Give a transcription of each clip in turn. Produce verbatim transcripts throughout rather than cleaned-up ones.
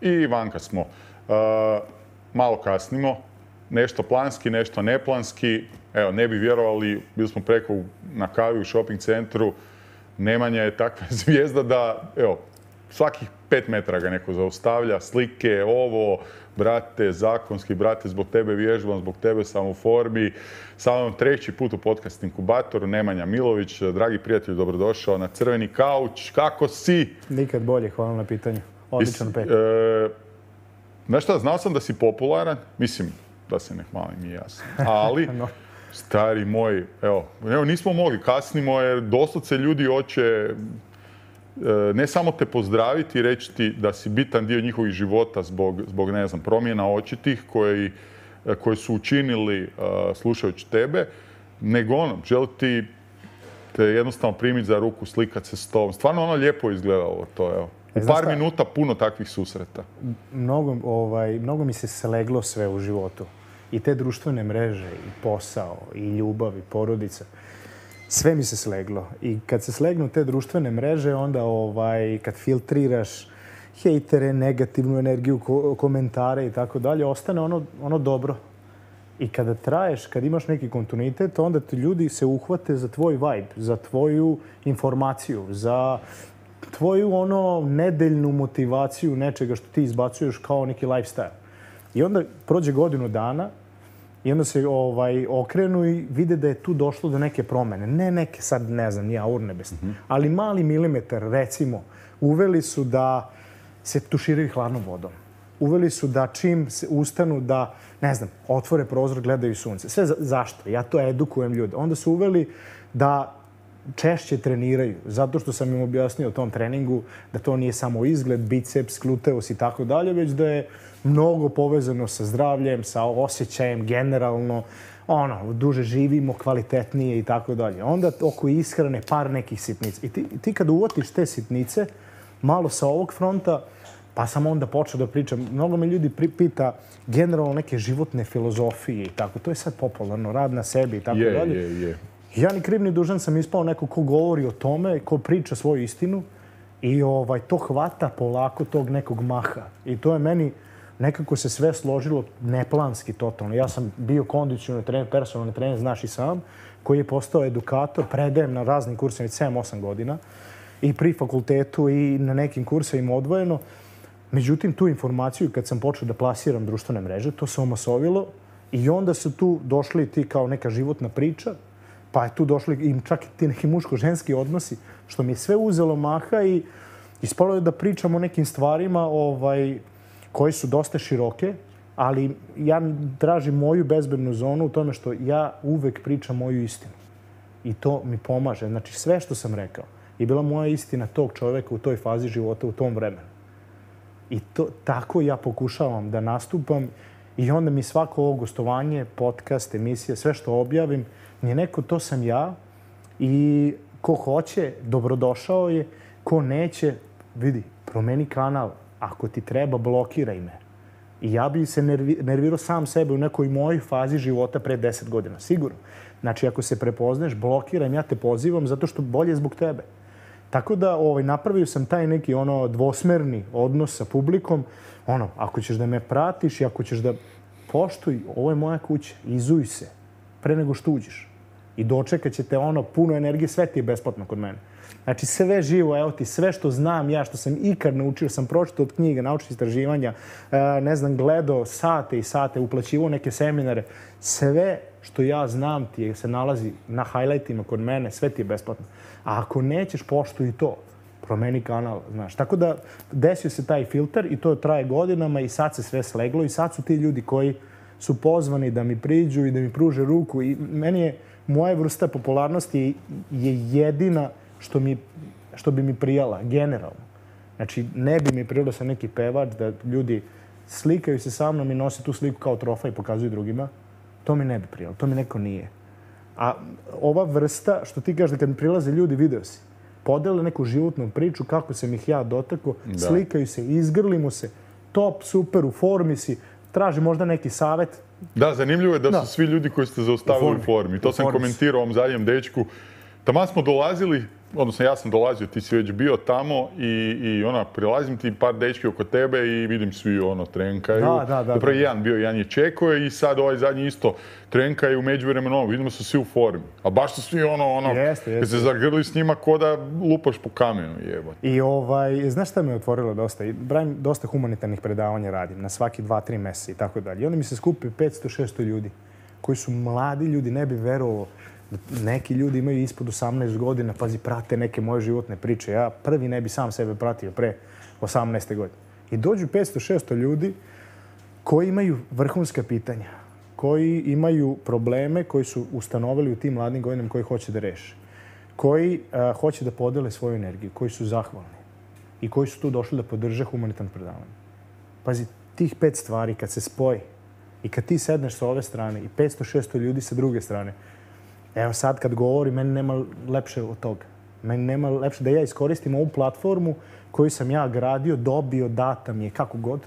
i vanka smo. Uh, malo kasnimo, nešto planski, nešto neplanski. Evo, ne bi vjerovali, bili smo preko na kavi u shopping centru. Nemanja je takva zvijezda da, evo, svakih pet metara ga neko zaustavlja, slike, ovo, brate, zakonski, brate, zbog tebe vježbam, zbog tebe sam u formi. Samo treći put u podcast inkubatoru, Nemanja Milović, dragi prijatelj, dobrodošao na crveni kauč. Kako si? Nikad bolje, hvala na pitanju. Odličan pet. E, znaš šta, znao sam da si popularan, mislim da se ne hvalim i ja sam, ali... no. Stari moj, evo, evo, nismo mogli, kasnimo jer doslovce ljudi hoće ne samo te pozdraviti i reći ti da si bitan dio njihovih života zbog, zbog ne znam, promjena očitih koji, koji su učinili uh, slušajući tebe, nego ono, želi ti te jednostavno primiti za ruku, slikat se s tobom. Stvarno ono lijepo izgledalo to, evo. U E, par šta? minuta puno takvih susreta. Mnogo, ovaj, mnogo mi se sleglo sve u životu. I te društvene mreže, i posao, i ljubav, i porodica. Sve mi se sleglo. I kad se slegnu te društvene mreže, onda ovaj, kad filtriraš hejtere, negativnu energiju, ko komentare i tako dalje, ostane ono, ono dobro. I kada traješ, kad imaš neki kontinuitet, onda ti ljudi se uhvate za tvoj vibe, za tvoju informaciju, za tvoju ono nedeljnu motivaciju nečega što ti izbacuješ kao neki lifestyle. I onda prođe godinu dana i onda se ovaj, okrenu i vide da je tu došlo do neke promjene. Ne neke sad, ne znam, nije urnebesne, mm-hmm. ali mali milimetar, recimo, uveli su da se tuširaju hladnom vodom. Uveli su da čim se ustanu da, ne znam, otvore prozor, gledaju sunce. Sve za, zašto? Ja to edukujem ljude. Onda su uveli da češće treniraju, zato što sam im objasnio o tom treningu da to nije samo izgled, biceps, gluteus i tako dalje, već da je mnogo povezano sa zdravljem, sa osjećajem generalno, ono, duže živimo, kvalitetnije i tako dalje. Onda oko ishrane par nekih sitnica. I ti, ti kad uvotiš te sitnice, malo sa ovog fronta, pa sam onda počeo da pričam. Mnogo me ljudi pita generalno neke životne filozofije i tako. To je sad popularno, rad na sebi i tako je, dalje. Je, je. Ja ni kriv ni dužan sam ispao neko ko govori o tome, ko priča svoju istinu i ovaj, to hvata polako tog nekog maha. I to je meni nekako se sve složilo neplanski totalno. Ja sam bio kondicionalni trener, personalni trener, znaš i sam, koji je postao edukator, predajem na raznim kursima sedam osam godina i pri fakultetu i na nekim kursevima odvojeno. Međutim, tu informaciju kad sam počeo da plasiram društvene mreže, to se omasovilo i onda su tu došli ti kao neka životna priča, pa je tu došli i čak i ti neki muško-ženski odnosi, što mi je sve uzelo maha i ispalo je da pričam o nekim stvarima ovaj, koje su dosta široke, ali ja tražim moju bezbednu zonu u tome što ja uvek pričam moju istinu. I to mi pomaže. Znači, sve što sam rekao je bila moja istina tog čovjeka u toj fazi života, u tom vremenu. I to, tako ja pokušavam da nastupam i onda mi svako ovo gostovanje, podcast, emisija, sve što objavim, je neko, to sam ja i ko hoće, dobrodošao je, ko neće, vidi, promeni kanal. Ako ti treba, blokiraj me. I ja bi se nervi, nervirao sam sebe u nekoj mojoj fazi života pre deset godina, sigurno. Znači, ako se prepozneš, blokiraj me, ja te pozivam zato što bolje zbog tebe. Tako da ovaj, napravio sam taj neki ono dvosmerni odnos sa publikom. Ono, ako ćeš da me pratiš i ako ćeš da poštuj, ovo je moja kuća, izuj se pre nego što uđeš. I dočekat će te ono puno energije, sve ti je besplatno kod mene. Znači sve živo, evo ti, sve što znam ja, što sam ikad naučio, sam pročitao od knjiga, naučnih istraživanja, ne znam, gledao sate i sate, uplaćivao neke seminare. Sve što ja znam ti je, se nalazi na highlightima kod mene, sve ti je besplatno. A ako nećeš, poštuj i to. Promeni kanal, znaš. Tako da desio se taj filter i to traje godinama i sad se sve sleglo i sad su ti ljudi koji su pozvani da mi priđu i da mi pruže ruku i meni je moja vrsta popularnosti je jedina što, mi, što bi mi prijala, generalno. Znači, ne bi mi prijalo sam neki pevač da ljudi slikaju se sa mnom i nose tu sliku kao trofej i pokazuju drugima. To mi ne bi prijalo, to mi neko nije. A ova vrsta, što ti kažeš da kad mi prilaze ljudi, video si, podele neku životnu priču, kako sam ih ja dotakao, slikaju se, izgrlimo se, top, super, u formi si, traži možda neki savjet. Da, zanimljivo je da, da. su svi ljudi koji ste zaustavili u formi. To u sam formi. komentirao ovom zadnjem dečku. Taman smo dolazili, odnosno ja sam dolazio, ti si već bio tamo i, i ona, prilazim ti par dečki oko tebe i vidim svi ono trenkaju. Da, da, da. Zapravo jedan bio, jedan je čekao i sad ovaj zadnji isto trenkaju, međuvremeno ono, vidimo su svi u formi. A baš su svi ono, ono, jeste, jeste. kad se zagrli s njima ko da lupaš po kamenu, jebote. I ovaj, znaš šta me je otvorilo dosta? I Brajim, dosta humanitarnih predavanja radim, na svaki dva, tri mjeseca i tako dalje. I onda mi se skupi petsto šesto ljudi, koji su mladi ljudi, ne bi verovao. Neki ljudi imaju ispod osamnaest godina, pazi, prate neke moje životne priče. Ja prvi ne bi sam sebe pratio pre osamnaeste godine. I dođu petsto šesto ljudi koji imaju vrhunska pitanja, koji imaju probleme koji su ustanovili u tim mladim godinama koji hoće da reše, koji uh, hoće da podele svoju energiju, koji su zahvalni i koji su tu došli da podrže humanitarno predavanje. Pazi, tih pet stvari kad se spoji i kad ti sedneš sa ove strane i petsto šesto ljudi sa druge strane, evo sad kad govori, meni nema lepše od toga. Meni nema lepše da ja iskoristim ovu platformu koju sam ja gradio, dobio, data mi je, kako god,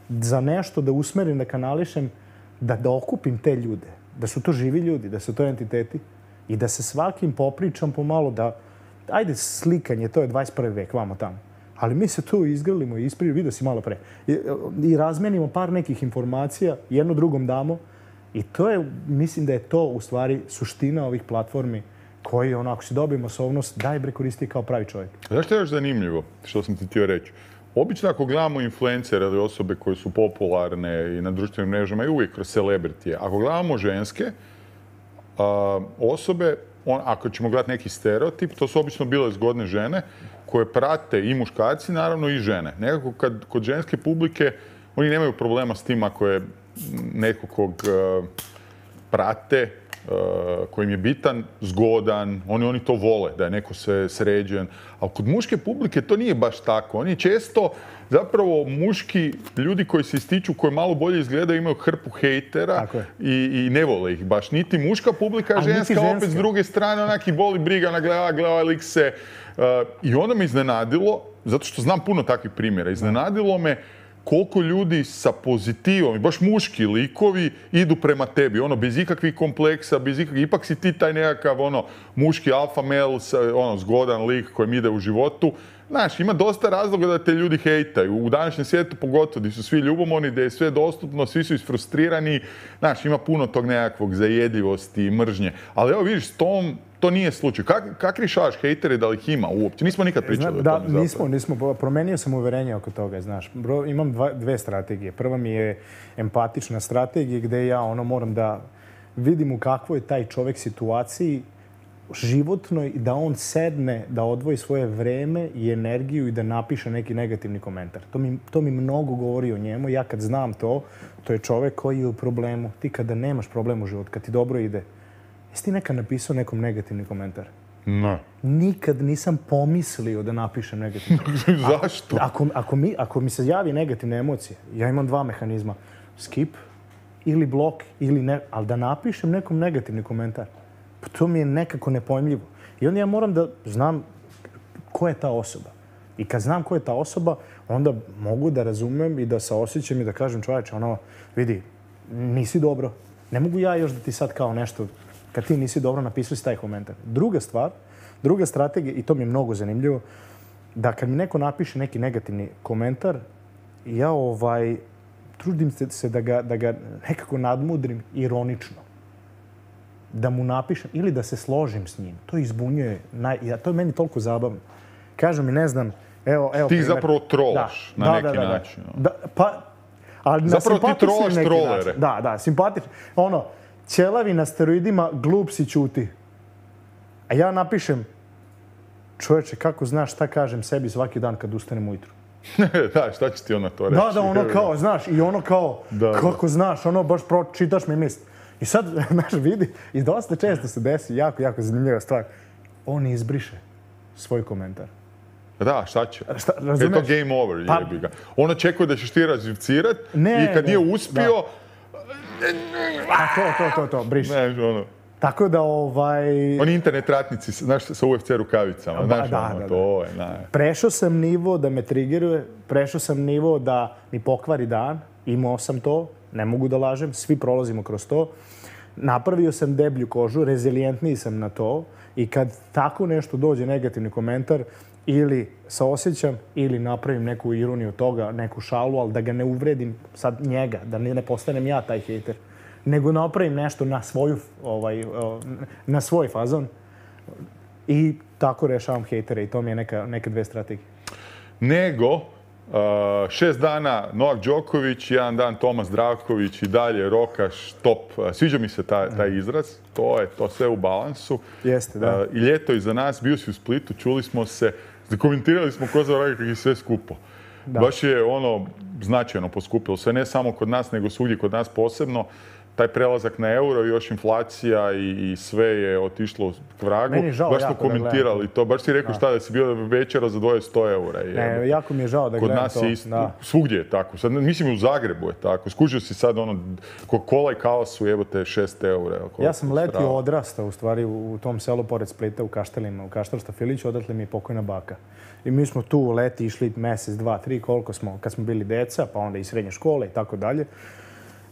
za nešto da usmerim, da kanališem, da, da okupim te ljude. Da su to živi ljudi, da su to entiteti i da se svakim popričam pomalo da, ajde slikanje, to je dvadeset prvi vek, vamo tamo. Ali mi se tu izgrlimo i ispriju, vidio si malo pre. I, i razmenimo par nekih informacija, jedno drugom damo. I to je, mislim da je to u stvari suština ovih platformi koji, ono, ako si dobije masovnost, daj bre koristi kao pravi čovjek. Znaš što je još zanimljivo, što sam ti htio reći? Obično ako gledamo influencere ili osobe koje su popularne i na društvenim mrežama i uvijek kroz celebritije, ako gledamo ženske a, osobe, on, ako ćemo gledati neki stereotip, to su obično bile zgodne žene koje prate i muškarci, naravno i žene. Nekako kad, kod ženske publike oni nemaju problema s tim ako je netko kog uh, prate, uh, kojim je bitan, zgodan, oni, oni to vole, da je neko se sređen. Ali kod muške publike to nije baš tako. Oni često, zapravo muški ljudi koji se ističu, koji malo bolje izgledaju, imaju hrpu hejtera i, i ne vole ih baš. Niti muška publika, a ženska, ženska opet s druge strane, onak i boli briga na gleda, gleda ovaj lik se. Uh, I onda me iznenadilo, zato što znam puno takvih primjera, iznenadilo me koliko ljudi sa pozitivom, i baš muški likovi, idu prema tebi, ono, bez ikakvih kompleksa, bez ikakvih, ipak si ti taj nekakav, ono, muški alfa male, ono, zgodan lik kojem ide u životu. Znaš, ima dosta razloga da te ljudi hejtaju. U današnjem svijetu pogotovo, gdje su svi ljubomorni, gdje je sve dostupno, svi su isfrustrirani. Znaš, ima puno tog nekakvog zajedljivosti i mržnje. Ali evo, vidiš, s tom to nije slučaj. Kak, kak rješavaš hejtere, da li ih ima uopće? Nismo nikad pričali Zna, da, o tome. Da, nismo, nismo. Promenio sam uverenje oko toga, znaš. Bro, imam dva, dve strategije. Prva mi je empatična strategija gdje ja ono moram da vidim u kakvoj je taj čovjek situaciji životnoj i da on sedne, da odvoji svoje vreme i energiju i da napiše neki negativni komentar. To mi, to mi mnogo govori o njemu. Ja kad znam to, to je čovjek koji je u problemu. Ti kada nemaš problem u životu, kad ti dobro ide, jesi ti nekad napisao nekom negativni komentar? Ne. Nikad nisam pomislio da napišem negativni komentar. Zašto? Ako, ako, mi, ako mi se javi negativne emocije, ja imam dva mehanizma. Skip ili blok ili ne, ali da napišem nekom negativni komentar. Pa to mi je nekako nepojmljivo. I onda ja moram da znam ko je ta osoba. I kad znam ko je ta osoba, onda mogu da razumem i da saosjećam i da kažem čovječe, ono, vidi, nisi dobro. Ne mogu ja još da ti sad kao nešto, kad ti nisi dobro, napisao si taj komentar. Druga stvar, druga strategija, i to mi je mnogo zanimljivo, da kad mi neko napiše neki negativni komentar, ja ovaj, trudim se da ga, da ga nekako nadmudrim ironično. Da mu napišem ili da se složim s njim. To izbunjuje. Naj... Ja, to je meni toliko zabavno. Kažu mi, ne znam, evo... evo ti primjer. Zapravo trolaš da, na da, neki da, da, način. Da, pa, ali zapravo na ti trolaš trolere. Način. Da, da, simpatično. Ono, ćelavi na steroidima, glup si, ćuti. A ja napišem, čovječe, kako znaš šta kažem sebi svaki dan kad ustanem ujutru? Da, šta će ti ona to reći? Da, da, ono kao, znaš, i ono kao, da, kako da. Znaš, ono baš pročitaš mi misli. I sad, znaš, vidi, i dosta često se desi, jako, jako zanimljiva stvar, on izbriše svoj komentar. Da, šta će? Šta, je to game over, pa, jebi ga. On očekuje da ćeš ti razivcirat i kad nije uspio... A to, to, to, to, briše. Znaš, ono... Tako da, ovaj... Oni internet ratnici, znaš, sa U F C rukavicama, znaš, da, ono, da, to je, naj... Prešao sam nivo da me triggeruje, prešao sam nivo da mi pokvari dan, imao sam to, ne mogu da lažem, svi prolazimo kroz to. Napravio sam deblju kožu, rezilijentniji sam na to I kad tako nešto dođe, negativni komentar, ili saosjećam, ili napravim neku ironiju toga, neku šalu, ali da ga ne uvredim sad njega, da ne postanem ja taj hejter, nego napravim nešto na svoju, ovaj, na svoj fazon i tako rešavam hejtere i to mi je neka, neke dve strategije. Nego, uh, šest dana Novak Đoković, jedan dan Tomas Zdravković i dalje Rokaš, top. Sviđa mi se taj, taj izraz, to je to sve u balansu. Jeste, da. Uh, I ljeto iza nas, bio si u Splitu, čuli smo se, komentirali smo ko za Ragak i sve skupo. Da. Baš je ono značajno poskupilo sve, ne samo kod nas, nego svugdje kod nas posebno. Taj prelazak na euro i još inflacija i, i sve je otišlo k vragu. Meni je žao baš smo jako komentirali to. Baš si rekao da. Šta da si bio večera za dvoje sto eura. Ne, jako mi je žao da kod gledam nas to. Je isto, svugdje je tako. Sad, mislim i u Zagrebu je tako. Skužio si sad ono, Coca-Cola i kava su jebote šest eura. Ja sam letio odrastao u stvari u, u tom selu pored Splita u Kaštelima, u Kaštelsta Filiću, odatle mi je pokojna baka. I mi smo tu leti išli mjesec, dva, tri, koliko smo, kad smo bili deca, pa onda i srednje škole i tako dalje,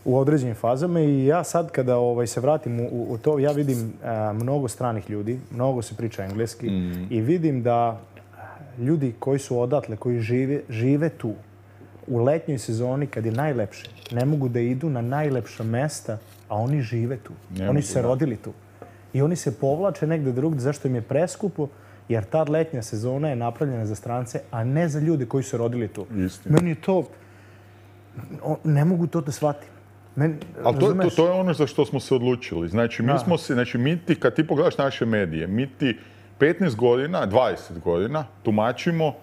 u određenim fazama. I ja sad kada ovaj, se vratim u, u to, ja vidim a, mnogo stranih ljudi, mnogo se priča engleski mm. i vidim da ljudi koji su odatle, koji žive, žive tu, u letnjoj sezoni kad je najlepše, ne mogu da idu na najlepša mesta, a oni žive tu. Ne oni su se rodili tu. I oni se povlače negde drugdje, zašto im je preskupo, jer ta letnja sezona je napravljena za strance, a ne za ljude koji su rodili tu. Istina. Meni je to... Ne mogu to da shvatim. Men, ali to, to, to je ono za što smo se odlučili. Znači, mi, smo se, znači, mi ti, kad ti pogledaš naše medije, mi ti petnaest godina, dvadeset godina tumačimo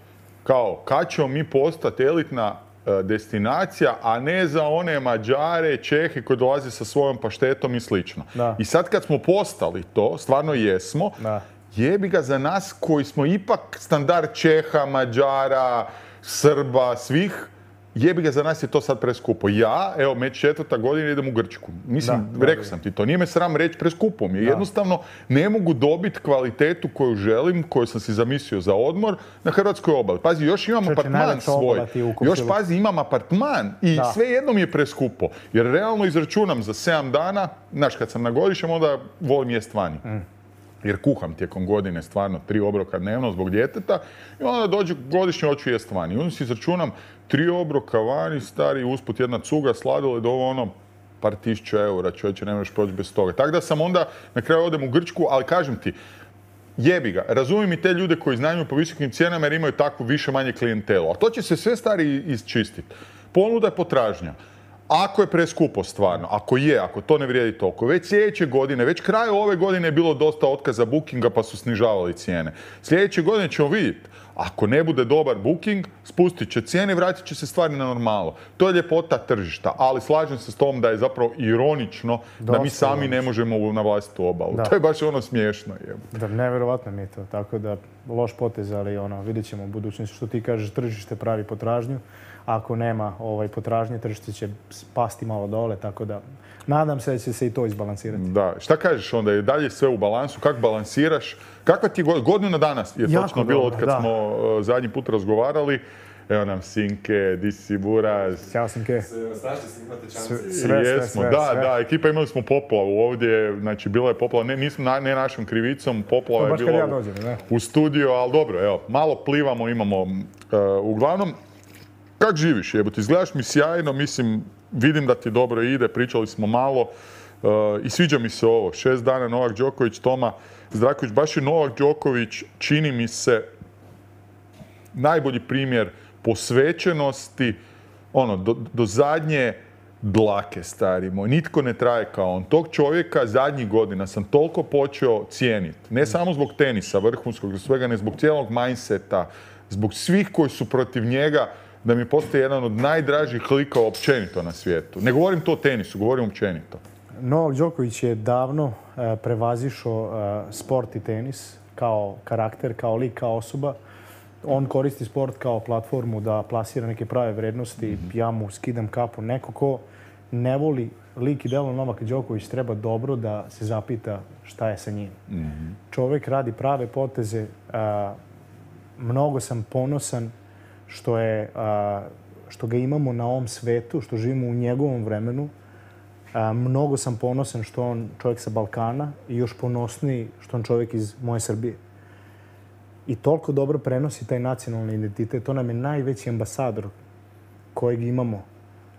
kao kad ćemo mi postati elitna uh, destinacija, a ne za one Mađare, Čehe koji dolaze sa svojom paštetom i slično. Da. I sad kad smo postali to, stvarno jesmo, da. Jebi ga za nas koji smo ipak standard Čeha, Mađara, Srba, svih, jebi ga za nas je to sad preskupo. Ja, evo, već četvrta godina idem u Grčku. Mislim, da, rekao sam ti to, nije me sram reći preskupo mi. Jednostavno ne mogu dobiti kvalitetu koju želim, koju sam si zamislio za odmor na hrvatskoj obali. Pazi, još imam Čeči, apartman svoj. Još pazi, imam apartman i da. Sve jedno mi je preskupo. Jer realno izračunam za sedam dana, znaš, kad sam na godišnjem, onda volim jest vani. Mm. Jer kuham tijekom godine stvarno tri obroka dnevno zbog djeteta i onda dođe godišnje hoću jest vani. I onda si izračunam tri obroka vani, stari, usput jedna cuga, sladoled, ovo ono, par tisuća eura, čovječe, ne možeš proći bez toga. Tako da sam onda na kraju odem u Grčku, ali kažem ti, jebi ga, razumijem i te ljude koji iznajmljuju po visokim cijenama jer imaju takvu više manje klijentelu. A to će se sve stari isčistiti. Ponuda je potražnja. Ako je preskupo stvarno, ako je, ako to ne vrijedi toliko, već sljedeće godine, već kraju ove godine je bilo dosta otkaza bookinga pa su snižavali cijene. Sljedeće godine ćemo vidjeti, ako ne bude dobar booking, spustit će cijene i vratit će se stvari na normalu. To je ljepota tržišta, ali slažem se s tom da je zapravo ironično dosta da mi sami ironično. Ne možemo na vlastitu obalu. Da. To je baš ono smiješno. Da, nevjerovatno mi je to, tako da loš potez, ali ono, vidjet ćemo u budućnosti što ti kažeš, tržište pravi potražnju. Ako nema ovaj, potražnje, tržište će pasti malo dole, tako da nadam se da će se i to izbalansirati. Da. Šta kažeš onda? Je dalje sve u balansu? Kako balansiraš? Kakva ti je godinu na danas je jako točno bilo od kad da. Smo uh, zadnji put razgovarali? Evo nam Sinke, di si Buraz. Ćao Sinke. Snašli se, imate šanse. Sve, sve, Jesmo, sve, da, sve. da, ekipa imali smo poplavu ovdje, znači bila je poplava, ne, nismo, ne našom krivicom, poplava je bila ja dođem, ne? u studiju, ali dobro, evo, malo plivamo, imamo, uh, uglavnom, kak živiš, jebote, izgledaš mi sjajno, mislim, vidim da ti dobro ide, pričali smo malo uh, i sviđa mi se ovo, šest dana Novak Đoković, Toma Zdravković, baš je Novak Đoković, čini mi se, najbolji primjer posvećenosti, ono, do, do zadnje dlake, stari moj. Nitko ne traje kao on. Tog čovjeka zadnjih godina sam toliko počeo cijeniti. Ne samo zbog tenisa vrhunskog, zbog svega, ne zbog cijelog mindseta, zbog svih koji su protiv njega, da mi postaje jedan od najdražih likova općenito na svijetu. Ne govorim to o tenisu, govorim općenito. Novak Đoković je davno e, prevazišao e, sport i tenis kao karakter, kao lik, kao osoba. On koristi sport kao platformu da plasira neke prave vrednosti. Mm-hmm. Ja mu skidam kapu. Neko ko ne voli lik i delo Novaka Đoković treba dobro da se zapita šta je sa njim. Mm-hmm. Čovjek radi prave poteze. A, mnogo sam ponosan što, je, a, što ga imamo na ovom svetu, što živimo u njegovom vremenu. A, mnogo sam ponosan što on čovjek sa Balkana i još ponosniji što on čovjek iz moje Srbije. I toliko dobro prenosi taj nacionalni identitet. To nam je najveći ambasador kojeg imamo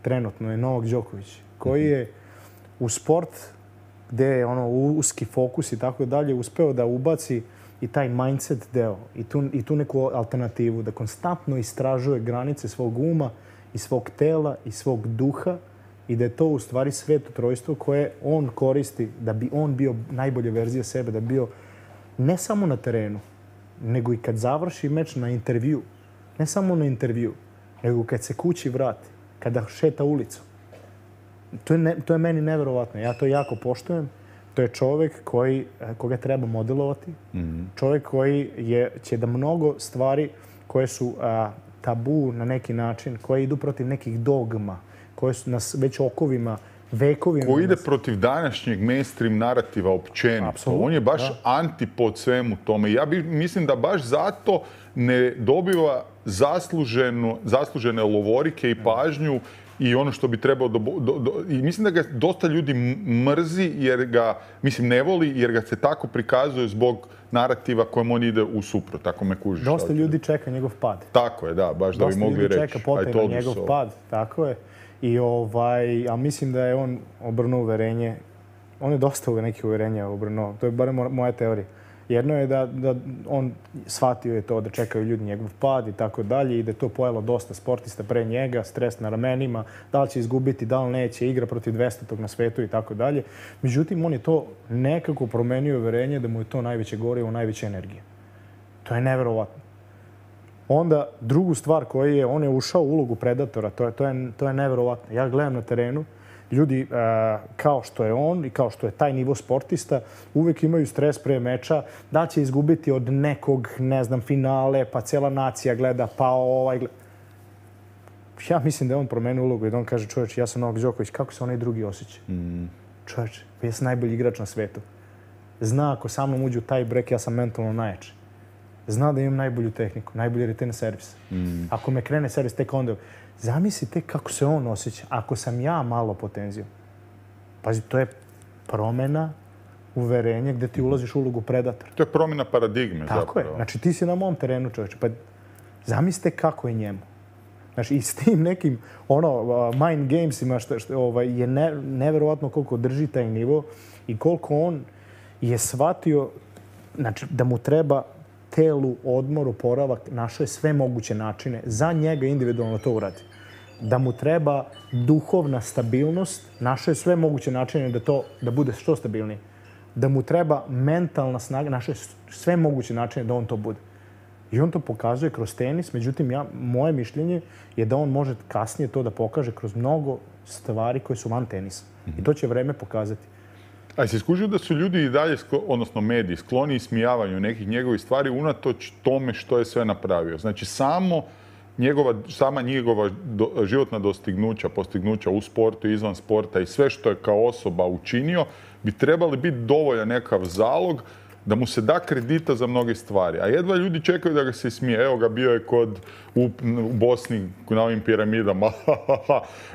trenutno, je Novak Đoković, koji je u sport gdje je ono uski fokus i tako dalje uspeo da ubaci i taj mindset deo i tu, i tu neku alternativu, da konstantno istražuje granice svog uma i svog tela i svog duha i da je to u stvari sveto trojstvo koje on koristi da bi on bio najbolja verzija sebe, da bi bio ne samo na terenu, nego i kad završi meč na intervju. Ne samo na intervju, nego kad se kući vrati, kada šeta ulicu. To je, ne, to je meni neverovatno. Ja to jako poštujem. To je čovjek koji, koga treba modelovati. Mm-hmm. Čovjek koji je, će da mnogo stvari koje su a, tabu na neki način, koje idu protiv nekih dogma, koje su nas već okovima, vekovima... Koji ide protiv današnjeg mainstream narativa općenito. Apsolutno, on je baš da. antipod svemu tome. Ja bi, mislim da baš zato ne dobiva zasluženu, zaslužene lovorike i pažnju i ono što bi trebao... Do, do, do, i mislim da ga dosta ljudi mrzi jer ga, mislim, ne voli jer ga se tako prikazuje zbog narativa kojem on ide u suprot, tako me kužiš. Dosta ljudi čeka njegov pad. Tako je, da, baš da bi mogli reći. Dosta ljudi čeka potaj na njegov so. pad, tako je. I ovaj, a mislim da je on obrnuo uverenje, on je dosta uve nekih uverenja obrnuo, to je barem moja teorija. Jedno je da, da on shvatio je to da čekaju ljudi njegov pad i tako dalje i da je to pojelo dosta sportista pre njega, stres na ramenima, da li će izgubiti, da li neće, igra protiv dvestotog na svetu i tako dalje. Međutim, on je to nekako promenio uverenje da mu je to najveće gorivo, najveća energija. To je neverovatno. Onda, drugu stvar koju je, on je ušao u ulogu predatora, to je, to je, to je neverovatno. Ja gledam na terenu, ljudi uh, kao što je on i kao što je taj nivo sportista uvijek imaju stres pre meča, da će izgubiti od nekog, ne znam, finale, pa cijela nacija gleda, pa ovaj gleda. Ja mislim da je on promenio ulogu i da on kaže, čovječ, ja sam Novak Đoković, kako se onaj drugi osjeća? Mm. Čovječ, ja sam najbolji igrač na svetu. Zna ako sa mnom uđe u taj break, ja sam mentalno najjači. Zna da imam najbolju tehniku, najbolji return servis. Mm. Ako me krene servis, tek onda... Zamislite kako se on osjeća. Ako sam ja malo potenzijom. Pazi, to je promjena uverenja gdje ti ulaziš u ulogu predatora. To je promjena paradigme. Tako zapravo. je. Znači ti si na mom terenu, čovječe. Pa zamislite kako je njemu. Znači i s tim nekim ono, mind gamesima što, što ovaj, je ne, neverovatno koliko drži taj nivo i koliko on je shvatio znači, da mu treba telu, odmor, oporavak, našao je sve moguće načine za njega individualno to uradi. Da mu treba duhovna stabilnost, našao je sve moguće načine da to da bude što stabilnije. Da mu treba mentalna snaga, našao je sve moguće načine da on to bude. I on to pokazuje kroz tenis, međutim, ja, moje mišljenje je da on može kasnije to da pokaže kroz mnogo stvari koje su van tenisa. I to će vreme pokazati. A si skužio da su ljudi i dalje, odnosno mediji, skloni ismijavanju nekih njegovih stvari unatoč tome što je sve napravio? Znači, samo njegova, sama njegova do, životna dostignuća, postignuća u sportu, izvan sporta i sve što je kao osoba učinio, bi trebali biti dovoljan nekav zalog da mu se da kredita za mnoge stvari. A jedva ljudi čekaju da ga se ismije. Evo ga, bio je kod u, u Bosni na ovim piramidama.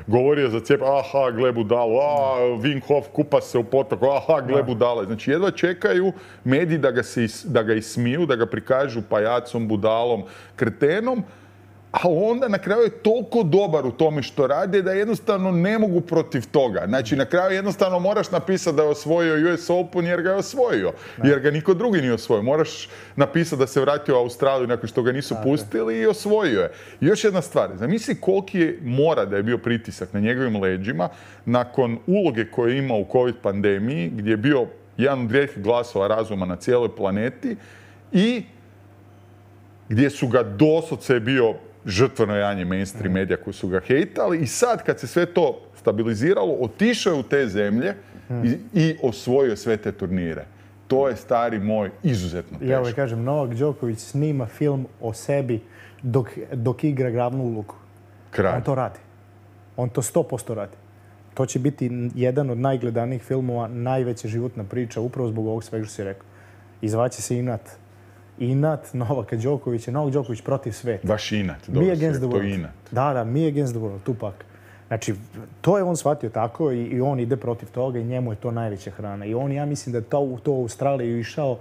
Govorio za cijep. Aha, gle budalu. A, Wim Hof kupa se u potoku. Aha, gle budale. Znači, jedva čekaju mediji da ga, se, da ga ismiju, da ga prikažu pajacom, budalom, kretenom. A onda na kraju je toliko dobar u tome što rade da jednostavno ne mogu protiv toga. Znači, na kraju jednostavno moraš napisati da je osvojio U S Open jer ga je osvojio. Jer ga niko drugi nije osvojio. Moraš napisati da se vratio u Australiju nakon što ga nisu pustili i osvojio je. I još jedna stvar. Zamisli koliki je mora da je bio pritisak na njegovim leđima nakon uloge koje je imao u COVID pandemiji, gdje je bio jedan od rijetkih glasova razuma na cijeloj planeti i gdje su ga doslovce bio žrtveno janje mainstream medija koji su ga hejtali i sad kad se sve to stabiliziralo, otišao je u te zemlje i, i osvojio sve te turnire. To je, stari moj, izuzetno teško. Ja ovaj kažem, Novak Đoković snima film o sebi dok, dok igra glavnu ulogu. Kralj. On to radi. On to sto posto radi. To će biti jedan od najgledanijih filmova, najveća životna priča, upravo zbog ovog svega što si rekao. I zvaće se Inat. Inat Novaka Đokovića, Novak Đoković protiv sveta. Baš inat, dobro sve, to je inat. Da, da, me against the world, Tupac. Znači, to je on shvatio tako i, i on ide protiv toga i njemu je to najveća hrana. I on, ja mislim da je to, to u Australiju išao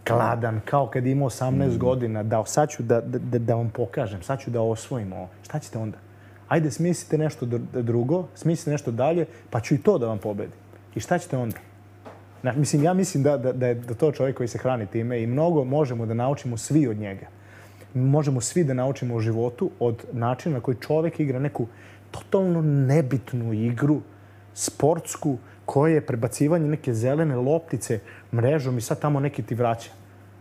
kladan, kao kad je imao osamnaest godina, da sad ću da, da, da vam pokažem, sad ću da osvojim ovo. Šta ćete onda? Ajde, smislite nešto drugo, smislite nešto dalje, pa ću i to da vam pobedim. I šta ćete onda? Na, mislim, ja mislim da, da, da je da to čovjek koji se hrani time i mnogo možemo da naučimo svi od njega. Možemo svi da naučimo u životu od načina na koji čovjek igra neku totalno nebitnu igru, sportsku, koje je prebacivanje neke zelene loptice mrežom i sad tamo neki ti vraća.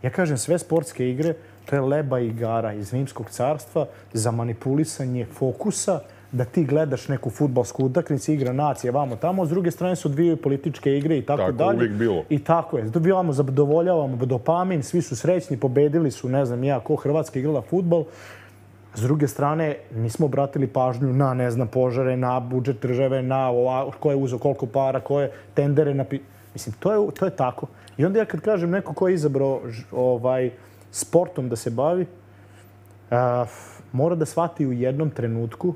Ja kažem, sve sportske igre, to je leba i igara iz Rimskog carstva za manipulisanje fokusa, da ti gledaš neku fudbalsku utakmicu, igra nacije, vamo tamo, s druge strane se odvijaju političke igre i tako, tako dalje. Uvijek bilo. I tako je. Dobivamo, zadovoljavamo dopamin, svi su srećni, pobedili su, ne znam ja, ko Hrvatska igrala fudbal. S druge strane, nismo obratili pažnju na, ne znam, požare, na budžet države, na ova, ko je uzeo koliko para, ko je tendere na... Mislim, to je, to je tako. I onda ja kad kažem neko ko je izabrao ovaj, sportom da se bavi, a, mora da shvati u jednom trenutku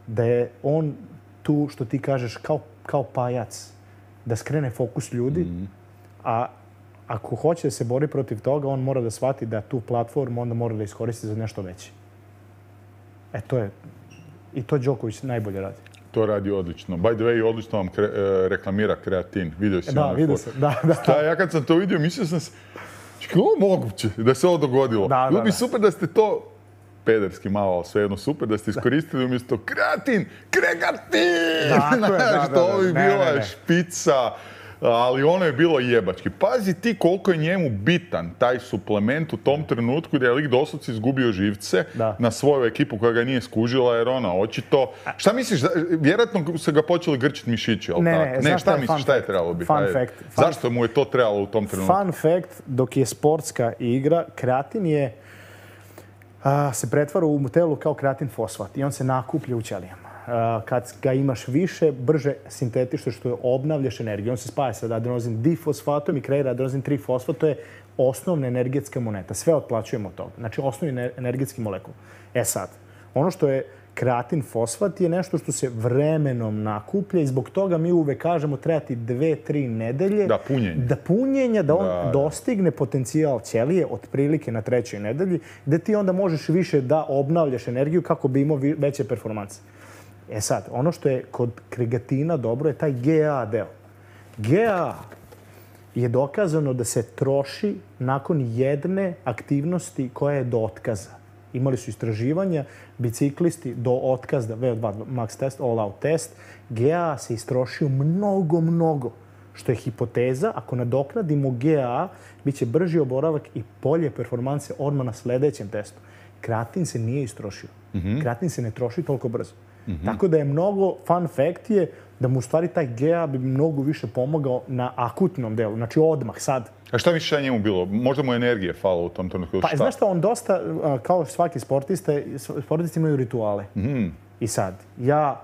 da je on tu, što ti kažeš, kao, kao pajac, da skrene fokus ljudi, mm. a ako hoće da se bori protiv toga, on mora da shvati da tu platformu onda mora da iskoristi za nešto veće. E, to je... I to Đoković najbolje radi. To radi odlično. By the way, odlično vam kre, reklamira kreatin. Vidio si da, ono vidio sam. Da, da. Sta, ja kad sam to vidio, mislio sam se, kako je moguće da se ovo dogodilo? Da, Bilo da, bi da. super da ste to, pederski malo, ali svejedno super, da ste iskoristili umjesto kreatin, kregatin! Dakle, da, da, da. Ovo bi Ne, bila ne, ne. špica, ali ono je bilo jebački. Pazi ti koliko je njemu bitan taj suplement u tom trenutku da je lik doslovce izgubio živce Da. na svoju ekipu koja ga nije skužila, jer ona očito... Šta misliš, vjerojatno se ga počeli grčiti mišići, ali Ne, tako? ne, Ne, znaš šta šta je misliš, fun šta je fact? trebalo biti? Fun Ajde. fact. Fun- Zašto mu je to trebalo u tom trenutku? Fun fact, dok je sportska igra, kreatin je a, se pretvara u telu kao kreatin fosfat i on se nakuplja u ćelijama. A, kad ga imaš više, brže sintetišeš, što je obnavljaš energiju. On se spaja sa adenozin difosfatom i kreira adenozin tri fosfat. To je osnovna energetska moneta. Sve otplaćujemo od toga. Znači, osnovni energetski molekul. E sad, ono što je kreatin fosfat je nešto što se vremenom nakuplja i zbog toga mi uvek kažemo treba ti dve, tri nedelje Da, punjenje. da punjenja, da on Da, da. dostigne potencijal ćelije otprilike na trećoj nedelji, da ti onda možeš više da obnavljaš energiju kako bi imao vi- veće performanse. E sad, ono što je kod kreatina dobro je taj G A deo. G A je dokazano da se troši nakon jedne aktivnosti koja je do otkaza. Imali su istraživanja, biciklisti do otkaza, V O dva max test, all out test, G A se istrošio mnogo, mnogo. Što je hipoteza, ako nadoknadimo G A, bit će brži oboravak i bolje performanse odmah na sledećem testu. Kreatin se nije istrošio. Mm-hmm. Kreatin se ne troši toliko brzo. Mm-hmm. Tako da je mnogo, fun fact je da mu u stvari taj G A bi mnogo više pomogao na akutnom delu, znači odmah, sad. A šta misliš da je njemu bilo? Možda mu energije falo u tom trenutku? Pa Šta? znaš šta, on dosta, a, kao svaki sportista, sportisti imaju rituale. Mm. I sad, ja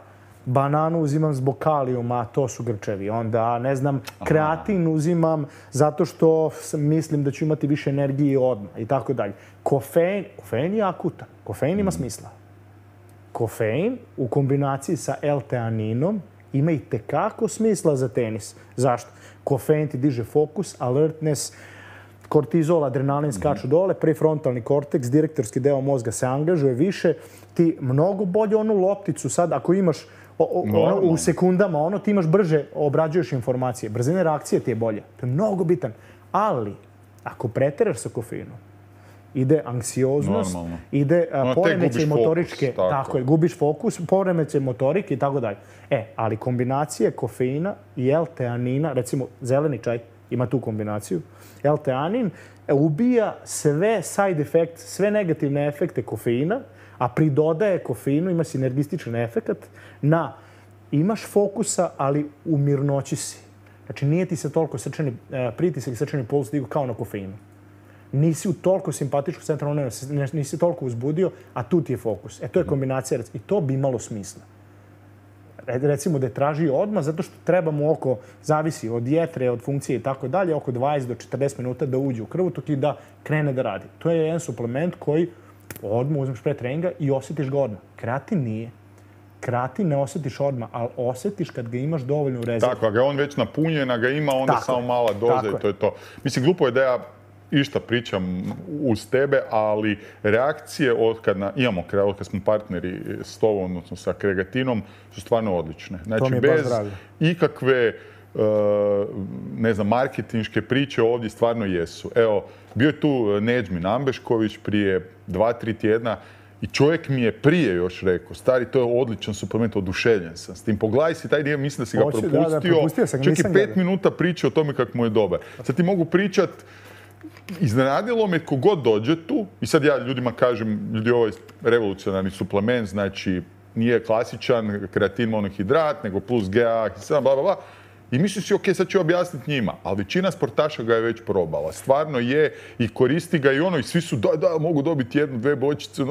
bananu uzimam zbog kalijuma, to su grčevi. Onda, ne znam, kreatin uzimam zato što sam- mislim da ću imati više energije odmah i tako dalje. Kofein, kofein je akutan. Kofein ima smisla. Kofein u kombinaciji sa L-teaninom ima i tekako smisla za tenis. Zašto? Kofein ti diže fokus, alertness, kortizol, adrenalin skaču dole, prefrontalni korteks, direktorski deo mozga se angažuje više. Ti mnogo bolje onu lopticu sad, ako imaš o, o, ono, Normalno. u sekundama, ono ti imaš brže, obrađuješ informacije. Brzina reakcije ti je bolja. To je mnogo bitan. Ali, ako preteraš sa kofeinom, ide anksioznost, Normalno. ide a, Ono, tek poremećaj gubiš fokus, motoričke, tako tako je. je, gubiš fokus, poremećaj motorike i tako dalje. E, ali kombinacije kofeina i L-teanina, recimo zeleni čaj ima tu kombinaciju, L-teanin e, ubija sve side effect, sve negativne efekte kofeina, a pridodaje kofeinu, ima sinergističan efekat na imaš fokusa, ali u mirnoći si. Znači, nije ti se toliko srčani, e, pritisak i srčani puls digu kao na kofeinu. Nisi u toliko simpatičku centralnu nervu, ne- nisi toliko uzbudio, a tu ti je fokus. E, to je kombinacija, rec- i to bi imalo smisla. Re- Recimo da je traži odmah, zato što treba mu oko, zavisi od jetre, od funkcije i tako dalje, oko dvadeset do četrdeset minuta da uđe u krvotok i da krene da radi. To je jedan suplement koji odmah uzmeš pre treninga i osjetiš ga odmah. Kreatin nije. kreatin ne osjetiš odmah, ali osjetiš kad ga imaš dovoljno u rezervi. Tako, a ga on već napunjen, a ga ima, onda Tako samo je. mala doza Tako i to je to. Mislim, glupo je da ja išta pričam uz tebe, ali reakcije od kad na, imamo, od kad smo partneri s tobom, odnosno sa Kregatinom, su stvarno odlične. Znači, bez ikakve uh, ne znam, marketinške priče ovdje stvarno jesu. Evo, bio je tu Nedžmin Ambešković prije dva, tri tjedna i čovjek mi je prije još rekao, stari, to je odličan suplement, oduševljen sam s tim. Pogledaj si taj dio, mislim da si ga Hoće, propustio. da, da, propustio sam, čak i nisam pet gledao. minuta priče o tome kako mu je dobar. Sad ti mogu pričat, iznenadilo me kogod dođe tu, i sad ja ljudima kažem, ljudi, ovo je revolucionarni suplement, znači nije klasičan kreatin monohidrat, nego plus G A, bla, bla, bla. I misliš si, ok, sad ću objasniti njima, ali većina sportaša ga je već probala. Stvarno je i koristi ga i ono, i svi su, da, da, mogu dobiti jednu, dve bočice,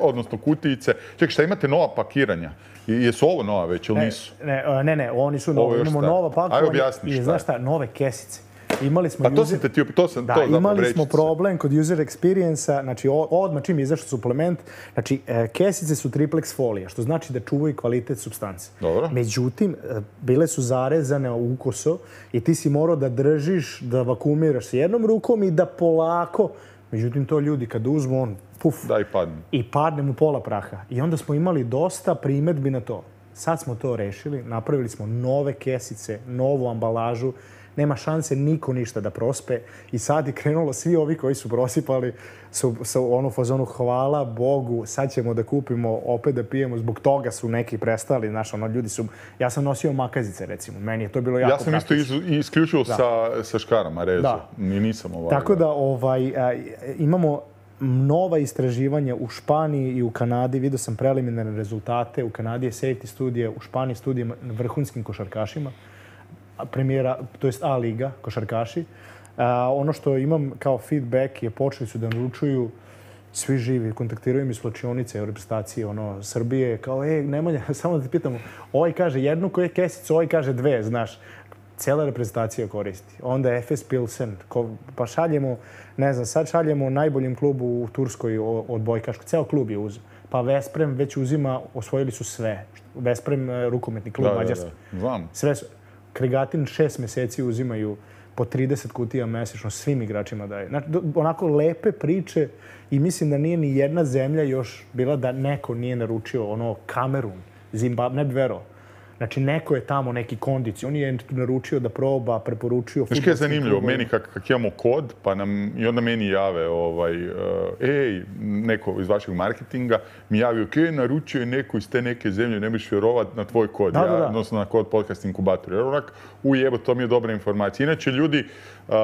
odnosno kutijice. Čekaj, šta imate nova pakiranja? Jesu ovo nova već ili nisu? Ne, ne, ne, oni su novi. Imamo nova pakovanja. Ajde objasni šta. I znaš šta, nove kesice. Imali smo pa to user... sam te ti, to sam, da, to zapravo imali reći smo se. problem kod user experience-a, znači odmah čim je izašao suplement, znači kesice su triplex folija, što znači da čuvaju kvalitet supstance. Dobro. Međutim, bile su zarezane ukoso i ti si morao da držiš, da vakumiraš s jednom rukom i da polako, međutim to ljudi kad uzmu, on puf, da i padne. I padne mu pola praha. I onda smo imali dosta primedbi na to. Sad smo to rešili, napravili smo nove kesice, novu ambalažu, nema šanse niko ništa da prospe i sad je krenulo svi ovi koji su prosipali su, su onu fazonu hvala Bogu, sad ćemo da kupimo, opet da pijemo, zbog toga su neki prestali, znaš, ono, ljudi su, ja sam nosio makazice recimo, meni je to bilo jako Ja sam praktično. isto iz, isključivo sa, sa škarama rezu, da. Ni nisam ovaj. Tako da ovaj, a, imamo nova istraživanja u Španiji i u Kanadi, vidio sam preliminarne rezultate, u Kanadi je safety studija, u Španiji studije na vrhunskim košarkašima, premijera, to jest A liga, košarkaši. A, ono što imam kao feedback je počeli su da naručuju svi živi, kontaktiraju mi slučionice, reprezentacije, ono, Srbije, kao, ej, Nemanja, samo da te pitamo, ovaj kaže jednu koju je kesicu, ovaj kaže dve, znaš. Cijela reprezentacija koristi. Onda Efes Pilsen, ko, pa šaljemo, ne znam, sad šaljemo najboljem klubu u Turskoj odbojkašku, ceo klub je uzeo. Pa Vesprem već uzima, osvojili su sve. Vesprem, rukometni klub Mađarske. Da, da, znam. Sve su. Kregatin šest mjeseci uzimaju po trideset kutija mesečno svim igračima daje. Znači, onako lepe priče i mislim da nije ni jedna zemlja još bila da neko nije naručio ono Kamerun, Zimbabwe, ne bi verovao. Znači, neko je tamo neki kondici. On je naručio da proba, preporučio... Znaš kaj je zanimljivo? Meni kak, kak imamo kod, pa nam, i onda meni jave, ovaj, uh, ej, neko iz vašeg marketinga mi javi, ok, naručio je neko iz te neke zemlje, ne biš vjerovat na tvoj kod, da, ja, da, da. odnosno na kod podcast inkubator. Jer onak, ujebo, to mi je dobra informacija. Inače, ljudi, uh,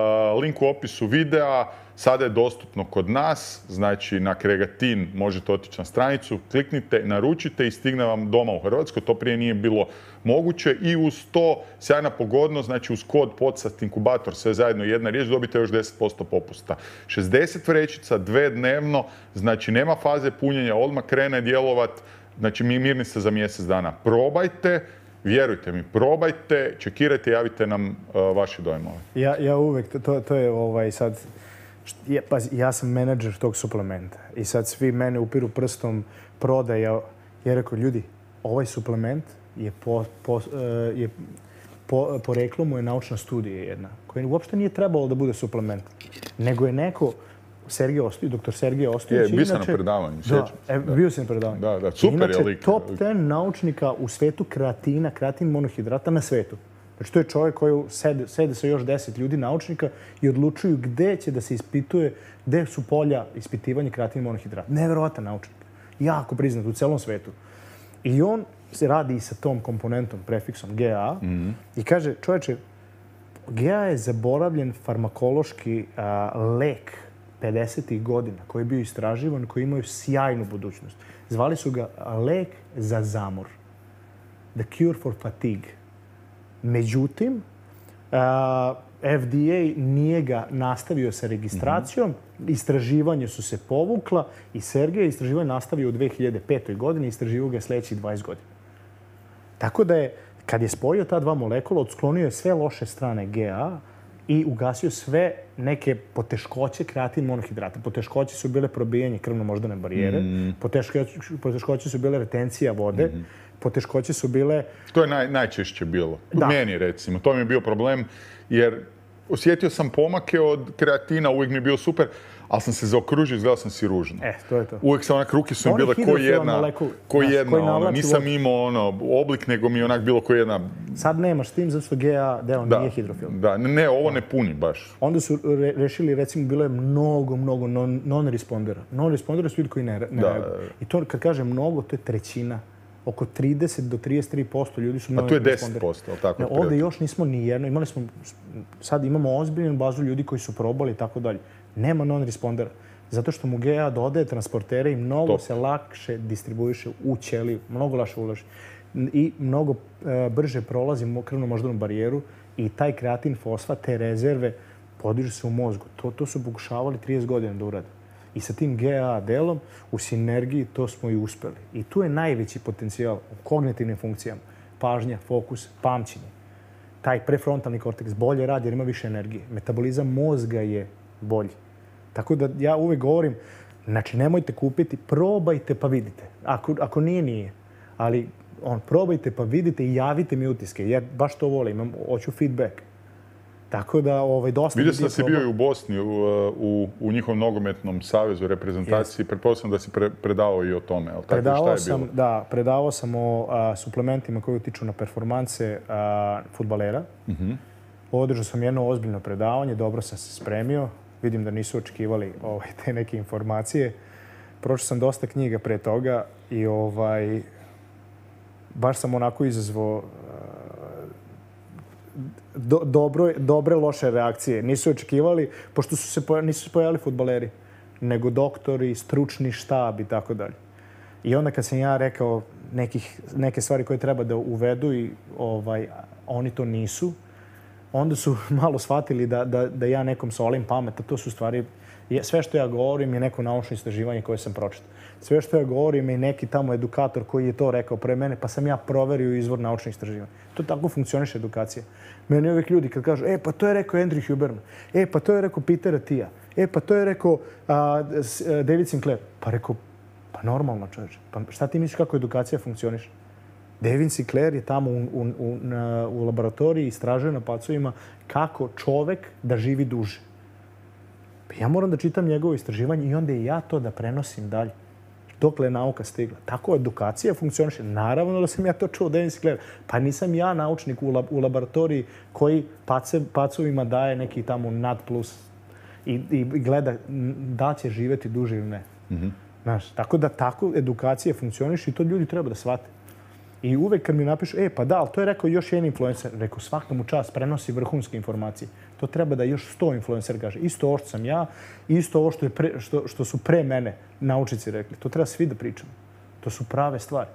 link u opisu videa, sada je dostupno kod nas, znači na Kregatin možete otići na stranicu, kliknite, naručite i stigne vam doma u Hrvatskoj. To prije nije bilo moguće i uz to sjajna pogodnost, znači uz kod podcast inkubator, sve zajedno jedna riječ, dobite još deset posto popusta. šezdeset vrećica, dve dnevno, znači nema faze punjenja, odmah krene djelovat, znači mi mirni ste za mjesec dana. Probajte, vjerujte mi, probajte, čekirajte, javite nam uh, vaše dojmove. Ja, ja uvek, to, to je ovaj sad... Ja, pa, ja sam menadžer tog suplementa i sad svi mene upiru prstom prodaja. Ja rekao, ljudi, ovaj suplement je po, po, je po, poreklo mu je naučna studija jedna, koja uopšte nije trebalo da bude suplement. Nego je neko, Sergej Ostojić, doktor Sergej Ostojić... Je, bio sam na predavanju, sjećam se. Da, bio sam na predavanju. Da, da, super je lik. Inače, top deset naučnika u svetu kreatina, kreatin monohidrata na svetu. Znači, to je čovjek koji sede, sede sa još deset ljudi, naučnika, i odlučuju gde će da se ispituje, gde su polja ispitivanja kreatina monohidrata. Neverovatan naučnik. Jako priznat u celom svetu. I on se radi i sa tom komponentom, prefiksom G A, mm-hmm. i kaže, čovječe, G A je zaboravljen farmakološki a, lek pedesetih godina, koji je bio istraživan, koji imaju sjajnu budućnost. Zvali su ga lek za zamor. The cure for fatigue. Međutim, uh, F D A nije ga nastavio sa registracijom, mm-hmm. istraživanje su se povukla i Sergej istraživanje nastavio u dve hiljade petoj. godini, istraživao ga sljedećih dvadeset godina. Tako da je, kad je spojio ta dva molekula, odsklonio je sve loše strane G A i ugasio sve neke poteškoće kreatin monohidrata. Poteškoće su bile probijanje krvno-moždane barijere, mm. poteškoće, poteškoće su bile retencija vode, mm. poteškoće su bile... To je naj, najčešće bilo. Da. Meni, recimo. To mi je bio problem, jer osjetio sam pomake od kreatina, uvijek mi je bio super, ali sam se zaokružio, izgledao sam si ružno. E, to je to. Uvijek sam onak, ruke su mi bile ko jedna, ko jedna, ono, nisam imao ono, oblik, nego mi je onak bilo ko jedna... Sad nemaš s tim, zato što G A deo da, nije hidrofil. Da, ne, ovo ne puni baš. Onda su re, rešili, recimo, bilo je mnogo, mnogo non, non-respondera. Non-respondera su ljudi koji ne, ne da. reaguju. I to, kad kažem mnogo, to je trećina. Oko trideset do trideset tri posto ljudi su non-responderi. A tu je deset posto, ali tako? Ne, ovdje još nismo ni jedno. Imali smo, sad imamo ozbiljnu bazu ljudi koji su probali i tako dalje. Nema non-respondera. Zato što mu G A dodaje transportere i mnogo Top. se lakše distribuiše u ćeliju. Mnogo lakše ulaži. I mnogo e, brže prolazi krvno-moždanu barijeru i taj kreatin fosfat, te rezerve, podižu se u mozgu. To, to su pokušavali trideset godina da urade. I sa tim G A delom u sinergiji to smo i uspeli. I tu je najveći potencijal u kognitivnim funkcijama. Pažnja, fokus, pamćenje. Taj prefrontalni korteks bolje radi jer ima više energije. Metabolizam mozga je bolji. Tako da ja uvek govorim, znači nemojte kupiti, probajte pa vidite. Ako, ako nije, nije. Ali on, probajte pa vidite i javite mi utiske. Ja baš to volim, imam, hoću feedback. Tako da, ovaj, dosta... Vidio sam da si bio i u Bosni, u, u, u njihovom nogometnom savezu, reprezentaciji. Yes. Pretpostavljam da si pre, predavao i o tome. Ali predavao tako, šta je sam, bilo? Da, predavao sam o a, suplementima koji utiču na performanse a, fudbalera. Mm-hmm. Održao sam jedno ozbiljno predavanje, dobro sam se spremio. Vidim da nisu očekivali ovaj, te neke informacije. Pročio sam dosta knjiga pre toga i ovaj, baš sam onako izazvao do, dobro, dobre, loše reakcije. Nisu očekivali, pošto su se poja, nisu se pojavili fudbaleri, nego doktori, stručni štab i tako dalje. I onda kad sam ja rekao nekih, neke stvari koje treba da uvedu i ovaj, oni to nisu, onda su malo shvatili da, da, da ja nekom solim pamet, a to su stvari... Sve što ja govorim je neko naučno istraživanje koje sam pročitao. Sve što ja govorim je neki tamo edukator koji je to rekao pre mene, pa sam ja proverio izvor naučnih istraživanja. To tako funkcioniše edukacija. Meni uvijek ljudi kad kažu, e, pa to je rekao Andrew Huberman, e, pa to je rekao Peter Attia, e, pa to je rekao a, David Sinclair. Pa rekao, pa normalno čovječe, pa šta ti misliš kako edukacija funkcioniše? David Sinclair je tamo u, u, u, na, u laboratoriji istražuje na pacovima kako čovek da živi duže. Ja moram da čitam njegovo istraživanje i onda i ja to da prenosim dalje. Dokle je nauka stigla. Tako edukacija funkcioniše. Naravno da sam ja to čuo od David Sinclair. Pa nisam ja naučnik u, lab, u laboratoriji koji pace, pacovima daje neki tamo nad plus i, i gleda da će živjeti duže ili ne. Mm-hmm. Znaš, tako da tako edukacija funkcioniše i to ljudi treba da shvate. I uvek kad mi napišu, e, pa da, ali to je rekao još jedan influencer. Rekao, svaka mu čast, prenosi vrhunske informacije. To treba da još sto influencer kaže. Isto ovo što sam ja, isto ovo što, je pre, što, što su pre mene naučici rekli. To treba svi da pričamo. To su prave stvari.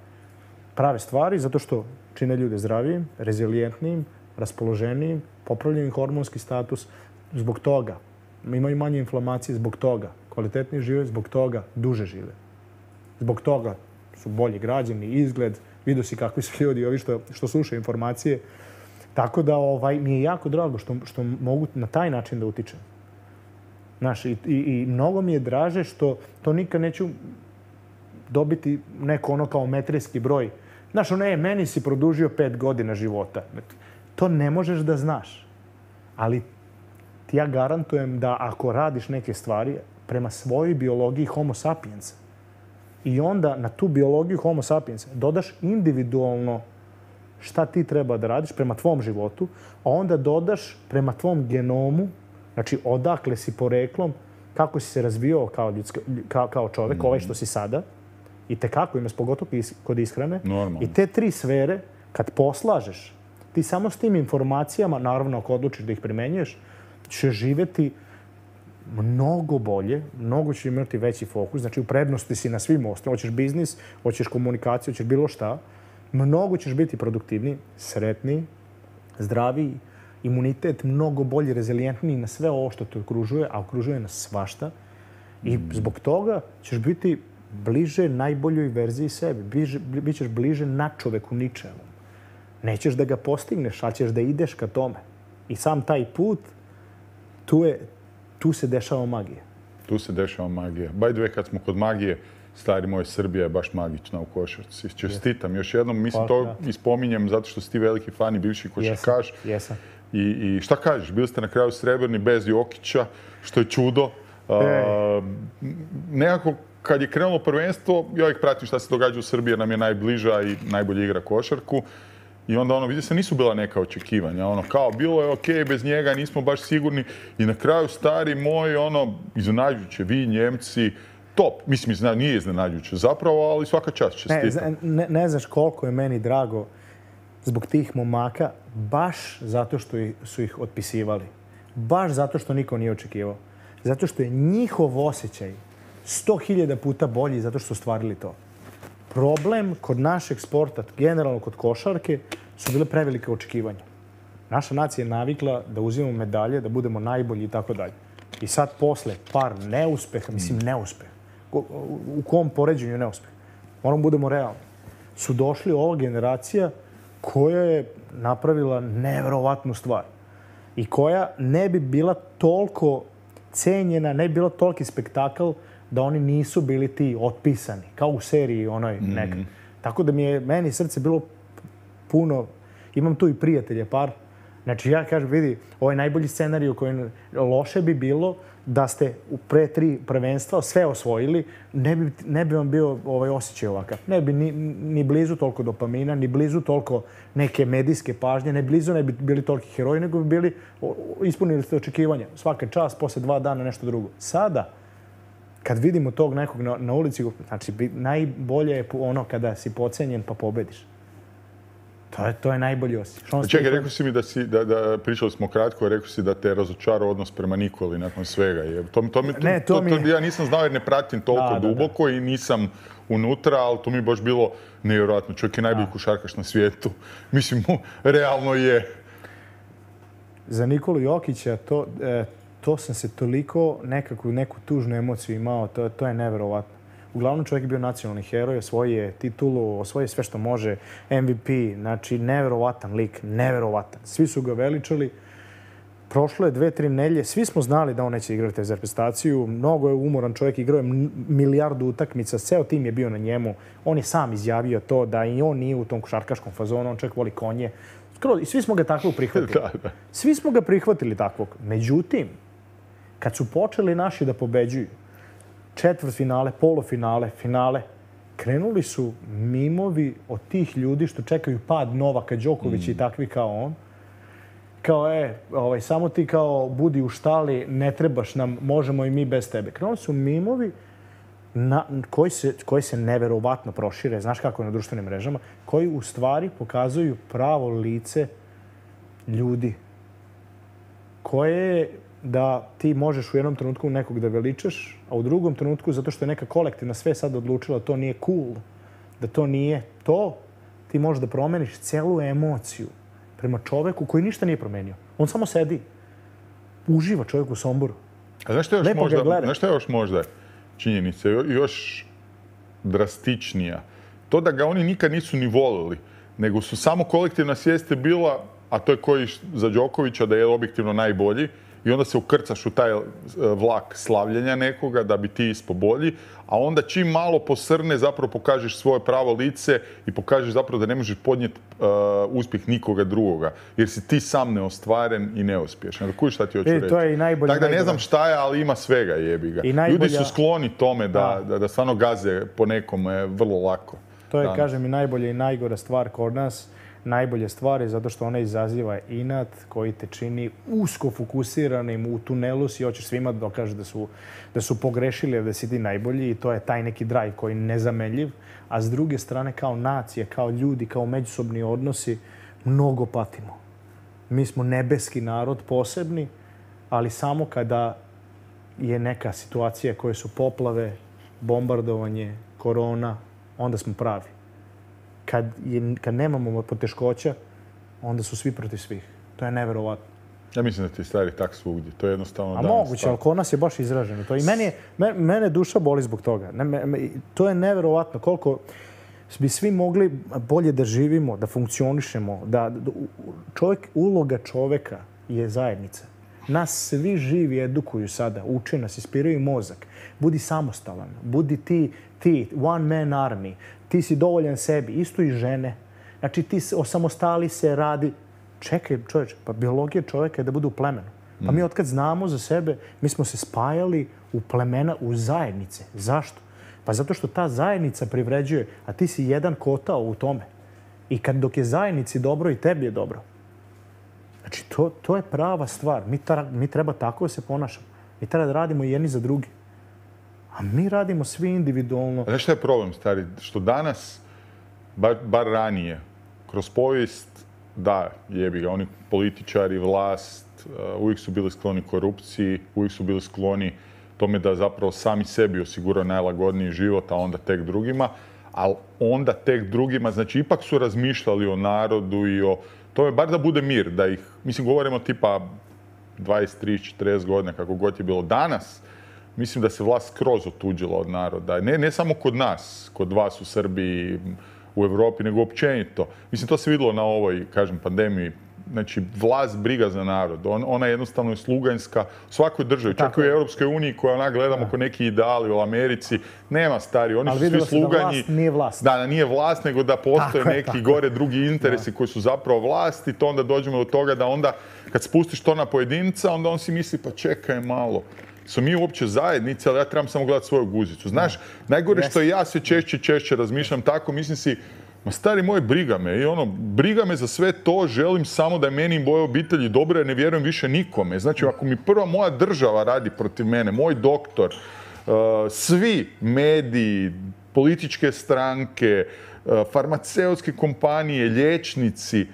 Prave stvari zato što čine ljude zdravijim, rezilijentnijim, raspoloženijim, popravljaju hormonski status. Zbog toga imaju manje inflamacije, zbog toga kvalitetnije žive, zbog toga duže žive. Zbog toga su bolji građani, izgled, vidio si kakvi su ljudi, ovi što, što slušaju informacije. Tako da ovaj, mi je jako drago što, što mogu na taj način da utičem. Znaš, i, i, i mnogo mi je draže što to nikad neću dobiti neko ono kao metrijski broj. Znaš, ono je, meni si produžio pet godina života. To ne možeš da znaš. Ali ti ja garantujem da ako radiš neke stvari prema svojoj biologiji homo sapiensa, i onda na tu biologiju homo sapiensa dodaš individualno šta ti treba da radiš prema tvom životu, a onda dodaš prema tvom genomu, znači odakle si poreklom, kako si se razvijao kao, ljudska, kao, kao čovek, mm. ovaj što si sada, i te kako imaš, pogotovo kod ishrane. Normalno. I te tri sfere, kad poslažeš, ti samo s tim informacijama, naravno ako odlučiš da ih primenjuješ, će živjeti mnogo bolje, mnogo će imati veći fokus, znači u prednosti si na svim osnovima, hoćeš biznis, hoćeš komunikaciju, hoćeš bilo šta, mnogo ćeš biti produktivniji, sretniji, zdraviji, imunitet mnogo bolje, rezilijentniji na sve ovo što te okružuje, a okružuje nas svašta. I zbog toga ćeš biti bliže najboljoj verziji sebi, bliže, bit ćeš bliže na čoveku ničemu. Nećeš da ga postigneš, ali ćeš da ideš ka tome. I sam taj put, tu je Tu se dešava magija. Tu se dešava magija. By the way, kad smo kod magije, stari moj, Srbija je baš magična u košarci. Čestitam još jednom, mislim to ispominjem zato što si ti veliki fan i bivši košarkaš. Jesam. I, I šta kažeš, bili ste na kraju srebrni bez Jokića, što je čudo. A, nekako kad je krenulo prvenstvo, ja ih pratim šta se događa u Srbiji jer nam je najbliža i najbolje igra košarku. I onda ono, vidi se, nisu bila neka očekivanja. Ono, kao, bilo je okej, bez njega nismo baš sigurni. I na kraju, stari moj, ono, iznenađujuće, vi, Njemci, top. Mislim, nije iznenađujuće zapravo, ali svaka čast čestitam. Ne, ne, ne znaš koliko je meni drago zbog tih momaka, baš zato što su ih otpisivali. Baš zato što niko nije očekivao. Zato što je njihov osjećaj sto hiljada puta bolji zato što su stvarili to. Problem kod našeg sporta, generalno kod košarke, su bile prevelike očekivanja. Naša nacija je navikla da uzimamo medalje, da budemo najbolji i tako dalje. I sad posle par neuspeha, mislim neuspeha, u kom poređenju neuspeha, moramo budemo realni, su došli ova generacija koja je napravila neverovatnu stvar i koja ne bi bila toliko cenjena, ne bi bila toliki spektakl da oni nisu bili ti otpisani, kao u seriji onoj nekad. Mm. Tako da mi je, meni srce bilo puno, imam tu i prijatelje par, znači ja kažem, vidi, ovaj najbolji scenarij u kojem loše bi bilo da ste u pre tri prvenstva sve osvojili, ne bi, ne bi vam bio ovaj osjećaj ovakav. Ne bi ni, ni blizu toliko dopamina, ni blizu toliko neke medijske pažnje, ne blizu ne bi bili toliki heroji, nego bi bili, ispunili ste očekivanja. Svaka čast, posle dva dana nešto drugo. Sada, kad vidimo tog nekog na, na ulici, znači najbolje je ono kada si pocenjen pa pobediš. To je, to je najbolji osjećaj. Čekaj, rekao si mi da si, da, da pričali smo kratko, rekao si da te razočarao odnos prema Nikoli nakon svega. To, to, mi, to, ne, to, to, mi... to ja nisam znao jer ne pratim toliko da, duboko da, da. I nisam unutra, ali to mi je baš bilo nevjerojatno. Čovjek je najbolji košarkaš na svijetu. Mislim, realno je. Za Nikolu Jokića to, e, to sam se toliko nekakvu, neku tužnu emociju imao, to, to je neverovatno. Uglavnom čovjek je bio nacionalni heroj, osvojio je titulu, osvojio je sve što može, M V P, znači neverovatan lik, neverovatan. Svi su ga veličali. Prošlo je dve, tri nelje, svi smo znali da on neće igrati za reprezentaciju. Mnogo je umoran čovjek, igrao je milijardu utakmica, ceo tim je bio na njemu. On je sam izjavio to da i on nije u tom košarkaškom fazonu, on čovjek voli konje. I svi smo ga takvog prihvatili. Svi smo ga prihvatili takvog. Međutim, kad su počeli naši da pobeđuju, četvrtfinale, polufinale, finale, krenuli su mimovi od tih ljudi što čekaju pad Novaka Đokovića mm. i takvi kao on. Kao, e, ovaj, samo ti kao budi u štali, ne trebaš nam, možemo i mi bez tebe. Krenuli su mimovi na, koji, se, koji se neverovatno prošire, znaš kako je na društvenim mrežama, koji u stvari pokazuju pravo lice ljudi koje da ti možeš u jednom trenutku nekog da veličaš, a u drugom trenutku, zato što je neka kolektivna sve sad odlučila da to nije cool, da to nije to, ti možeš da promeniš celu emociju prema čoveku koji ništa nije promenio. On samo sedi, uživa čovjek u Somboru. A znaš što je još možda, znaš što je još možda činjenica, još drastičnija? To da ga oni nikad nisu ni volili, nego su samo kolektivna svijest je bila, a to je koji za Đokovića da je objektivno najbolji, i onda se ukrcaš u taj vlak slavljenja nekoga da bi ti ispo bolji, a onda čim malo posrne zapravo pokažeš svoje pravo lice i pokažeš zapravo da ne možeš podnijeti uh, uspjeh nikoga drugoga, jer si ti sam neostvaren i neuspješan. Kuj šta ti hoću reći? To je i najbolje. Tako da ne znam šta je, ali ima svega, jebi ga. Najbolja... Ljudi su skloni tome da, da, da stvarno gaze po nekome vrlo lako. To je, danas. Kažem, i najbolja i najgora stvar kod nas. Najbolje stvari zato što ona izaziva inat koji te čini usko fokusiranim u tunelu si hoćeš svima da dokažeš da su, da su pogrešili, da si ti najbolji i to je taj neki drive koji je nezamenljiv. A s druge strane, kao nacija, kao ljudi, kao međusobni odnosi, mnogo patimo. Mi smo nebeski narod posebni, ali samo kada je neka situacija koje su poplave, bombardovanje, korona, onda smo pravi. Kad, je, kad nemamo poteškoća, onda su svi protiv svih. To je neverovatno. Ja mislim da ti je stvari tak svugdje. To je jednostavno A danas. Moguće, ali kod nas je baš izraženo. To. I meni je, mene, mene duša boli zbog toga. Ne, me, to je neverovatno. Koliko bi svi mogli bolje da živimo, da funkcionišemo. Da, da, čovjek, uloga čoveka je zajednica. Nas svi živi edukuju sada, uče nas, ispiraju mozak. Budi samostalan, budi ti ti, one man army, ti si dovoljan sebi, isto i žene. Znači ti osamostali se, radi. Čekaj, čovječe, pa biologija čovjeka je da bude u plemenu. Pa mi otkad znamo za sebe, mi smo se spajali u plemena, u zajednice. Zašto? Pa zato što ta zajednica privređuje, a ti si jedan kotao u tome. I kad dok je zajednici dobro i tebi je dobro. Znači, to, to je prava stvar. Mi, ta, mi treba tako da se ponašamo. Mi treba da radimo jedni za drugi. A mi radimo svi individualno. Znaš šta je problem, stari? Što danas, bar, bar ranije, kroz povijest, da, jebi ga, oni političari, vlast, uh, uvijek su bili skloni korupciji, uvijek su bili skloni tome da zapravo sami sebi osiguraju najlagodniji život, a onda tek drugima. Ali onda tek drugima, znači ipak su razmišljali o narodu i o tome, bar da bude mir, da ih, mislim, govorimo tipa dvadeset, trideset, četrdeset godina, kako god je bilo danas, mislim da se vlast skroz otuđila od naroda. Ne, ne samo kod nas, kod vas u Srbiji, u Europi, nego općenito. Mislim, to se vidjelo na ovoj, kažem, pandemiji. Znači, vlast briga za narod. On, ona jednostavno je sluganjska u svakoj državi. Čak i u Europskoj uniji koja ona gledamo ko neki ideali u Americi. Nema stari, oni ali su svi sluganji. Da vlast nije vlast. Da, da nije vlast, nego da postoje tako neki je, gore drugi interesi da. Koji su zapravo vlast i to onda dođemo do toga da onda kad spustiš to na pojedinca, onda on si misli pa čekaj malo. Su mi uopće zajednice, ali ja trebam samo gledati svoju guzicu. Znaš, najgore što i ja sve češće i češće razmišljam tako, mislim si, ma stari moj, briga me. I ono, briga me za sve to, želim samo da je meni i moje obitelji dobro, jer ne vjerujem više nikome. Znači, ako mi prva moja država radi protiv mene, moj doktor, uh, svi mediji, političke stranke, uh, farmaceutske kompanije, liječnici,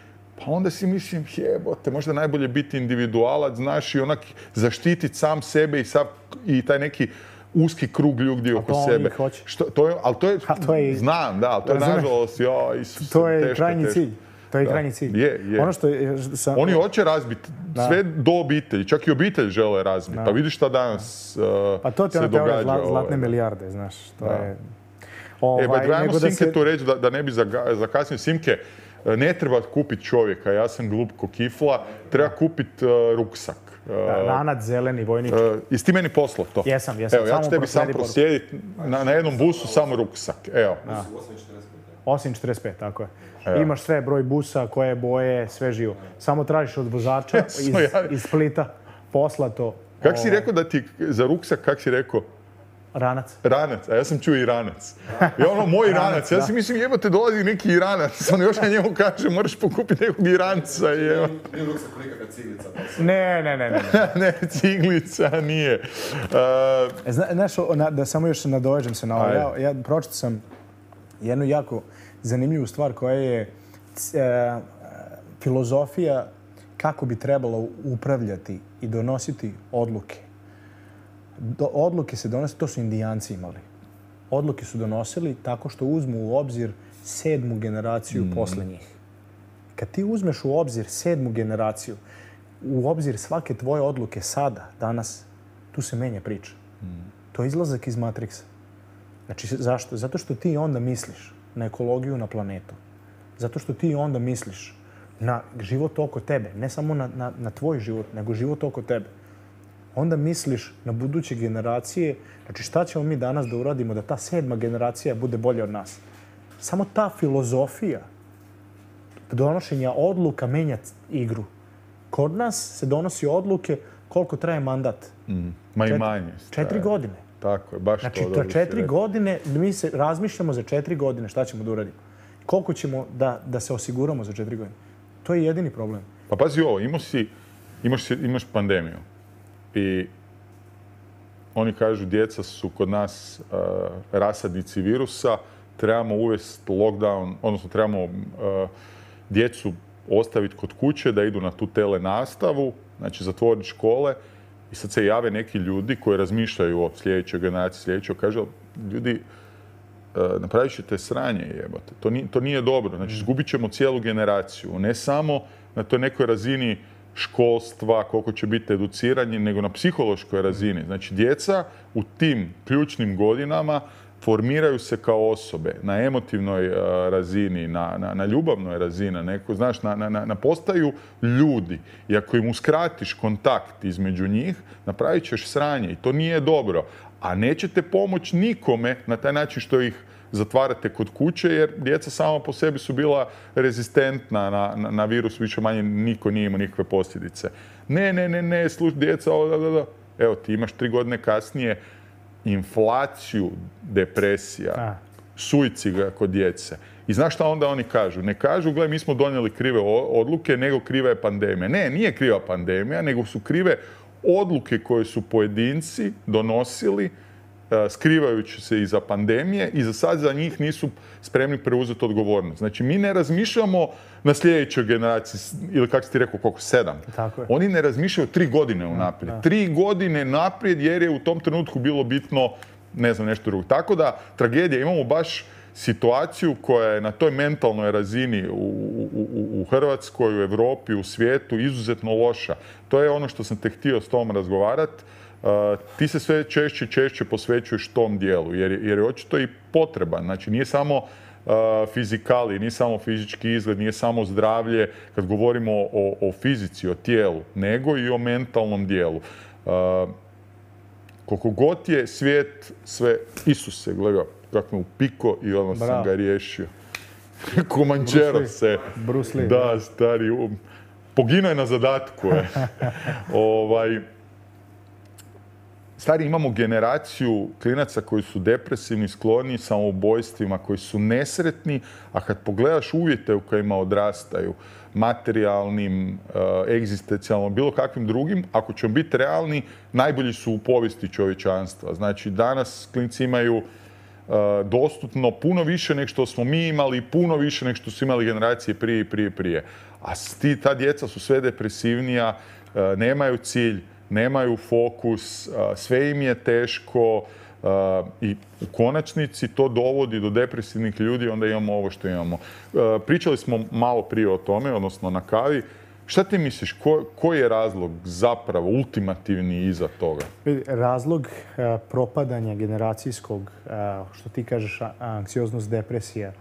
pa onda si mislim, jebote, možda najbolje biti individualac, znaš, i onak zaštititi sam sebe i, sav, i taj neki uski krug ljudi oko sebe. Što, to je, ali to je, to je, znam, da, ali to je nažalost, ja, Isus, to je teško, krajnji teško. cilj. To je da. krajnji cilj. Je, je. Ono što je, sam, Oni hoće razbiti sve do obitelji, čak i obitelj žele razbiti. Da. Pa vidiš šta danas uh, pa to ti se ono događa. Zla, zlatne ovaj, milijarde, znaš. To da. je... Ovaj, e, ba, trebamo Simke se... tu reći da, da ne bi zakasnio. Simke, ne treba kupiti čovjeka, ja sam glup ko kifla, treba kupiti uh, ruksak. Da, ranac, zeleni, vojnički. Uh, jesi ti meni poslao to? Jesam, jesam. Evo, ja ću tebi sam proslijediti na, na jednom busu samo ruksak. Evo. osam četrdeset pet, tako je. Evo. Imaš sve, broj busa, koje boje, sve živo. Samo tražiš od vozača iz, iz Splita, poslato. Kako si rekao da ti, za ruksak, kak si rekao? Ranac. Ranac, a ja sam čuo Iranac. I ono, moj Iranac, ja si mislim, jebote, dolazi neki Iranac. On još na njemu kaže, moraš pokupiti nekog Iranca. Nije ruksak nekakva ciglica. Ne, ne, ne, ne. Ne, ciglica nije. Uh, Zna, znaš, da samo još nadovežem se na ovo. Ja, ja pročitao sam jednu jako zanimljivu stvar koja je e, filozofija kako bi trebalo upravljati i donositi odluke. Do, odluke se donose, to su Indijanci imali. Odluke su donosili tako što uzmu u obzir sedmu generaciju mm. posle njih. Kad ti uzmeš u obzir sedmu generaciju, u obzir svake tvoje odluke sada, danas, tu se menja priča. Mm. To je izlazak iz Matrixa. Znači, zašto? Zato što ti onda misliš na ekologiju, na planetu. Zato što ti onda misliš na život oko tebe. Ne samo na, na, na tvoj život, nego život oko tebe. Onda misliš na buduće generacije. Znači, šta ćemo mi danas da uradimo da ta sedma generacija bude bolja od nas? Samo ta filozofija donošenja odluka menja igru. Kod nas se donosi odluke koliko traje mandat. Mm. Ma i manje. Četiri godine. Tako je, baš znači, to. Znači, četiri godine, mi se razmišljamo za četiri godine šta ćemo da uradimo. Koliko ćemo da, da se osiguramo za četiri godine. To je jedini problem. Pa pazi ovo, imaš, si, imaš, imaš pandemiju. I oni kažu, djeca su kod nas uh, rasadnici virusa, trebamo uvesti lockdown, odnosno trebamo uh, djecu ostaviti kod kuće da idu na tu telenastavu, znači zatvoriti škole. I sad se jave neki ljudi koji razmišljaju o sljedećoj generaciji, sljedećoj, kažu, ljudi, uh, napravit ćete sranje, jebate. To, ni, to nije dobro. Znači, izgubit ćemo cijelu generaciju. Ne samo na toj nekoj razini školstva, koliko će biti educirani, nego na psihološkoj razini. Znači, djeca u tim ključnim godinama formiraju se kao osobe na emotivnoj uh, razini, na, na, na ljubavnoj razini, neko, znaš, na, na, na postaju ljudi. I ako im uskratiš kontakt između njih, napravit ćeš sranje i to nije dobro. a nećete pomoći nikome na taj način što ih zatvarate kod kuće, jer djeca sama po sebi su bila rezistentna na, na, na virus, više manje niko nije imao nikakve posljedice. Ne, ne, ne, ne, sluš, djeca, o, da, da, da. Evo, ti imaš tri godine kasnije inflaciju depresija, A. suicida kod djece. I znaš šta onda oni kažu? Ne kažu, gle, mi smo donijeli krive odluke, nego kriva je pandemija. Ne, nije kriva pandemija, nego su krive odluke koje su pojedinci donosili skrivajući se iza pandemije i za sad za njih nisu spremni preuzeti odgovornost. Znači, mi ne razmišljamo na sljedećoj generaciji, ili kako si ti rekao, koliko, sedam. Tako je. Oni ne razmišljaju tri godine unaprijed. Da. Tri godine naprijed jer je u tom trenutku bilo bitno, ne znam, nešto drugo. Tako da, tragedija, imamo baš situaciju koja je na toj mentalnoj razini u, u, u Hrvatskoj, u Europi, u svijetu izuzetno loša. To je ono što sam te htio s tom razgovarati. Uh, ti se sve češće i češće posvećuješ tom dijelu, jer, jer je očito i potreban. Znači, nije samo uh, fizikali, nije samo fizički izgled, nije samo zdravlje, kad govorimo o, o fizici, o tijelu, nego i o mentalnom dijelu. Uh, koliko god je svijet sve... Isuse, gledaj, kako me upiko i ono Bravo. sam ga riješio. Komančero se. Bruce Lee. Da, stari, um, poginuo je na zadatku. Je. ovaj... Stari, imamo generaciju klinaca koji su depresivni, skloni samoubojstvima, koji su nesretni, a kad pogledaš uvjete u kojima odrastaju, materijalnim, egzistencijalnim, bilo kakvim drugim, ako ćemo biti realni, najbolji su u povijesti čovječanstva. Znači, danas klinci imaju dostupno puno više nego što smo mi imali, puno više nego što su imali generacije prije i prije prije. A ti, ta djeca su sve depresivnija, nemaju cilj, nemaju fokus, sve im je teško i u konačnici to dovodi do depresivnih ljudi, onda imamo ovo što imamo. Pričali smo malo prije o tome, odnosno na kavi. Šta ti misliš, ko, koji je razlog zapravo ultimativni iza toga? Razlog propadanja generacijskog, što ti kažeš, anksioznost, depresija,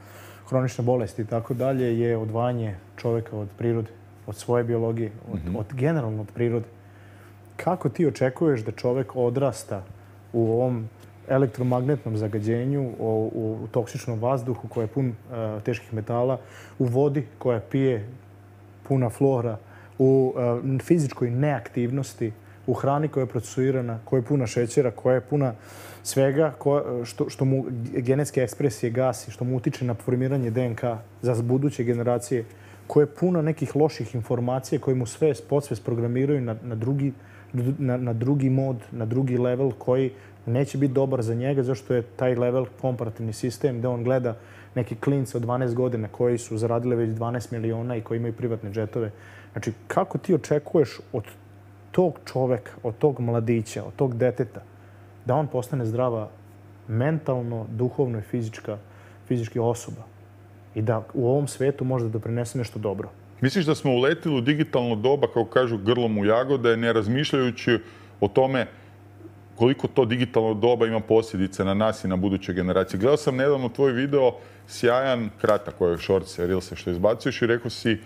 hronične bolesti i tako dalje, je odvajanje čovjeka od prirode, od svoje biologije, od, mm-hmm. od generalno od prirode. Kako ti očekuješ da čovjek odrasta u ovom elektromagnetnom zagađenju, u, u toksičnom vazduhu koji je pun uh, teških metala, u vodi koja pije puna flora, u uh, fizičkoj neaktivnosti, u hrani koja je procesuirana, koja je puna šećera, koja je puna svega koja, što, što mu genetske ekspresije gasi, što mu utiče na formiranje D N K za buduće generacije, koja je puna nekih loših informacija koje mu sve podsvest programiraju na, na drugi Na, na drugi mod, na drugi level koji neće biti dobar za njega, zašto je taj level komparativni sistem gdje on gleda neki klince od dvanaest godina koji su zaradili već dvanaest miliona i koji imaju privatne džetove. Znači, kako ti očekuješ od tog čoveka, od tog mladića, od tog deteta, da on postane zdrava mentalno, duhovno i fizička, fizički osoba i da u ovom svijetu može da doprinese nešto dobro? Misliš da smo uletili u digitalno doba, kao kažu, grlom u jagode, ne razmišljajući o tome koliko to digitalno doba ima posljedice na nas i na buduće generacije. Gledao sam nedavno tvoj video, sjajan, kratak koji je shortse, reelse što izbacuješ i rekao si,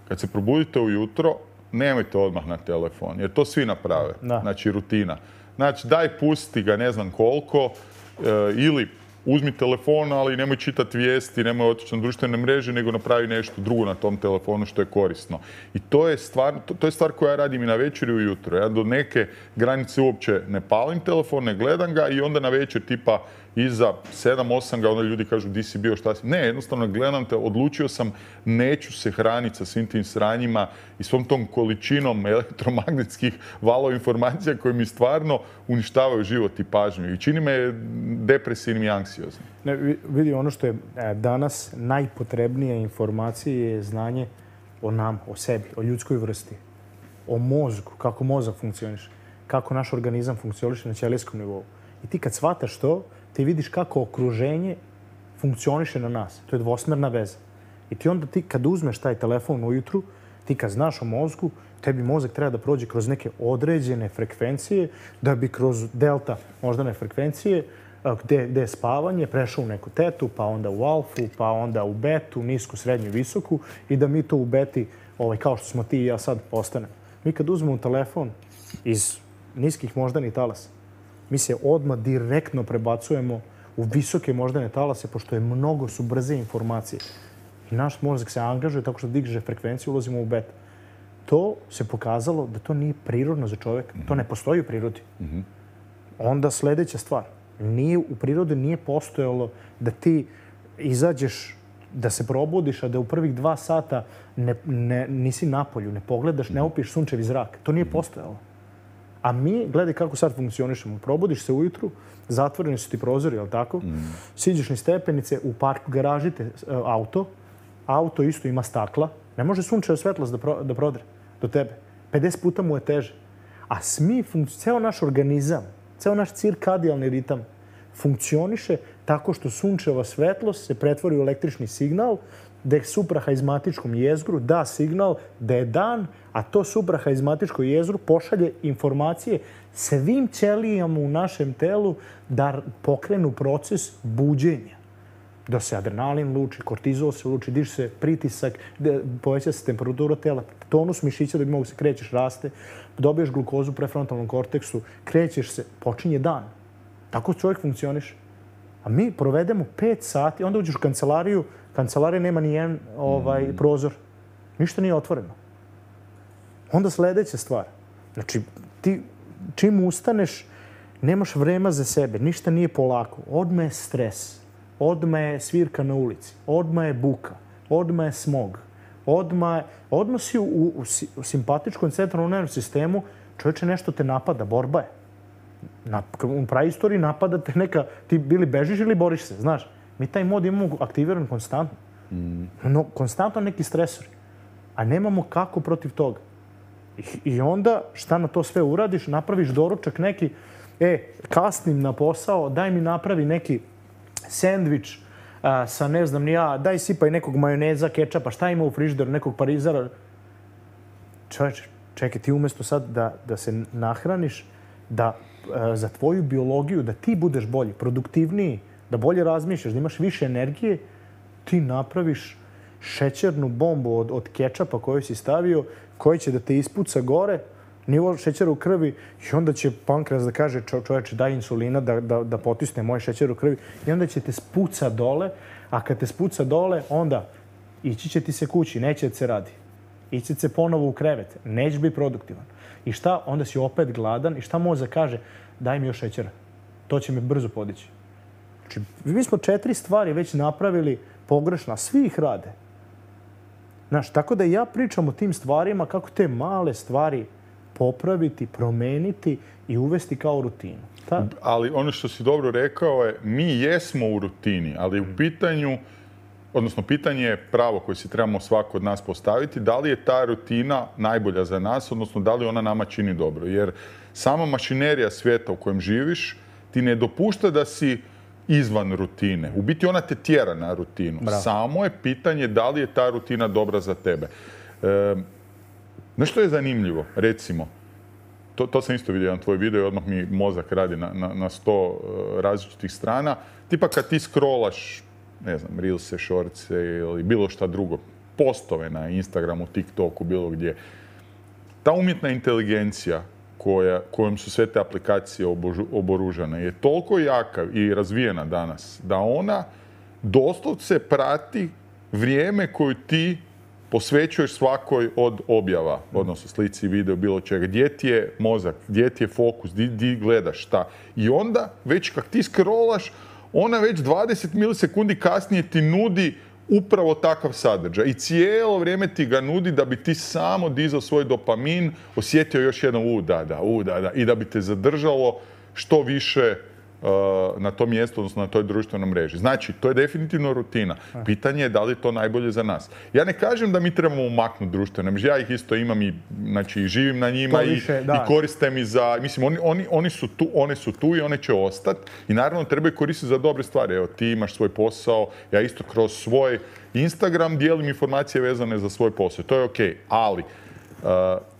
kad se probudite ujutro, nemojte odmah na telefon, jer to svi naprave. Da. Znači, rutina. Znači, daj pusti ga ne znam koliko, e, ili uzmi telefon, ali nemoj čitati vijesti, nemoj otići na društvene mreže, nego napravi nešto drugo na tom telefonu što je korisno. I to je stvar, to, to je stvar koja ja radim i na večer i ujutro. Ja do neke granice uopće ne palim telefon, ne gledam ga i onda na večer tipa iza sedam osam ga onda ljudi kažu di si bio, šta si. Ne, jednostavno gledam te, odlučio sam, neću se hraniti sa svim tim sranjima i svom tom količinom elektromagnetskih valova informacija koje mi stvarno uništavaju život i pažnju. I čini me depresivnim i anksioznim. Ne, vidi, ono što je danas najpotrebnije informacije je znanje o nam, o sebi, o ljudskoj vrsti, o mozgu, kako mozak funkcioniše, kako naš organizam funkcioniše na ćelijskom nivou. I ti kad shvataš to, ti vidiš kako okruženje funkcioniše na nas. To je dvosmerna veza. I ti onda ti kad uzmeš taj telefon ujutru, ti kad znaš o mozgu, tebi mozak treba da prođe kroz neke određene frekvencije, da bi kroz delta moždane frekvencije, gde, gde je spavanje, prešao u neku tetu, pa onda u alfu, pa onda u betu, nisku, srednju i visoku, i da mi to u beti, ovaj, kao što smo ti i ja sad, postanemo. Mi kad uzmemo telefon iz niskih moždanih talasa, mi se odmah direktno prebacujemo u visoke moždane talase, pošto je mnogo su brze informacije. I naš mozak se angažuje tako što diže frekvenciju, ulazimo u beta. To se pokazalo da to nije prirodno za čovjeka. To ne postoji u prirodi. Mm-hmm. Onda sljedeća stvar. Nije, u prirodi nije postojalo da ti izađeš, da se probudiš, a da u prvih dva sata ne, ne, nisi na polju, ne pogledaš, ne opiš sunčevi zrak. To nije postojalo. A mi, gledaj kako sad funkcionišemo. Probudiš se ujutru, zatvoreni su ti prozori, jel tako? Mm. Siđeš ni stepenice, u parku garažite auto, auto isto ima stakla, ne može sunčeva svetlost da, pro, da prodre do tebe. pedeset puta mu je teže. A smi, ceo naš organizam, ceo naš cirkadijalni ritam funkcioniše tako što sunčeva svetlost se pretvori u električni signal, da je suprahaizmatičkom jezgru da signal da je dan, a to suprahaizmatičko jezgru pošalje informacije svim ćelijama u našem telu da pokrenu proces buđenja. Da se adrenalin luči, kortizol se luči, diže se pritisak, poveća se temperatura tela, tonus mišića da bi mogu se krećeš, raste, dobiješ glukozu u prefrontalnom korteksu, krećeš se, počinje dan. Tako čovjek funkcioniše. A mi provedemo pet sati, onda uđeš u kancelariju, kancelarija nema ni jedan ovaj, mm. prozor. Ništa nije otvoreno. Onda sljedeća stvar. Znači, ti čim ustaneš, nemaš vremena za sebe, ništa nije polako. Odmah je stres, odmah je svirka na ulici, odmah je buka, odmah je smog, odmah, je, odmah si u, u, u simpatičkom centralnom nervnom sistemu, čovječe nešto te napada, borba je. Na, u praistoriji napadate neka, ti bili bežiš ili boriš se, znaš. Mi taj mod imamo aktiviran konstantno. Mm. No, konstantno neki stresori. A nemamo kako protiv toga. I, I onda šta na to sve uradiš? Napraviš doručak neki, e, kasnim na posao, daj mi napravi neki sendvič a, sa ne znam ni ja, daj sipaj nekog majoneza, kečapa, šta ima u frižideru, nekog parizara. Čovječe, čekaj, ti umjesto sad da, da se nahraniš, da a, za tvoju biologiju, da ti budeš bolji, produktivniji, da bolje razmišljaš, da imaš više energije, ti napraviš šećernu bombu od, od kečapa koju si stavio, koji će da te ispuca gore, nivo šećera u krvi i onda će pankreas da kaže čo, čovječe daj insulina da, da, da potisne moje šećer u krvi i onda će te spuca dole, a kad te spuca dole, onda ići će ti se kući, neće da se radi. Ići će se ponovo u krevet, neće biti produktivan. I šta? Onda si opet gladan i šta mozak kaže? Daj mi još šećera. To će me brzo podići. Znači, mi smo četiri stvari već napravili pogrešno, a svi ih rade. Znaš, tako da ja pričam o tim stvarima, kako te male stvari popraviti, promeniti i uvesti kao rutinu. Ta... Ali ono što si dobro rekao je, mi jesmo u rutini, ali u pitanju, odnosno pitanje je pravo koje si trebamo svako od nas postaviti, da li je ta rutina najbolja za nas, odnosno da li ona nama čini dobro. Jer sama mašinerija svijeta u kojem živiš ti ne dopušta da si izvan rutine. U biti ona te tjera na rutinu. Bravo. Samo je pitanje da li je ta rutina dobra za tebe. E, nešto je zanimljivo, recimo, to, to sam isto vidio jedan tvoj video i odmah mi mozak radi na, na, na sto različitih strana. Tipa kad ti scrollaš, ne znam, Reelse, Shortse ili bilo šta drugo, postove na Instagramu, TikToku, bilo gdje, ta umjetna inteligencija koja, kojom su sve te aplikacije obožu, oboružane je toliko jaka i razvijena danas da ona doslovce prati vrijeme koju ti posvećuješ svakoj od objava, odnosno slici, video, bilo čega. Gdje ti je mozak, gdje ti je fokus, gdje, gdje gledaš, šta. I onda, već kad ti scrollaš, ona već dvadeset milisekundi kasnije ti nudi upravo takav sadržaj. I cijelo vrijeme ti ga nudi da bi ti samo dizao svoj dopamin, osjetio još jedno u, da, da, u, da, da, i da bi te zadržalo što više uh, na tom mjestu, odnosno na toj društvenoj mreži. Znači, to je definitivno rutina. Pitanje je da li je to najbolje za nas. Ja ne kažem da mi trebamo umaknuti društvene mreže. Ja ih isto imam i, znači, živim na njima više, i, i koristim i za... Mislim, oni, oni, oni su tu, one su tu i one će ostati. I naravno trebaju koristiti za dobre stvari. Evo, ti imaš svoj posao, ja isto kroz svoj Instagram dijelim informacije vezane za svoj posao. To je okej. Ali, uh,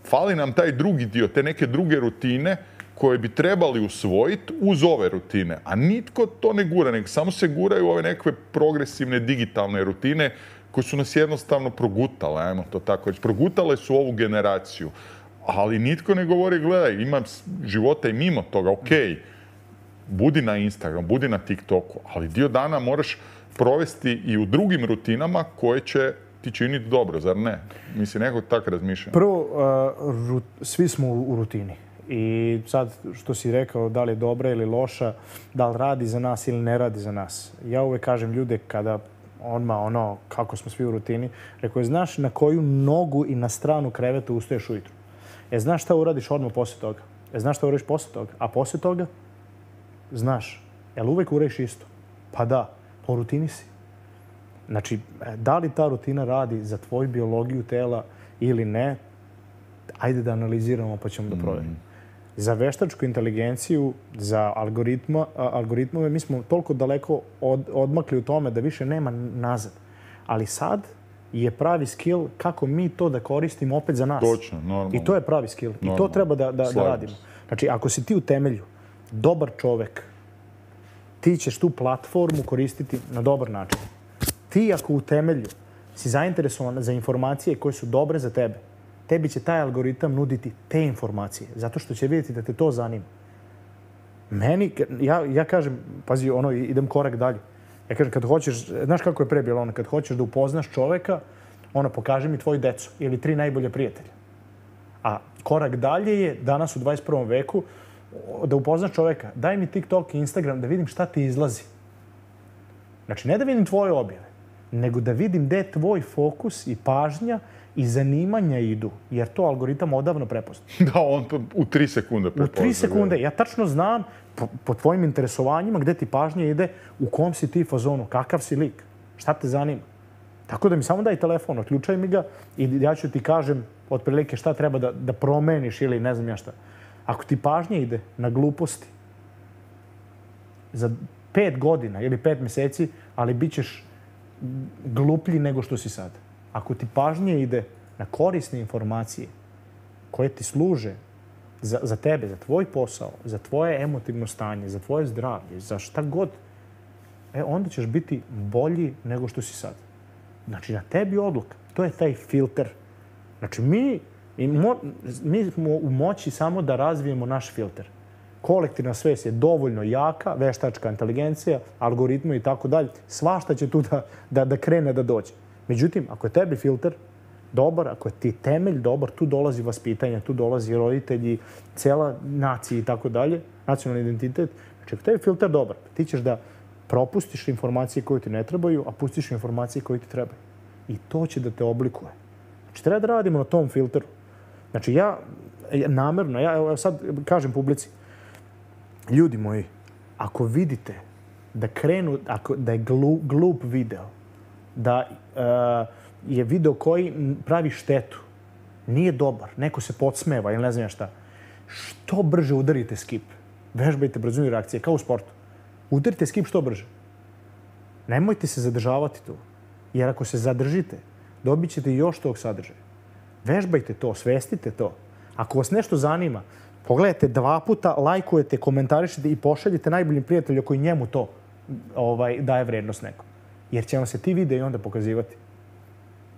fali nam taj drugi dio, te neke druge rutine koje bi trebali usvojiti uz ove rutine. A nitko to ne gura, nego samo se guraju ove nekakve progresivne digitalne rutine koje su nas jednostavno progutale, ajmo to tako reći. Progutale su ovu generaciju. Ali nitko ne govori, gledaj, imam života i mimo toga, okej. budi na Instagramu, budi na TikToku, ali dio dana moraš provesti i u drugim rutinama koje će ti činiti dobro, zar ne? Mislim, nekako tako razmišljam. Prvo, uh, rut, svi smo u, u rutini. I sad što si rekao, da li je dobra ili loša, da li radi za nas ili ne radi za nas. Ja uvek kažem ljude kada odmah ono, kako smo svi u rutini, rekao je, znaš na koju nogu i na stranu kreveta ustaješ ujutru? E, znaš šta uradiš odmah posle toga? E, znaš šta uradiš posle toga? A posle toga? Znaš. Jel uvek uradiš isto? Pa da, po rutini si. Znači, da li ta rutina radi za tvoju biologiju tela ili ne, ajde da analiziramo pa ćemo da provjerimo. Za veštačku inteligenciju, za algoritma, algoritmove, mi smo toliko daleko od, odmakli u tome da više nema nazad. Ali sad je pravi skill kako mi to da koristimo opet za nas. Točno, normalno. I to je pravi skill. Normalno. I to treba da, da, da radimo. Znači, ako si ti u temelju dobar čovek, ti ćeš tu platformu koristiti na dobar način. Ti ako u temelju si zainteresovan za informacije koje su dobre za tebe, tebi će taj algoritam nuditi te informacije, zato što će vidjeti da te to zanima. Meni, ja, ja kažem, pazi, ono, idem korak dalje. Ja kažem, kad hoćeš, znaš kako je pre bilo ono, kad hoćeš da upoznaš čoveka, ono, pokaži mi tvoju decu ili tri najbolje prijatelja. A korak dalje je, danas u dvadeset prvom veku, da upoznaš čoveka, daj mi TikTok i Instagram da vidim šta ti izlazi. Znači, ne da vidim tvoje objave, nego da vidim gde je tvoj fokus i pažnja i zanimanja idu, jer to algoritam odavno prepozna. Da, on to u tri sekunde prepozna. U tri sekunde. Ja tačno znam po, po tvojim interesovanjima gde ti pažnja ide, u kom si ti fazonu, kakav si lik, šta te zanima. Tako da mi samo daj telefon, otključaj mi ga i ja ću ti kažem otprilike šta treba da, da promeniš ili ne znam ja šta. Ako ti pažnja ide na gluposti za pet godina ili pet meseci, ali bit ćeš gluplji nego što si sad. Ako ti pažnja ide na korisne informacije koje ti služe za, za tebe, za tvoj posao, za tvoje emotivno stanje, za tvoje zdravlje, za šta god, e, onda ćeš biti bolji nego što si sad. Znači, na tebi odluka. To je taj filter. Znači, mi, mo, mi smo u moći samo da razvijemo naš filter. Kolektivna svest je dovoljno jaka, veštačka inteligencija, algoritmi i tako dalje. Svašta će tu da, da, da krene da dođe. Međutim, ako je tebi filter dobar, ako je ti temelj dobar, tu dolazi vaspitanje, tu dolazi roditelji, cela nacija i tako dalje, nacionalni identitet. Znači, ako tebi filter dobar, ti ćeš da propustiš informacije koje ti ne trebaju, a pustiš informacije koje ti trebaju. I to će da te oblikuje. Znači, treba da radimo na tom filteru. Znači, ja namerno, ja evo sad kažem publici, ljudi moji, ako vidite da krenu, ako, da je glu, glup video, da uh, je video koji pravi štetu, nije dobar, neko se podsmeva ili ne znam šta, što brže udarite skip. Vežbajte brzinu reakcije, kao u sportu. Udarite skip što brže. Nemojte se zadržavati tu. Jer ako se zadržite, dobit ćete još tog sadržaja. Vežbajte to, svestite to. Ako vas nešto zanima, pogledajte dva puta, lajkujete, komentarišete i pošaljite najboljim prijatelju koji njemu to ovaj, daje vrednost nekom. Jer će vam se ti videi onda pokazivati.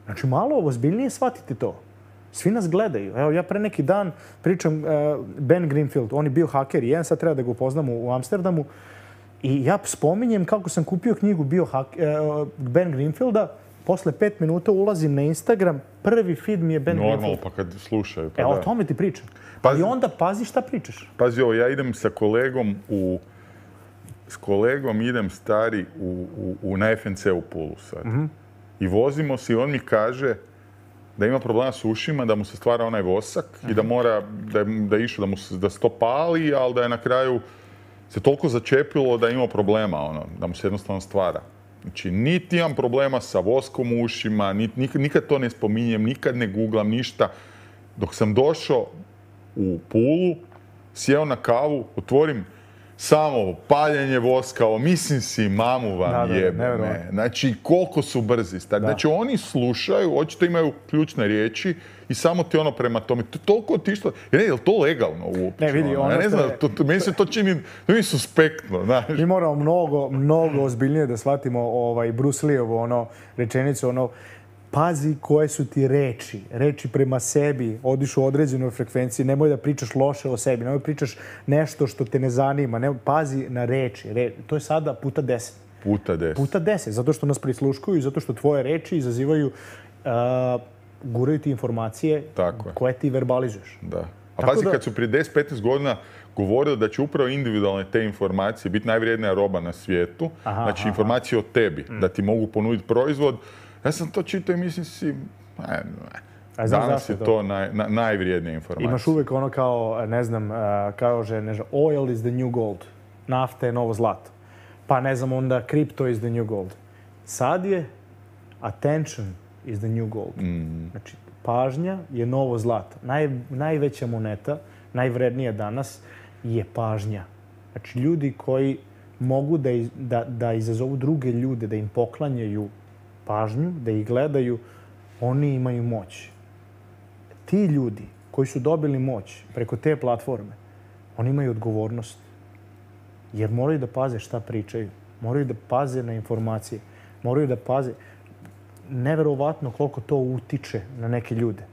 Znači, malo ozbiljnije shvatite to. Svi nas gledaju. Evo, ja pre neki dan pričam uh, Ben Greenfield. On je bio haker i jedan sad treba da ga upoznam u, u Amsterdamu. I ja spominjem kako sam kupio knjigu bio haker, uh, Ben Greenfielda. Posle pet minuta ulazim na Instagram. Prvi feed mi je Ben Normalno, Greenfield. pa kad slušaju. Pa e, da. o tome ti pričam. Pazi, I onda pazi šta pričaš. Pazi ovo, ja idem sa kolegom u... S kolegom idem stari u, u, u, na F N C u Pulu sad. Mm-hmm. I vozimo se i on mi kaže da ima problema s ušima, da mu se stvara onaj vosak mm-hmm. i da mora, da je, da je išao, da mu se, da se to pali, ali da je na kraju se toliko začepilo da ima problema, ono, da mu se jednostavno stvara. Znači, niti imam problema sa voskom u ušima, nit, nikad, nikad to ne spominjem, nikad ne googlam, ništa. Dok sam došao u Pulu, sjeo na kavu, otvorim samo paljenje voska, ovo, mislim si, mamu vam da, jebe da, me. Znači, koliko su brzi. Znači, oni slušaju, očito imaju ključne riječi i samo ti ono prema tome. To je toliko otišlo. Ne, je li to legalno uopće? Ne, vidi, ono ja ne znam, je... to, to, meni se to čini, to mi suspektno, znaš. Mi moramo mnogo, mnogo ozbiljnije da shvatimo ovaj, Bruce Lee-ovo, ono, rečenicu, ono, pazi koje su ti reči. Reči prema sebi, odiš u određenoj frekvenciji, nemoj da pričaš loše o sebi, nemoj da pričaš nešto što te ne zanima, nemoj, pazi na reči. Re, to je sada puta deset. Puta deset. Puta deset, zato što nas prisluškuju i zato što tvoje reči izazivaju, uh, guraju ti informacije Tako je. koje ti verbalizuješ. Da. A Tako pazi, da- kad su prije deset do petnaest godina govorili da će upravo individualne te informacije biti najvrijednija roba na svijetu, Aha, znači aha. informacije o tebi, da ti mogu ponuditi proizvod. Ja sam to čitao i mislim si, ne, ne. A znaš Danas zašto je je to? to naj, na, najvrijednija informacija. Imaš uvek ono kao, ne znam, uh, kao že, ne znam, oil is the new gold. Nafta je novo zlato. Pa ne znam, onda crypto is the new gold. Sad je attention is the new gold. Mm. Znači, pažnja je novo zlato. Naj, najveća moneta, najvrednija danas je pažnja. Znači, ljudi koji mogu da, iz, da, da izazovu druge ljude, da im poklanjaju pažnju, da ih gledaju, oni imaju moć. Ti ljudi koji su dobili moć preko te platforme, oni imaju odgovornost. Jer moraju da paze šta pričaju. Moraju da paze na informacije. Moraju da paze. Neverovatno koliko to utiče na neke ljude.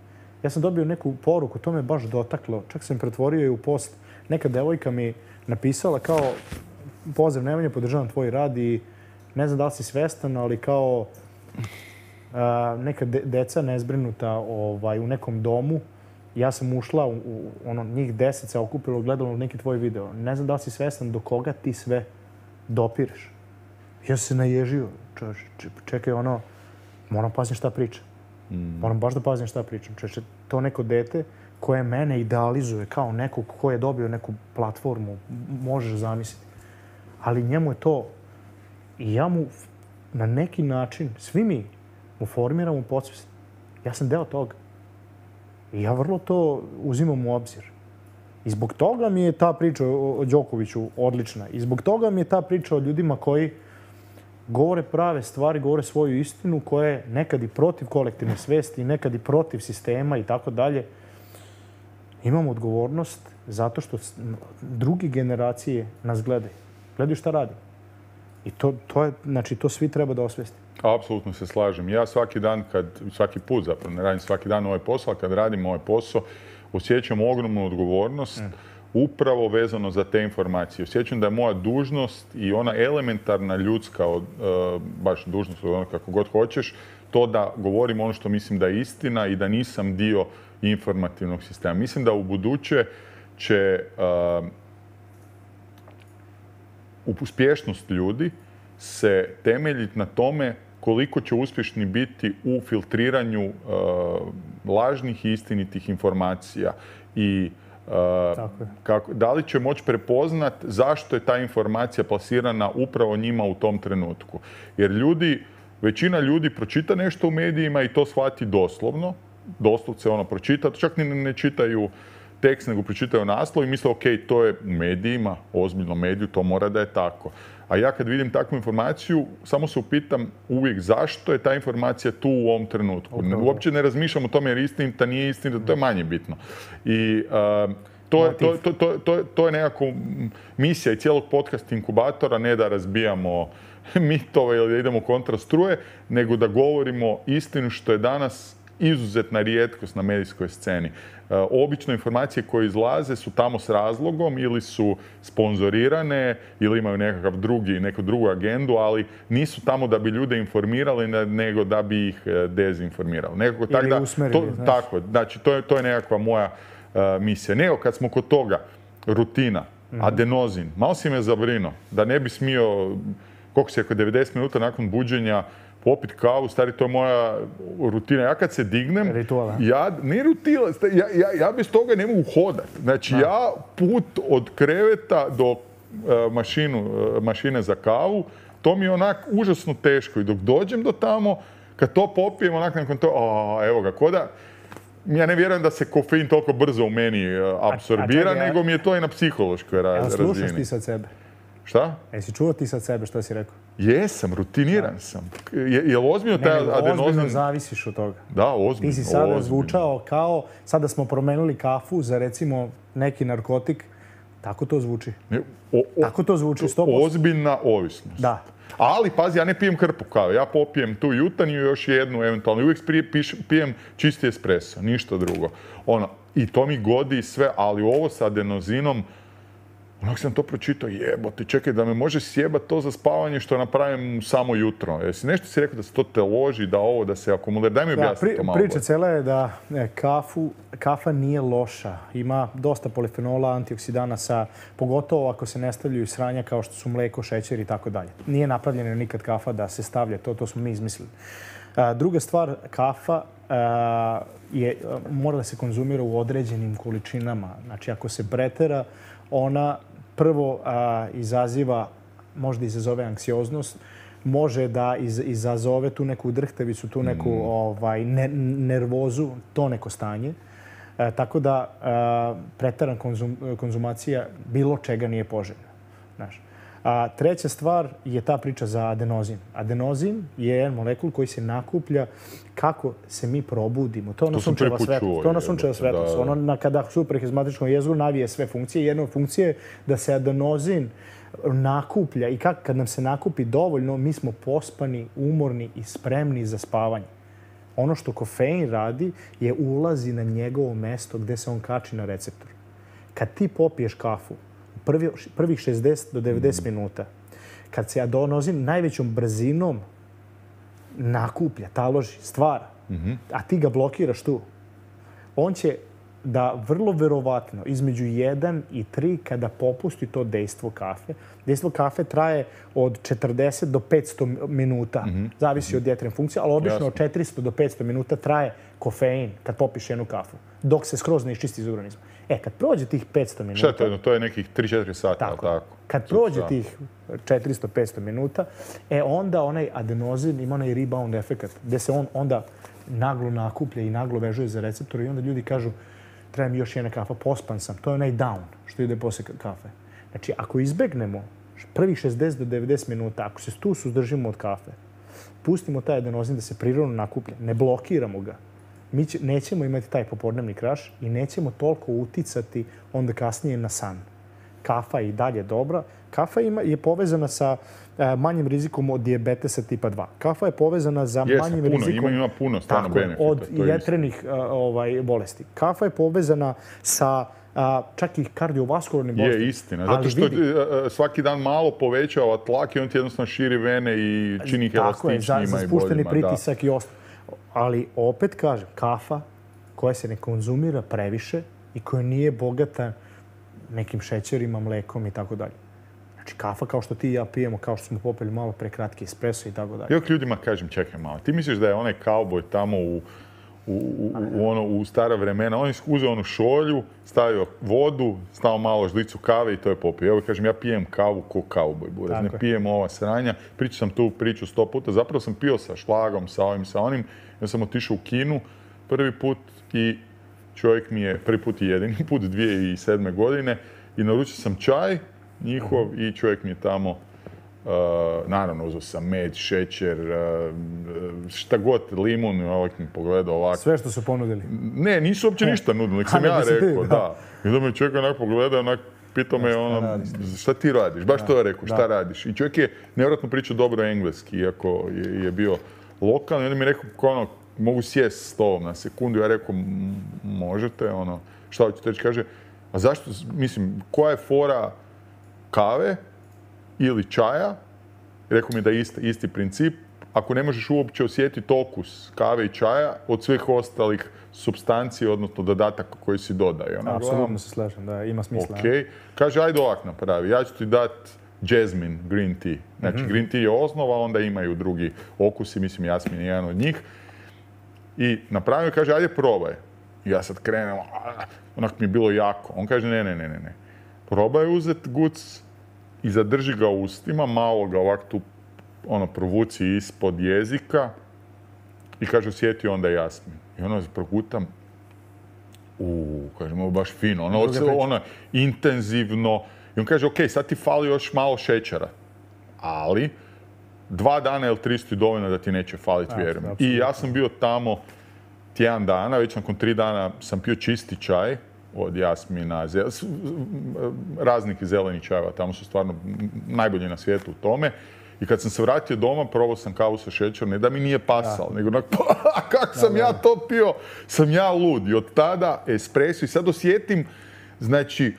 Ja sam dobio neku poruku, to me baš dotaklo. Čak sam pretvorio je u post. Neka devojka mi napisala kao pozdrav Nemanja, podržavam tvoj rad i ne znam da li si svestan, ali kao a, neka de, deca nezbrinuta ovaj, u nekom domu. Ja sam ušla, u, u ono, njih deset se okupilo, gledalo neki tvoj video. Ne znam da li si svestan do koga ti sve dopireš. Ja sam se naježio. Čovječe, čekaj, ono, moram paziti šta pričam. Mm. Moram baš da pazim šta pričam. Čovječe, to neko dete koje mene idealizuje kao nekog ko je dobio neku platformu, možeš zamisliti. Ali njemu je to, i ja mu na neki način, svi mi mu formiramo podsvest. Ja sam deo toga. I ja vrlo to uzimam u obzir. I zbog toga mi je ta priča o Đokoviću odlična. I zbog toga mi je ta priča o ljudima koji govore prave stvari, govore svoju istinu, koja je nekad i protiv kolektivne svesti, nekad i protiv sistema i tako dalje. Imamo odgovornost zato što druge generacije nas gledaju. Gledaju šta radimo. I to, to je, znači, to svi treba da osvestimo. Apsolutno se slažem. Ja svaki dan, kad, svaki put zapravo, ne radim svaki dan ovaj posao, ali kad radim ovaj posao, osjećam ogromnu odgovornost mm. upravo vezano za te informacije. Osjećam da je moja dužnost i ona elementarna ljudska, od, uh, baš dužnost, ono kako god hoćeš, to da govorim ono što mislim da je istina i da nisam dio informativnog sistema. Mislim da u buduće će uh, uspješnost ljudi se temeljiti na tome koliko će uspješni biti u filtriranju uh, lažnih i istinitih informacija i uh, kako, da li će moći prepoznat zašto je ta informacija plasirana upravo njima u tom trenutku. Jer ljudi, većina ljudi pročita nešto u medijima i to shvati doslovno, doslovce ono pročita, čak ni ne čitaju tekst, nego pročitaju naslov i misle, ok, to je u medijima, ozbiljno mediju, to mora da je tako. A ja kad vidim takvu informaciju, samo se upitam uvijek zašto je ta informacija tu u ovom trenutku. Okay. Uopće ne razmišljam o tome jer je istinita, nije istinita, to je manje bitno. I uh, to, je, to, to, to, to, to je nekako misija i cijelog podcast inkubatora, ne da razbijamo mitove ili da idemo kontra struje, nego da govorimo istinu što je danas izuzetna rijetkost na medijskoj sceni. Obično informacije koje izlaze su tamo s razlogom ili su sponzorirane ili imaju nekakav drugi, neku drugu agendu, ali nisu tamo da bi ljude informirali, nego da bi ih dezinformirali. Nekako tak da, to, tako, znači to je, to je nekakva moja uh, misija. Nego kad smo kod toga, rutina, mm-hmm. adenozin, malo si me zabrinuo da ne bi smio, koliko se je, devedeset minuta nakon buđenja popit kavu, stari, to je moja rutina. Ja kad se dignem, Rituala. ja, ne rutina, ja, ja, ja bez toga ne mogu hodat. Znači, da. ja put od kreveta do uh, mašinu, uh, mašine za kavu, to mi je onak užasno teško. I dok dođem do tamo, kad to popijem, onak nakon to, a, evo ga, koda, ja ne vjerujem da se kofein toliko brzo u meni uh, apsorbira, a, a čekaj, nego mi je to i na psihološkoj ra- razini. Evo, slušaš ti sad sebe? Šta? Jesi čuo ti sad sebe što si rekao? Jesam, rutiniran da. sam. Je, je li ozbiljno taj adenozin? Ozbiljno zavisiš od toga. Da, ozbiljno. Ti si sada ozbiljno. zvučao kao, sada smo promenili kafu za recimo neki narkotik. Tako to zvuči. Ne, o, o, Tako to zvuči, sto posto. Ozbiljna ovisnost. Da. Ali, pazi, ja ne pijem hrpu kave. Ja popijem tu jutanju i još jednu, eventualno. I uvijek pijem čisti espresso, ništa drugo. Ono, i to mi godi sve, ali ovo sa adenozinom, onak sam to pročitao, jebote, čekaj, da me može sjebat to za spavanje što napravim samo jutro. Jesi nešto si rekao da se to te loži, da ovo, da se akumulira? Daj mi objasni pri, to malo. Priča cijela je da ne, kafu, kafa nije loša. Ima dosta polifenola, antioksidanasa, pogotovo ako se ne stavljaju sranja kao što su mleko, šećer i tako dalje. Nije napravljena nikad kafa da se stavlja to, to smo mi izmislili. A, druga stvar, kafa a, je, mora da se konzumira u određenim količinama. Znači, ako se pretera, ona prvo a, izaziva, možda izazove anksioznost, može da iz, izazove tu neku drhtavicu, tu neku mm. ovaj, ne, nervozu, to neko stanje. E, tako da a, pretaran konzum, konzumacija bilo čega nije poželjna. Znaš. A treća stvar je ta priča za adenozin. Adenozin je jedan molekul koji se nakuplja kako se mi probudimo. To je ono sunčeva svetlost. To je ono sunčeva svetlost. Ono na, kada supraheizmatičkom jezgru navije sve funkcije. Jedna od funkcije je da se adenozin nakuplja i kak, kad nam se nakupi dovoljno, mi smo pospani, umorni i spremni za spavanje. Ono što kofein radi je ulazi na njegovo mesto gde se on kači na receptor. Kad ti popiješ kafu, Prvi, prvih šezdeset do devedeset mm. minuta, kad se adenozin najvećom brzinom nakuplja, taloži, stvara, mm-hmm. a ti ga blokiraš tu, on će da vrlo verovatno između jedan i tri kada popusti to dejstvo kafe. Dejstvo kafe traje od četrdeset do petsto minuta. Mm-hmm. Zavisi od jetrine funkcije, ali obično Jasno. od četiristo do petsto minuta traje kofein kad popiš jednu kafu, dok se skroz ne iščisti iz organizma. E, kad prođe tih petsto minuta... Šta je to? To je nekih tri četiri sata, tako. tako. Kad prođe tih četiristo do petsto minuta, e onda onaj adenozin ima onaj rebound efekat, gdje se on onda naglo nakuplja i naglo vežuje za receptor i onda ljudi kažu treba mi još jedna kafa, pospan sam. To je onaj down što ide posle kafe. Znači, ako izbegnemo prvih šezdeset do devedeset minuta, ako se tu suzdržimo od kafe, pustimo taj adenozin da se prirodno nakuplja, ne blokiramo ga, mi će, nećemo imati taj popodnevni kraš i nećemo toliko uticati onda kasnije na san. Kafa je i dalje dobra. Kafa ima, je povezana sa e, manjim rizikom od dijabetesa tipa dva. Kafa je povezana za Jesam, manjim puno, rizikom ima, ima puno stvarno tako, benefita, od jetrenih a, ovaj, bolesti. Kafa je povezana sa a, čak i kardiovaskularnim bolestima. Je istina, zato što vidi, svaki dan malo povećava tlak i on ti jednostavno širi vene i čini ih elastičnijima za, za i spušteni boljima. pritisak da. I ostalo. Ali opet kažem, kafa koja se ne konzumira previše i koja nije bogata nekim šećerima, mlekom i tako dalje. Znači, kafa kao što ti i ja pijemo, kao što smo popili malo pre kratki espresso i tako dalje. Ja ljudima kažem, čekaj malo, ti misliš da je onaj kauboj tamo u, u, u, u, ono, u stara vremena, on je uzeo onu šolju, stavio vodu, stavio malo žlicu kave i to je popio. Ja kažem, ja pijem kavu ko kauboj, buraz, ne pijem ova sranja. Pričao sam tu priču sto puta, zapravo sam pio sa šlagom, sa ovim, sa onim. Ja sam otišao u kinu prvi put i čovjek mi je, prvi put i jedini put, dvije tisuće sedme godine, i naručio sam čaj njihov uh-huh. i čovjek mi je tamo, uh, naravno, uzeo sam med, šećer, uh, šta god, limun, ovak mi pogledao ovako. Sve što su ponudili? Ne, nisu uopće ništa nudili, nek sam ja rekao, da. I onda me čovjek onak pogledao, onak pitao me, ono, šta ti radiš? Baš to je rekao, šta radiš? I čovjek je nevjerojatno pričao dobro engleski, iako je, je bio lokalni. I onda mi je rekao, ono, mogu sjest s tobom na sekundu. Ja rekao, možete, ono, šta hoćete reći? Kaže, a zašto, mislim, koja je fora kave ili čaja? Rekao mi da je isti, isti princip. Ako ne možeš uopće osjetiti okus kave i čaja od svih ostalih supstancija, odnosno dodataka koji si dodaje. Apsolutno se slažem, da ima smisla. Okay. Kaže, ajde ovak napravi. Ja ću ti dati jasmine green tea. Znači, mm-hmm. green tea je osnova, onda imaju drugi okusi, mislim, jasmin je jedan od njih. I napravio, kaže, ajde probaj. I ja sad krenem, onak mi je bilo jako. On kaže, ne, ne, ne, ne. Probaj uzeti guc i zadrži ga u ustima, malo ga ovak tu ono, provuci ispod jezika i kaže, osjeti onda jasmin. I ono progutam, uuu, kažem, ovo baš fino, ono, ono, intenzivno. I on kaže, ok, sad ti fali još malo šećera, ali dva dana ili tri su dovoljno da ti neće faliti, vjerujem. I ja sam bio tamo tjedan dana, već nakon tri dana sam pio čisti čaj od jasmina, raznih zelenih čajeva, tamo su stvarno najbolji na svijetu u tome. I kad sam se vratio doma, probao sam kavu sa šećerom, ne da mi nije pasalo, nego onak, pa, kako sam ja to pio, sam ja lud. I od tada espresso, i sad osjetim, znači,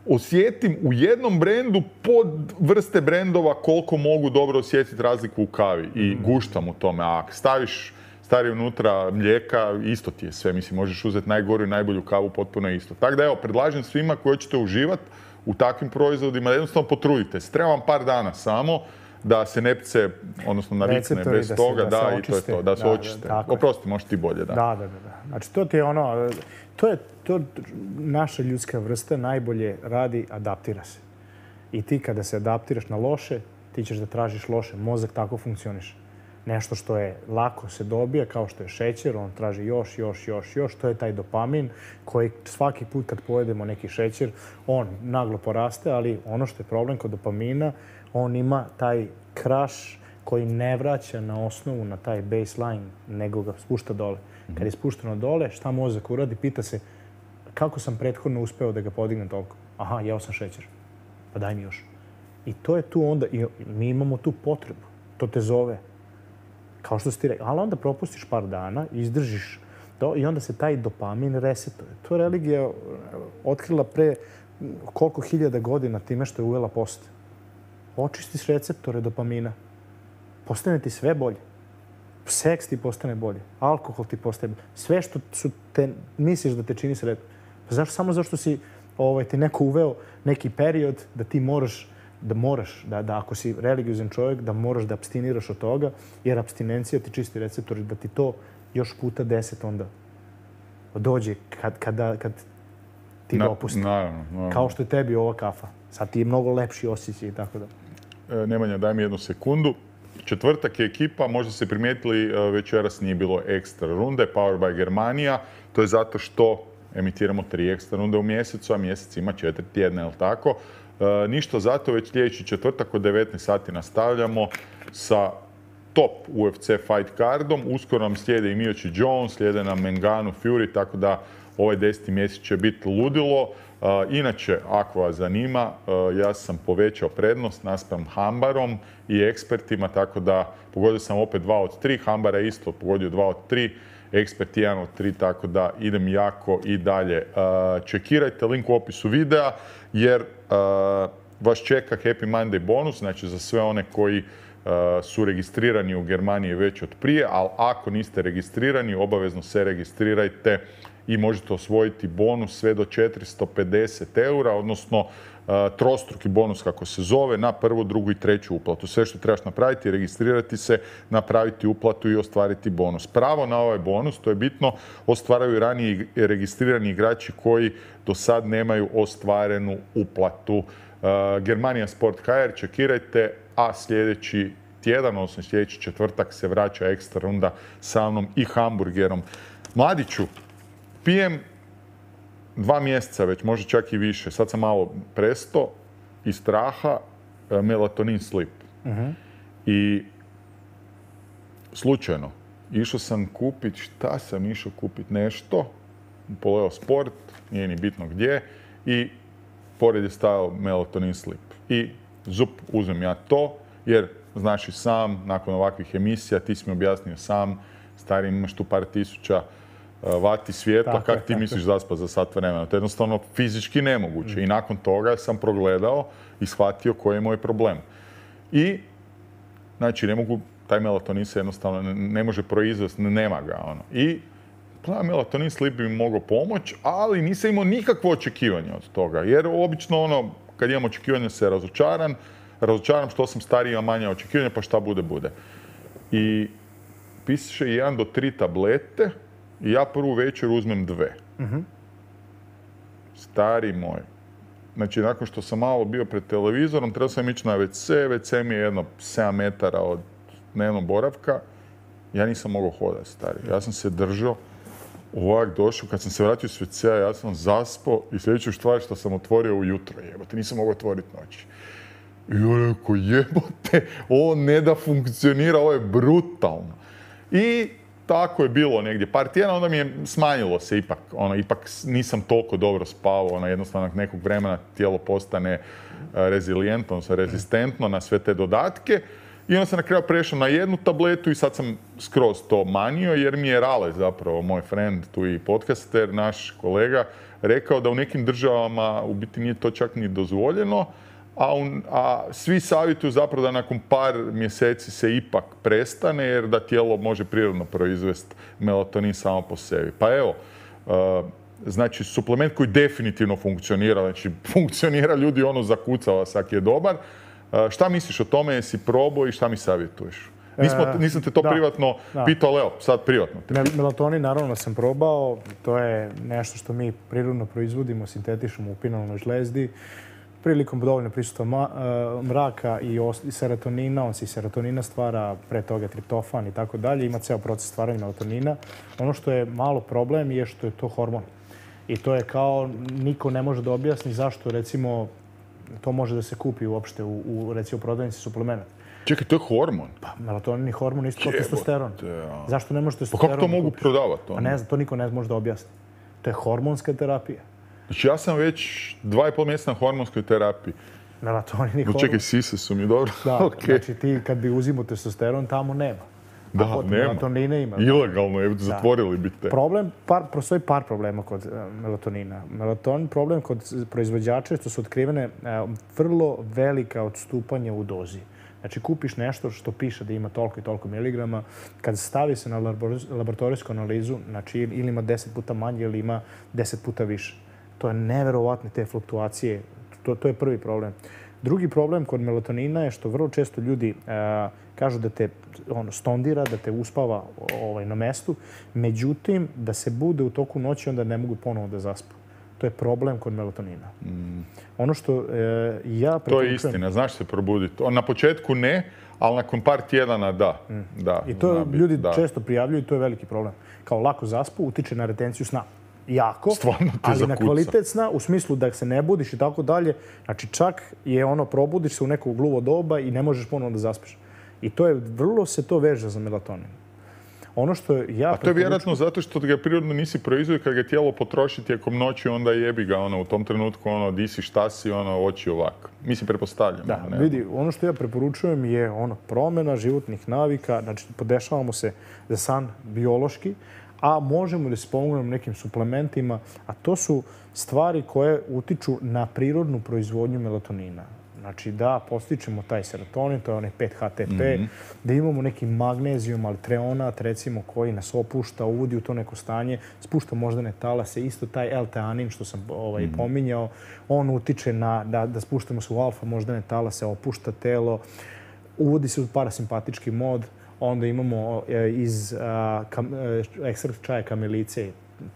osjetim u jednom brendu pod vrste brendova koliko mogu dobro osjetiti razliku u kavi i guštam u tome. A ako staviš stavi unutra mlijeka, isto ti je sve. Mislim, možeš uzeti najgoru i najbolju kavu, potpuno isto. Tako da evo, predlažem svima koji hoćete uživati u takvim proizvodima, jednostavno potrudite se. Treba vam par dana samo da se nepce, odnosno navikne bez toga, da, i to je to, da se očiste. Oprosti, možeš ti bolje, da. Da, da, da. Znači, to ti je ono, to je, to naša ljudska vrsta najbolje radi, adaptira se. I ti kada se adaptiraš na loše, ti ćeš da tražiš loše. Mozak tako funkcioniše. Nešto što je lako se dobija, kao što je šećer, on traži još, još, još, još. To je taj dopamin koji svaki put kad pojedemo neki šećer, on naglo poraste, ali ono što je problem kod dopamina, on ima taj kraš koji ne vraća na osnovu, na taj baseline, nego ga spušta dole. Kad je spušteno dole, šta mozak uradi? Pita se kako sam prethodno uspeo da ga podignem toliko. Aha, jeo sam šećer. Pa daj mi još. I to je tu onda, i mi imamo tu potrebu. To te zove. Kao što si ti rekao. Ali onda propustiš par dana, izdržiš to i onda se taj dopamin resetuje. To je religija otkrila pre koliko hiljada godina time što je uvela post. Očistiš receptore dopamina. Postane ti sve bolje. Seks ti postane bolje. Alkohol ti postane bolje. Sve što su te, misliš da te čini sretno. Pa zašto? Samo zašto si ovaj, ti neko uveo neki period da ti moraš da moraš, da, da ako si religiozan čovjek, da moraš da abstiniraš od toga, jer abstinencija ti čisti receptori, da ti to još puta deset onda dođe kad, kada, kad ti dopusti. Naravno, naravno. Kao što je tebi ova kafa. Sad ti je mnogo lepši osjećaj i tako da. E, Nemanja, daj mi jednu sekundu. Četvrtak je ekipa, možda ste primijetili, večeras nije bilo ekstra runde, Power by Germania. To je zato što emitiramo tri ekstra runde u mjesecu, a mjesec ima četiri tjedna, je li tako? E, ništa zato, već sljedeći četvrtak od devetnaest sati nastavljamo sa top U F C fight cardom. Uskoro nam slijede i Miocic Jones, slijede nam Ngannou Fury, tako da ovaj deseti mjesec će biti ludilo. Uh, inače, ako vas zanima, uh, ja sam povećao prednost naspram Hambarom i ekspertima, tako da pogodio sam opet dva od tri, Hambara je isto pogodio dva od tri, ekspert jedan od tri, tako da idem jako i dalje. Uh, čekirajte link u opisu videa, jer uh, vas čeka Happy Monday bonus, znači za sve one koji uh, su registrirani u Germaniji već od prije, ali ako niste registrirani, obavezno se registrirajte i možete osvojiti bonus sve do četiristo pedeset eura, odnosno uh, trostruki bonus kako se zove, na prvu, drugu i treću uplatu. Sve što trebaš napraviti je registrirati se, napraviti uplatu i ostvariti bonus. Pravo na ovaj bonus, to je bitno, ostvaraju ranije registrirani igrači koji do sad nemaju ostvarenu uplatu. Uh, Germania Sport H R, čekirajte, a sljedeći tjedan, odnosno sljedeći četvrtak se vraća ekstra runda sa mnom i hamburgerom. Mladiću, pijem dva mjeseca već, možda čak i više. Sad sam malo presto iz straha melatonin slip. Uh-huh. I slučajno išao sam kupiti, šta sam išao kupiti, nešto, poleo sport, nije ni bitno gdje, i pored je stajao melatonin slip. I zup, uzmem ja to, jer znaš i sam, nakon ovakvih emisija, ti si mi objasnio sam, stari, imaš tu par tisuća vati svjetla, kako ti misliš zaspat za sat vremena. To je jednostavno fizički nemoguće. Mm. I nakon toga sam progledao i shvatio koji je moj problem. I, znači, ne mogu, taj melatonin se jednostavno ne može proizvesti, nema ga. Ono. I melatonin slip bi mi mogao pomoći, ali nisam imao nikakvo očekivanje od toga. Jer obično, ono, kad imam očekivanje, se razočaran. Razočaram što sam stariji, imam manje očekivanja, pa šta bude, bude. I piše jedan do tri tablete, i ja prvu večer uzmem dve. Uh-huh. Stari moj. Znači, nakon što sam malo bio pred televizorom, trebao sam ići na ve ce. ve ce mi je jedno sedam metara od dnevnog boravka. Ja nisam mogao hodati, stari. Ja sam se držao, ovak došao. Kad sam se vratio s ve cea, ja sam zaspao i sljedeću stvar što sam otvorio ujutro. Jebote, nisam mogao otvoriti noći. I ja rekao, jebote, ovo ne da funkcionira, ovo je brutalno. I tako je bilo negdje par tjedana, onda mi je smanjilo se ipak, ono, ipak nisam toliko dobro spavao, ono, jednostavno nekog vremena tijelo postane rezilijentno, odnosno rezistentno na sve te dodatke. I onda sam na kraju prešao na jednu tabletu i sad sam skroz to manio, jer mi je Rale zapravo, moj friend, tu i podcaster, naš kolega, rekao da u nekim državama u biti nije to čak ni dozvoljeno, a, un, a svi savjetuju zapravo da nakon par mjeseci se ipak prestane, jer da tijelo može prirodno proizvesti melatonin samo po sebi. Pa evo, uh, znači suplement koji definitivno funkcionira, znači funkcionira, ljudi ono zakucava sak je dobar. Uh, šta misliš o tome, jesi probao i šta mi savjetuješ? Nismo, nisam te to da, privatno da. pitao, ali evo, sad privatno. Melatonin naravno sam probao, to je nešto što mi prirodno proizvodimo, sintetišemo u pinalnoj žlezdi. Prilikom dovoljno prisustva ma, uh, mraka i, os, i serotonina, on se i serotonina stvara, pre toga triptofan i tako dalje, ima ceo proces stvaranja melatonina. Ono što je malo problem je što je to hormon. I to je kao, niko ne može da objasni zašto, recimo, to može da se kupi uopšte u, u recimo, prodavnici suplemenata. Čekaj, to je hormon? Pa, melatonin je hormon isto kao testosteron. Ja. Zašto ne može Pa testosteron? kako to mogu prodavati? Pa ne znam, to niko ne može da objasni. To je hormonska terapija. Znači ja sam već dva i pol mjeseca na hormonskoj terapiji. Melatonin i hormon. Čekaj, sise su mi dobro. Da, okay. Znači ti kad bi uzimao testosteron, tamo nema. Da, A nema. Melatonina ima. Ilegalno je, zatvorili bi te. Problem, par, postoji par problema kod uh, melatonina. Melatonin, problem kod proizvođača je što su otkrivene uh, vrlo velika odstupanja u dozi. Znači, kupiš nešto što piše da ima toliko i toliko miligrama, kad stavi se na laboratorijsku analizu, znači ili ima deset puta manje ili ima deset puta više. To je neverovatne te fluktuacije. To, to je prvi problem. Drugi problem kod melatonina je što vrlo često ljudi uh, kažu da te ono, stondira, da te uspava ovaj, na mestu, međutim, da se bude u toku noći, onda ne mogu ponovo da zaspu. To je problem kod melatonina. Mm. Ono što e, ja preporučujem... To je istina, znaš se probuditi. Na početku ne, ali nakon par tjedana da. Mm. da I to bi, ljudi da. često prijavljuju i to je veliki problem. Kao lako zaspu, utiče na retenciju sna. Jako, ali zakuca. Na kvalitet sna, u smislu da se ne budiš i tako dalje. Znači čak je ono, probudiš se u neko gluvo doba i ne možeš ponovno da zaspiš. I to je, vrlo se to veže za melatonin. Ono što ja... A to je vjerojatno zato što ga prirodno nisi proizvodi, kad ga tijelo potroši tijekom noći, onda jebi ga, ono, u tom trenutku, ono, di si, šta si, ono, oči ovako. Mislim, pretpostavljam. Da, ne? vidi, ono što ja preporučujem je, ono, promjena životnih navika, znači, podešavamo se za san biološki, a možemo da se pomognemo nekim suplementima, a to su stvari koje utiču na prirodnu proizvodnju melatonina. Znači da postičemo taj serotonin, to je onaj pet H T P, mm-hmm. da imamo neki magnezijum, ali treonat, recimo, koji nas opušta, uvodi u to neko stanje, spušta moždane talase, isto taj L-teanin što sam ovaj, mm-hmm. pominjao, on utiče na, da, da spuštamo se u alfa moždane talase, opušta telo, uvodi se u parasimpatički mod, onda imamo e, iz a, kam, e, ekstrakt čaja kamilice,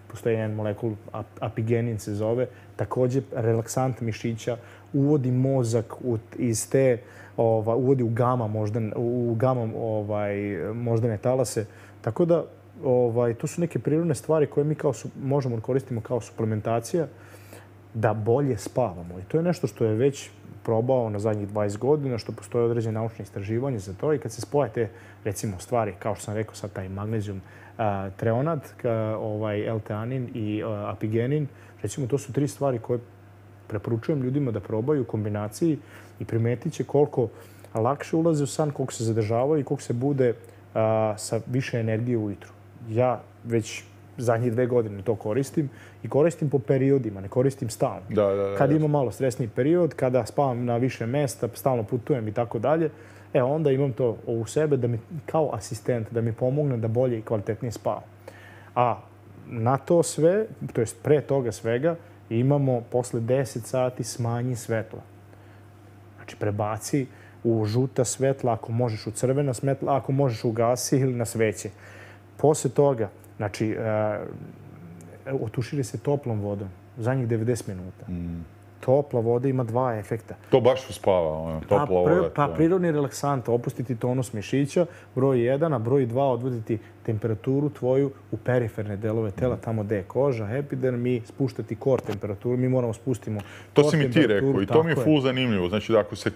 postoji jedan molekul, apigenin se zove, također relaksant mišića, uvodi mozak u, iz te, ova, uvodi u gama moždan, u gama ovaj, moždane talase. Tako da ovaj, to su neke prirodne stvari koje mi kao su, možemo da koristimo kao suplementacija da bolje spavamo. I to je nešto što je već probao na zadnjih dvadeset godina, što postoje određene naučne istraživanje za to. I kad se spoje te, recimo, stvari, kao što sam rekao sad, taj magnezijum, a, treonat, ka, ovaj, L-teanin i a, apigenin, recimo, to su tri stvari koje preporučujem ljudima da probaju u kombinaciji i primetit će koliko lakše ulaze u san, koliko se zadržavaju i koliko se bude a, sa više energije ujutru. Ja već zadnjih dve godine to koristim i koristim po periodima, ne koristim stalno. Da, da, da, kad imam malo stresniji period, kada spavam na više mjesta, stalno putujem i tako dalje, e onda imam to u sebe da mi, kao asistent, da mi pomogne da bolje i kvalitetnije spavam. A na to sve, to jest pre toga svega, imamo posle deset sati smanji svetla. Znači prebaci u žuta svetla, ako možeš u crvena svetla, ako možeš u gasi ili na sveće. Posle toga, znači, uh, otuširi se toplom vodom za njih devedeset minuta. Mm. Topla voda ima dva efekta. To baš uspava, ono, topla pa, voda. Pa prirodni relaksant, opustiti tonus mišića, broj jedan, a broj dva odvoditi temperaturu tvoju u periferne delove tela, tamo gde je koža, epiderm, i spuštati core temperaturu. Mi moramo spustimo To si mi ti rekao i to mi je full zanimljivo. Znači da ako se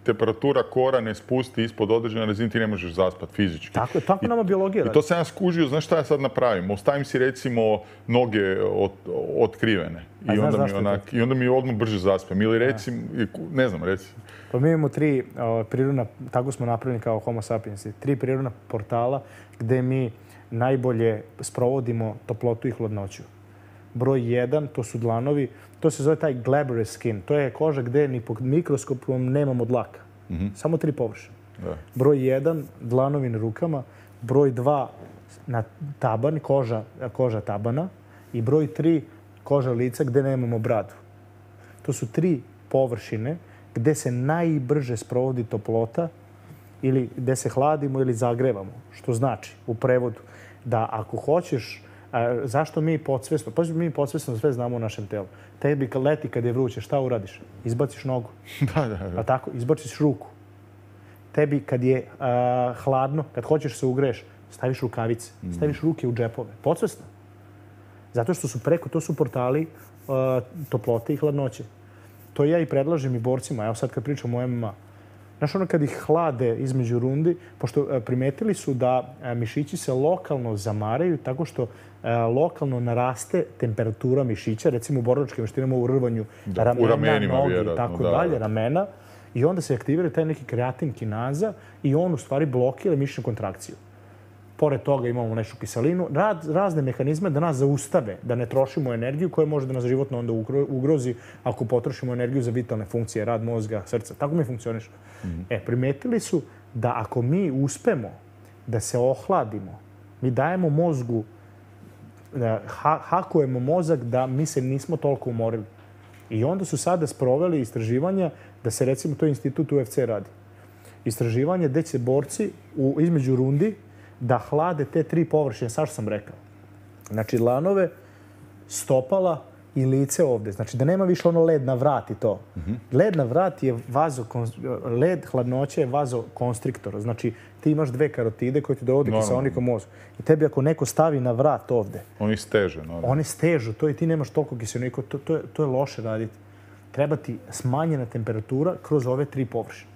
temperatura kora ne spusti ispod određene razine, ti ne možeš zaspati fizički. Tako je, tako nama biologija radi. I to sam ja skužio, znaš šta ja sad napravim? Ostavim si recimo noge od, otkrivene. I onda, mi onak, I onda mi odmah brže zaspem. Ili recimo, ne znam, recimo. Pa mi imamo tri uh, prirodna, tako smo napravljeni kao Homo sapiensi, tri prirodna portala gde mi najbolje sprovodimo toplotu i hladnoću. Broj jedan, to su dlanovi, to se zove taj glabrous skin. To je koža gde ni pod mikroskopom nemamo dlaka. Mm-hmm. Samo tri površine. Da. Broj jedan, dlanovi na rukama. Broj dva, na taban, koža, koža tabana. I broj tri, koža lica gde nemamo bradu. To su tri površine gde se najbrže sprovodi toplota ili gde se hladimo ili zagrevamo. Što znači, u prevodu, da ako hoćeš, a, zašto mi podsvesno, pa mi podsvesno sve znamo u našem telu. Tebi kad leti, kad je vruće, šta uradiš? Izbaciš nogu. Da, da, da. A tako, izbaciš ruku. Tebi kad je a, hladno, kad hoćeš se ugreješ, staviš rukavice, mm. staviš ruke u džepove. Podsvesno. Zato što su preko, to su portali a, toplote i hladnoće. To ja i predlažem i borcima. Evo sad kad pričam o M M A. Znaš, ono kad ih hlade između rundi, pošto primetili su da mišići se lokalno zamaraju tako što lokalno naraste temperatura mišića, recimo u borilačkim veštinama u rvanju da, ramena, u ramenima, nogi i tako da, dalje, da. ramena. I onda se aktivira taj neki kreatin kinaza i on u stvari blokira mišićnu kontrakciju. Pored toga imamo nešu kiselinu, rad, razne mehanizme da nas zaustave, da ne trošimo energiju koja može da nas životno onda ugrozi ako potrošimo energiju za vitalne funkcije, rad mozga, srca. Tako mi funkcioniš. Mm-hmm. E, primetili su da ako mi uspemo da se ohladimo, mi dajemo mozgu, da ha, hakujemo mozak da mi se nismo toliko umorili. I onda su sada sproveli istraživanja da se recimo to institut U F C radi. Istraživanje gde će borci u, između rundi da hlade te tri površine, sad što sam rekao. Znači, dlanove, stopala i lice ovde. Znači, da nema više ono led na vrat i to. Mm-hmm. Led na vrat je vazo, led hladnoće je vazokonstriktor. Znači, ti imaš dve karotide koje ti dovode kiseonik u mozgu. I tebi ako neko stavi na vrat ovde... Oni stežu. Normalno. Oni stežu, to i ti nemaš toliko kiseonika. To, to, je, to je loše raditi. Treba ti smanjena temperatura kroz ove tri površine.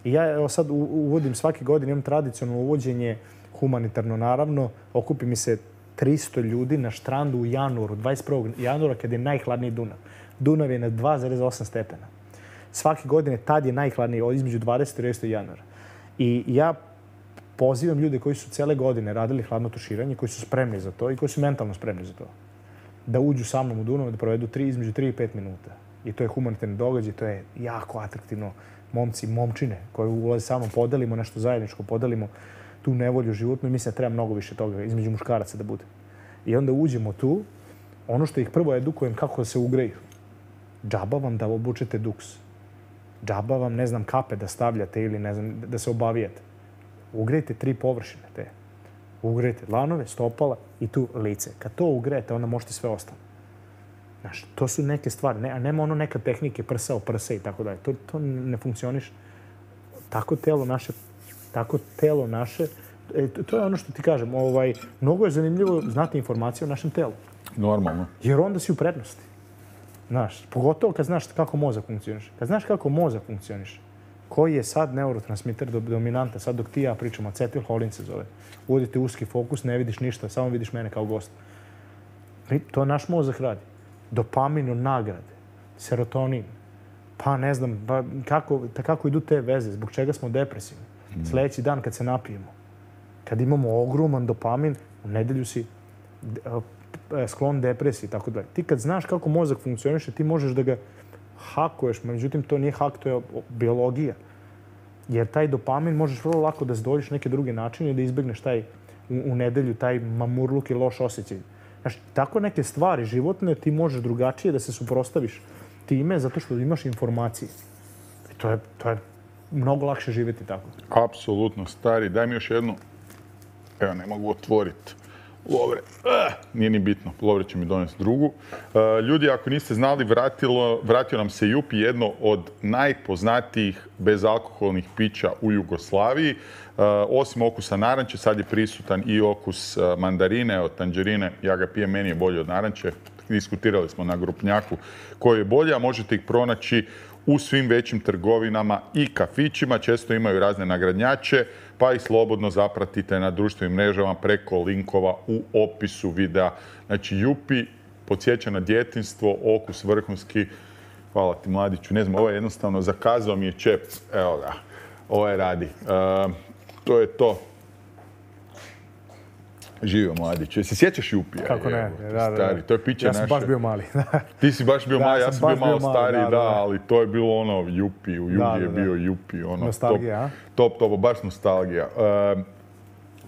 I ja evo sad uvodim svake godine, imam tradicionalno uvođenje humanitarno, naravno, okupi mi se tristo ljudi na štrandu u januaru, dvadeset prvog januara, kada je najhladniji Dunav. Dunav je na dva zarez osam stepena. Svake godine tad je najhladniji, između dvadesetog i tridesetog januara. I ja pozivam ljude koji su cele godine radili hladno tuširanje, koji su spremni za to i koji su mentalno spremni za to, da uđu sa mnom u Dunav, da provedu tri, između tri i pet minuta. I to je humanitarni događaj, to je jako atraktivno. Momci, momčine koji ulaze sa mnom, podelimo nešto zajedničko, podelimo tu nevolju životnu i mislim da treba mnogo više toga između muškaraca da bude. I onda uđemo tu, ono što ih prvo edukujem kako da se ugreju. Džaba vam da obučete duks. Džaba vam, ne znam, kape da stavljate ili ne znam, da se obavijate. Ugrejte tri površine te. Ugrejte dlanove, stopala i tu lice. Kad to ugrejete, onda možete sve ostalo. Znaš, to su neke stvari. Ne, a nema ono neka tehnike prsa o prse i tako dalje. To, to ne funkcioniše. Tako telo naše Tako telo naše, e, to je ono što ti kažem, ovaj, mnogo je zanimljivo znati informacije o našem telu. Normalno. Jer onda si u prednosti. Znaš, pogotovo kad znaš kako mozak funkcioniše. Kad znaš kako mozak funkcioniše, koji je sad neurotransmiter dominanta, sad dok ti ja pričam, acetilholin se zove. Uvodite uski fokus, ne vidiš ništa, samo vidiš mene kao gost. To naš mozak radi. Dopamin od nagrade, serotonin, pa ne znam, pa kako, kako idu te veze, zbog čega smo depresivni. Sljedeći dan kad se napijemo, kad imamo ogroman dopamin, u nedelju si sklon depresiji i tako dalje. Ti kad znaš kako mozak funkcioniše, ti možeš da ga hakuješ, međutim to nije hak, to je biologija. Jer taj dopamin možeš vrlo lako da zdoljiš neke druge načine i da izbegneš taj u, u nedelju, taj mamurluk i loš osjećaj. Znaš, tako neke stvari životne ti možeš drugačije da se suprotstaviš time zato što imaš informacije. I to je, to je mnogo lakše živjeti tako. Apsolutno, stari. Daj mi još jednu. Evo, ne mogu otvoriti. Lovre, uh, nije ni bitno, Lovre će mi donesti drugu. Uh, ljudi, ako niste znali, vratilo, vratio nam se Jupi, jedno od najpoznatijih bezalkoholnih pića u Jugoslaviji. Uh, osim okusa naranče, sad je prisutan i okus uh, mandarine, od tanđerine. Ja ga pijem, meni je bolje od naranče. Diskutirali smo na grupnjaku koji je bolje, a možete ih pronaći u svim većim trgovinama i kafićima. Često imaju razne nagradnjače, pa ih slobodno zapratite na društvenim mrežama preko linkova u opisu videa. Znači, Jupi podsjeća na djetinjstvo, okus vrhunski. Hvala ti, mladiću. Ne znam, ovo je jednostavno, zakazao mi je čep. Evo ga, ovo je radi. E, to je to. Živio, mladiću. Se sjećaš Jupija? Kako ne, da, da, stari. To je piće ja sam naše. baš bio mali. Ti si baš bio da, mali, ja sam bio malo bio stariji, mali, da, da, da, ali to je bilo ono Jupi, u Jugi da, da, je bio Jupi. Ono, nostalgija, top, top, top, baš nostalgija. Uh,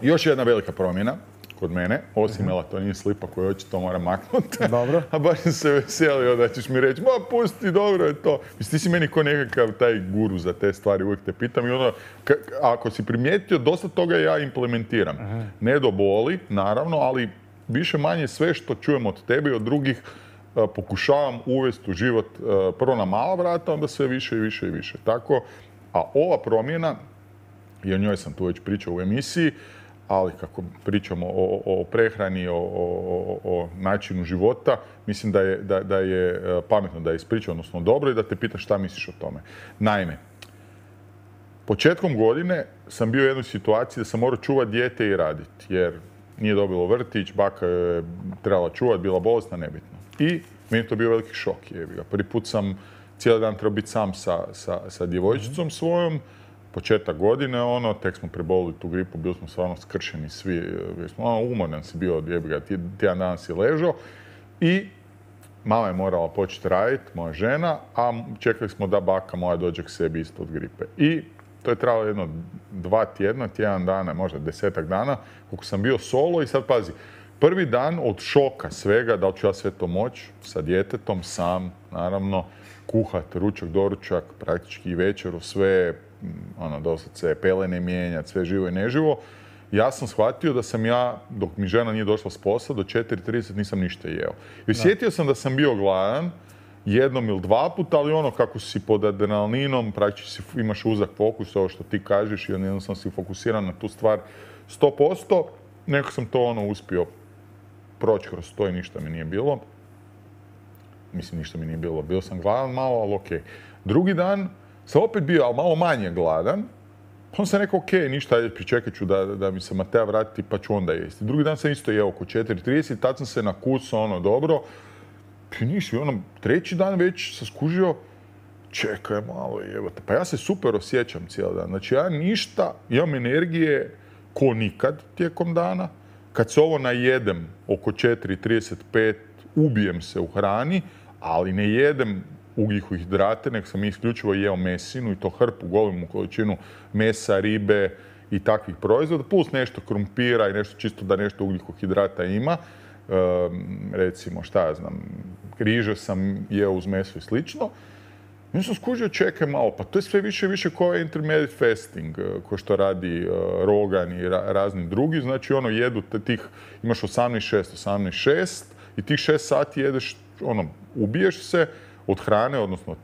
još jedna velika promjena kod mene, osim uh-huh. melatonin slipa koji očito moram maknuti. Dobro. A baš sam se veselio da ćeš mi reći, ma pusti, dobro je to. Mislim, ti si meni ko nekakav taj guru za te stvari, uvijek te pitam i ono, k- ako si primijetio, dosta toga ja implementiram. Uh-huh. Ne do boli, naravno, ali više manje sve što čujem od tebe i od drugih uh, pokušavam uvesti u život uh, prvo na mala vrata, onda sve više i više i više. Tako, a ova promjena, i o njoj sam tu već pričao u emisiji, ali kako pričamo o, o prehrani, o, o, o načinu života, mislim da je, da, da je pametno da je ispričao, odnosno dobro, i da te pitaš šta misliš o tome. Naime, početkom godine sam bio u jednoj situaciji da sam morao čuvati dijete i raditi, jer nije dobilo vrtić, baka je trebala čuvati, bila bolesna, nebitno. I meni je to bio veliki šok. Jebi ga. Prvi put sam cijeli dan trebao biti sam sa, sa, sa djevojčicom svojom, početak godine, ono, tek smo prebolili tu gripu, bili smo stvarno skršeni svi, smo, ono, umoran si bio, jebi ga, tjedan dan si ležao. I mama je morala početi raditi, moja žena, a čekali smo da baka moja dođe k sebi isto od gripe. I to je trajalo jedno dva tjedna, tjedan dana, možda desetak dana, koliko sam bio solo i sad pazi, prvi dan od šoka svega, da li ću ja sve to moći, sa djetetom, sam, naravno, kuhat, ručak, doručak, praktički i večeru, sve, ono, doslovce pelene mijenjati, sve živo i neživo. Ja sam shvatio da sam ja, dok mi žena nije došla s posla, do četiri trideset nisam ništa jeo. I osjetio sam da sam bio gladan, jednom ili dva puta, ali ono kako si pod adrenalinom, praktički imaš uzak fokus, ovo što ti kažeš, i jednostavno sam si fokusiran na tu stvar sto posto, nekako sam to ono uspio proći kroz to i ništa mi nije bilo. Mislim, ništa mi nije bilo. Bio sam gladan malo, ali okej. Drugi dan sam opet bio, ali malo manje gladan. Pa sam rekao, okej, ništa, ajde, pričekat ću da, da mi se Matea vrati, pa ću onda jesti. Drugi dan sam isto jeo oko četiri trideset, tad sam se nakucao, ono, dobro. I niš, ono, treći dan već sam skužio, čekaj malo, jebote. Pa ja se super osjećam cijeli dan. Znači, ja ništa, imam energije ko nikad tijekom dana. Kad se ovo najedem oko četiri trideset pet, ubijem se u hrani, ali ne jedem ugljikohidrate, nego sam isključivo jeo mesinu i to hrpu, golemu količinu mesa, ribe i takvih proizvoda, plus nešto krumpira i nešto čisto da nešto ugljikohidrata ima. E, recimo, šta ja znam, križe sam jeo uz meso i slično. Ja sam skužio, čekaj malo, pa to je sve više i više kao intermediate fasting, ko što radi uh, Rogan i ra- razni drugi. Znači, ono, jedu tih, imaš osamnaest šest, osamnaest šest i tih šest sati jedeš, ono, ubiješ se od hrane, odnosno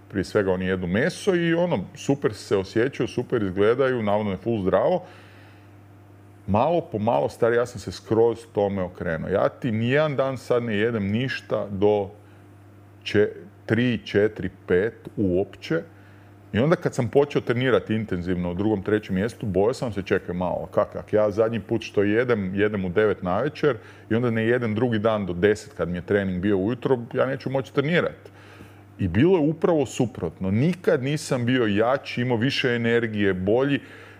prije svega oni jedu meso i ono, super se osjećaju, super izgledaju, navodno je full zdravo. Malo po malo, stari, ja sam se skroz tome okrenuo. Ja ti nijedan dan sad ne jedem ništa do če, tri, četiri, pet uopće. I onda kad sam počeo trenirati intenzivno u drugom, trećem mjestu, bojao sam se, čekaj malo, kak, kak. Ja zadnji put što jedem, jedem u devet navečer i onda ne jedem drugi dan do deset kad mi je trening bio ujutro, ja neću moći trenirati. I bilo je upravo suprotno. Nikad nisam bio jači, imao više energije, bolji.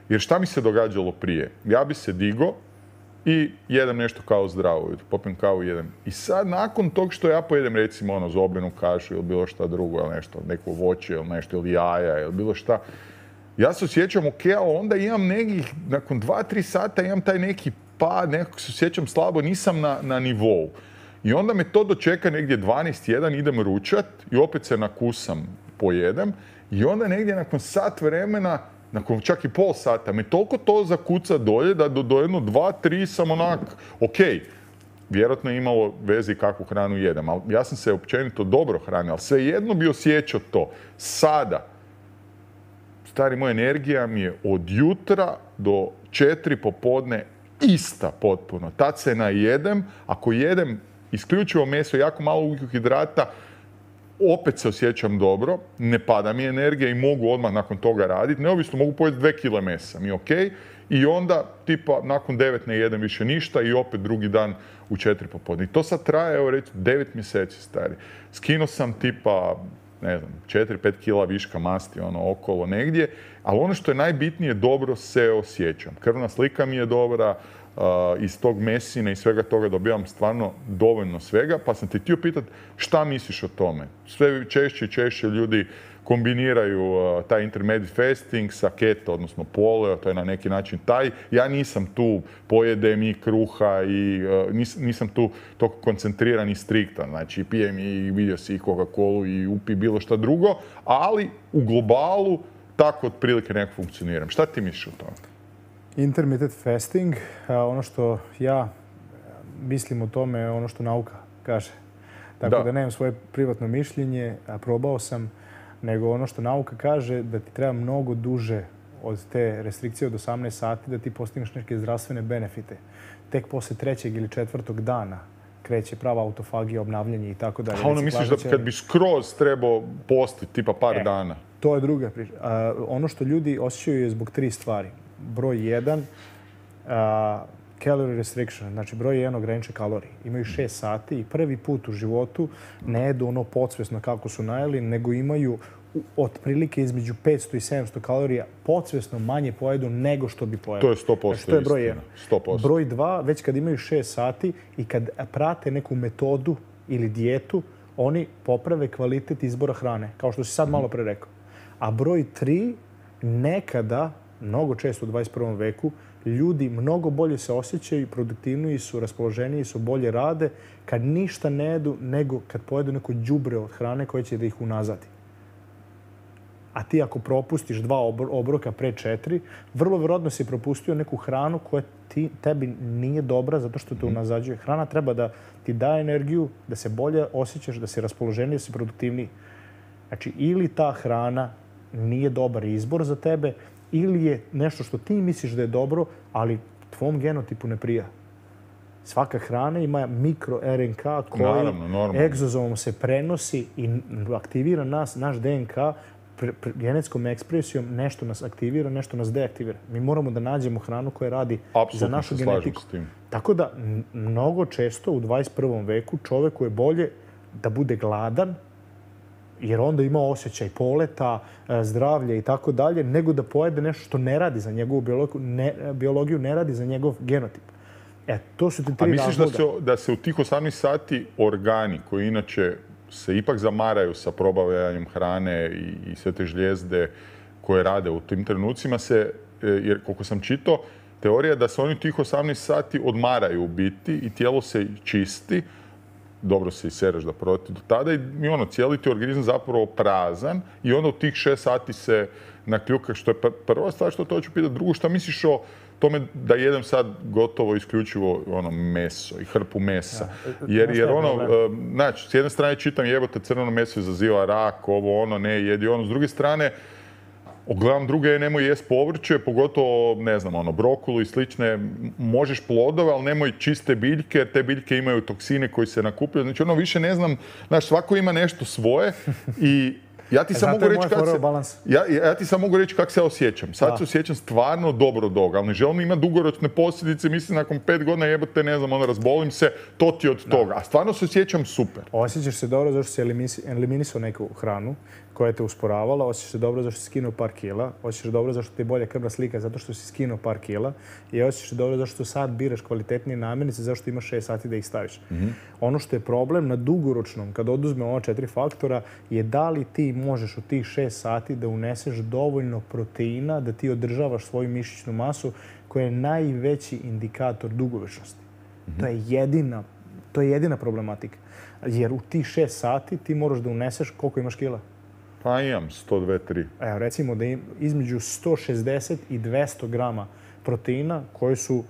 Jer šta mi se događalo prije? Ja bi se digo i jedem nešto kao zdravo, popijem kavu i jedem. I sad nakon tog što ja pojedem recimo ono zobljenu kašu ili bilo šta drugo, ili nešto, neko voće ili nešto, ili jaja ili bilo šta, ja se osjećam ok, ali onda imam nekih, nakon dva, tri sata imam taj neki pad, nekako se osjećam slabo, nisam na, na nivou. I onda me to dočeka negdje dvanaest jedan, idem ručat i opet se nakusam, pojedem. I onda negdje nakon sat vremena nakon čak i pol sata, me toliko to zakuca dolje da do, do jedno, dva, tri sam onak, ok, vjerojatno je imalo veze i kakvu hranu jedem, ali ja sam se općenito dobro hranio, ali svejedno bi osjećao to. Sada, stari, moja energija mi je od jutra do četiri popodne ista potpuno. Tad se najedem, ako jedem isključivo meso, jako malo ugljikohidrata, opet se osjećam dobro, ne pada mi energija i mogu odmah nakon toga raditi. Neovisno, mogu pojesti dve kile mesa, mi je ok. I onda, tipa, nakon devet ne jedem više ništa i opet drugi dan u četiri popodne. I to sad traje, evo reći, devet mjeseci, stari. Skinuo sam tipa, ne znam, četiri pet kila viška masti, ono, okolo negdje. Ali ono što je najbitnije, dobro se osjećam. Krvna slika mi je dobra, uh, iz tog mesine i svega toga dobivam stvarno dovoljno svega. Pa sam te htio pitati šta misliš o tome? Sve češće i češće ljudi kombiniraju uh, taj intermediate fasting sa keto, odnosno paleo, to je na neki način taj. Ja nisam tu, pojedem i kruha i uh, nis, nisam tu toliko koncentriran i striktan. Znači pijem i vidio si i Coca-Colu i upi bilo šta drugo, ali u globalu tako otprilike nekako funkcioniram. Šta ti misliš o tome? Intermittent fasting, ono što ja mislim o tome je ono što nauka kaže. Tako da, da nemam svoje privatno mišljenje, a probao sam, nego ono što nauka kaže da ti treba mnogo duže od te restrikcije od osamnaest sati da ti postigneš neke zdravstvene benefite. Tek posle trećeg ili četvrtog dana kreće prava autofagija, obnavljanje i tako dalje. A ono misliš da kad bi skroz trebao postiti, tipa par e, dana? To je druga priča. A, ono što ljudi osjećaju je zbog tri stvari. Broj jedan, a, calorie restriction, znači broj jedan ograničen kalorije. Imaju šest sati i prvi put u životu ne jedu ono podsvjesno kako su najeli, nego imaju otprilike između petsto i sedamsto kalorija podsvjesno manje pojedu nego što bi pojedu. To je sto posto znači, to je broj jedan. sto posto. Broj dva, već kad imaju šest sati i kad prate neku metodu ili dijetu, oni poprave kvalitet izbora hrane, kao što si sad malo pre rekao. A broj tri, nekada, mnogo često u dvadeset prvom veku, ljudi mnogo bolje se osjećaju, produktivniji su, raspoloženiji su, bolje rade kad ništa ne jedu nego kad pojedu neko đubre od hrane koje će da ih unazadi. A ti ako propustiš dva obroka pre četiri, vrlo vjerojatno si propustio neku hranu koja ti, tebi nije dobra zato što te unazađuje. Hrana treba da ti daje energiju, da se bolje osjećaš, da si raspoloženiji, da si produktivniji. Znači, ili ta hrana nije dobar izbor za tebe, ili je nešto što ti misliš da je dobro, ali tvom genotipu ne prija. Svaka hrana ima mikro R N K koji naravno, egzozomom se prenosi i aktivira nas, naš D N K pre, pre, genetskom ekspresijom, nešto nas aktivira, nešto nas deaktivira. Mi moramo da nađemo hranu koja radi apsolutno za našu genetiku. Tako da, mnogo često u dvadeset prvom veku čoveku je bolje da bude gladan, jer onda ima osjećaj poleta, zdravlja i tako dalje, nego da pojede nešto što ne radi za njegovu biologiju, ne, biologiju ne radi za njegov genotip. E, to su ti tri razloga. A misliš da se, da se u tih osamnaest sati organi, koji inače se ipak zamaraju sa probavljanjem hrane i, i sve te žlijezde koje rade u tim trenucima, se, jer koliko sam čitao, teorija da se oni tih osamnaest sati odmaraju u biti i tijelo se čisti, dobro se isereš da proti do tada i ono, cijeli ti organizam zapravo prazan i onda u tih šest sati se nakljuka, što je prva stvar što to hoću pitati. Drugo, šta misliš o tome da jedem sad gotovo isključivo ono meso i hrpu mesa? Jer, jer ono, znači, s jedne strane čitam jebote crveno meso izaziva rak, ovo ono, ne jedi ono. S druge strane, ogledam druge, nemoj jest povrće, pogotovo, ne znam, ono, brokulu i slične. Možeš plodove, ali nemoj čiste biljke, jer te biljke imaju toksine koji se nakupljaju. Znači, ono, više ne znam, znaš, svako ima nešto svoje i ja ti sam mogu reći kako se, ja, ja ti sam mogu reći kako se osjećam. Sad da. se osjećam stvarno dobro dog, ali ne želim imati dugoročne posljedice. Mislim, nakon pet godina jebote, ne znam, ono, razbolim se, to ti od toga. A stvarno se osjećam super. Osjećaš se dobro zašto si eliminisao neku hranu koja te usporavala, osjećaš se dobro zašto si skinuo par kila, osjećaš se dobro zašto ti je bolja krvna slika zato što si skinuo par kila i osjećaš se dobro zašto sad biraš kvalitetnije namirnice zašto imaš šest sati da ih staviš. Mm-hmm. Ono što je problem na dugoročnom, kad oduzme ova četiri faktora, je da li ti možeš u tih šest sati da uneseš dovoljno proteina da ti održavaš svoju mišićnu masu koja je najveći indikator dugovečnosti. Mm-hmm. To je jedina, to je jedina problematika. Jer u tih šest sati ti moraš da uneseš koliko imaš kila. Pa imam sto dva tri. Evo, recimo da im između sto šezdeset i dvesta grama proteina koji su,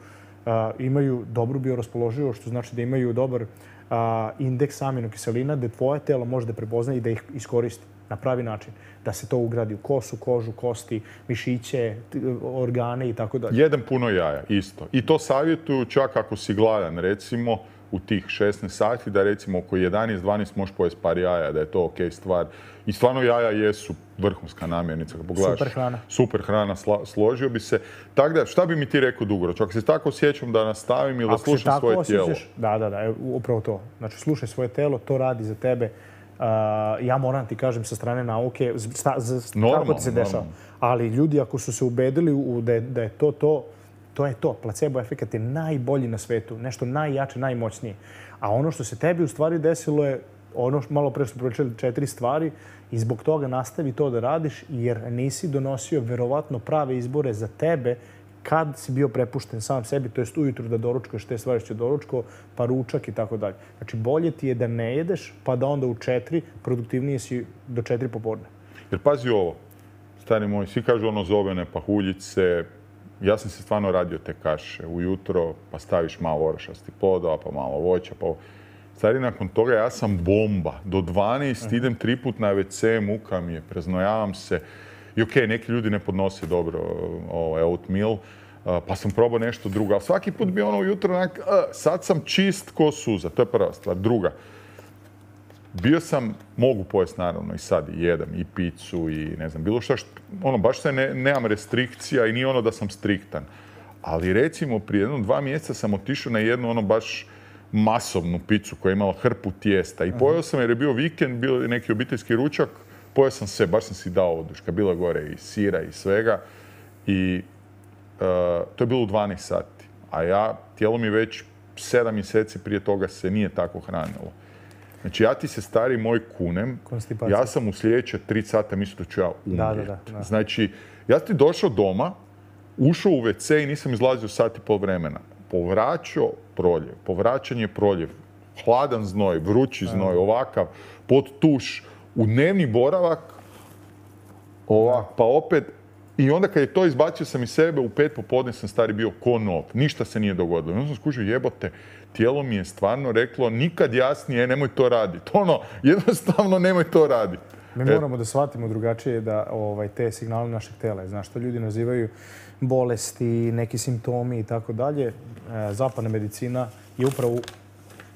a, imaju dobru bioraspoloživost, što znači da imaju dobar a, indeks aminokiselina, da tvoje telo može da prepozna i da ih iskoristi na pravi način. Da se to ugradi u kosu, kožu, kosti, mišiće, organe i tako dalje. Jedan puno jaja, isto. I to savjetuju čak ako si gladan, recimo, u tih šesnaest sati, da recimo oko jedanaest dvanaest možeš pojesti par jaja, da je to ok stvar. I stvarno jaja jesu vrhunska namirnica. Super hrana. Super hrana, sla, složio bi se. Tako da, šta bi mi ti rekao dugoročno? Ako se tako osjećam da nastavim ili da slušam svoje tijelo? Da, da, da, upravo to. Znači, slušaj svoje telo, to radi za tebe. Uh, ja moram ti kažem sa strane nauke sta, za, kako ti se dešava. Ali ljudi ako su se ubedili u, da, je, da je to to, to je to. Placebo efekat je najbolji na svetu. Nešto najjače, najmoćnije. A ono što se tebi u stvari desilo je ono što malo pre smo pričali četiri stvari i zbog toga nastavi to da radiš jer nisi donosio verovatno prave izbore za tebe kad si bio prepušten sam sebi, to jest ujutru da doručkuješ te stvari što je doručko, pa ručak i tako dalje. Znači, bolje ti je da ne jedeš, pa da onda u četiri produktivnije si do četiri popodne. Jer pazi ovo, stari moj, svi kažu ono zovene pahuljice. Ja sam se stvarno radio te kaše ujutro, pa staviš malo orašasti plodova, pa malo voća, pa... Stari, nakon toga ja sam bomba. Do dvanaest idem tri put na ve ce, muka mi je, preznojavam se. I okej, okay, neki ljudi ne podnose dobro ovaj, oatmeal, pa sam probao nešto drugo. Ali svaki put bi ono ujutro onak, sad sam čist ko suza. To je prva stvar. Druga, bio sam, mogu pojesti naravno i sad i jedem i picu i ne znam, bilo šta, što, ono, baš se ne, nemam restrikcija i nije ono da sam striktan. Ali recimo prije jedno dva mjeseca sam otišao na jednu ono baš masovnu picu koja je imala hrpu tijesta i pojeo sam jer je bio vikend, bio je neki obiteljski ručak, pojeo sam sve, baš sam si dao oduška, bilo je gore i sira i svega i uh, to je bilo u dvanaest sati, a ja, tijelo mi već sedam mjeseci prije toga se nije tako hranilo. Znači ja ti se stari moj kunem, ja sam u sljedeće tri sata mislio da ću ja umrijeti. Da, da, da. Znači, ja ti došao doma, ušao u ve ce i nisam izlazio sat i pol vremena. Povraćao proljev, povraćanje proljev, hladan znoj, vrući znoj, ovakav, pod tuš, u dnevni boravak, ovak, pa opet, i onda kad je to izbacio sam iz sebe, u pet popodne sam stari bio ko nov, ništa se nije dogodilo. I onda sam skužio, jebote, tijelo mi je stvarno reklo, nikad jasnije, nemoj to raditi. Ono, jednostavno nemoj to raditi. Mi moramo da shvatimo drugačije da ovaj, te signale našeg tela, znaš, što ljudi nazivaju bolesti, neki simptomi i tako dalje. Zapadna medicina je upravo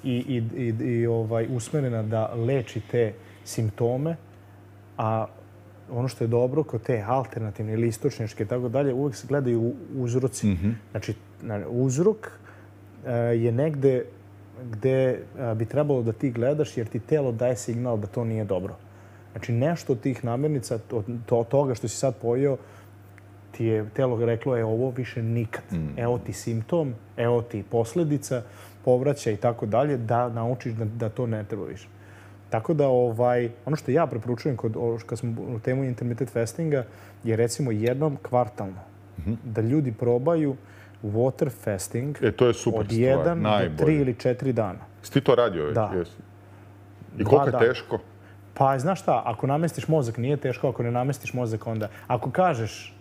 i, i, i, i ovaj, usmerena da leči te simptome, a ono što je dobro kod te alternativne ili istočničke i tako dalje, uvijek se gledaju uzroci. Mm-hmm. Znači, uzrok je negde gde bi trebalo da ti gledaš jer ti telo daje signal da to nije dobro. Znači, nešto od tih namirnica, od to, toga što si sad pojeo, ti je telo reklo, je ovo više nikad. Mm. Evo ti simptom, evo ti posljedica, povraća i tako dalje, da naučiš da, da to ne treba više. Tako da, ovaj, ono što ja preporučujem kod, kad smo u temu intermittent fastinga, je recimo jednom kvartalno. Mm-hmm. Da ljudi probaju water fasting e, to je super od jedan do tri ili četiri dana. Jesi ti to radio već? Da. Jesi. I koliko je teško? Pa, znaš šta, ako namestiš mozak, nije teško, ako ne namestiš mozak, onda... Ako kažeš,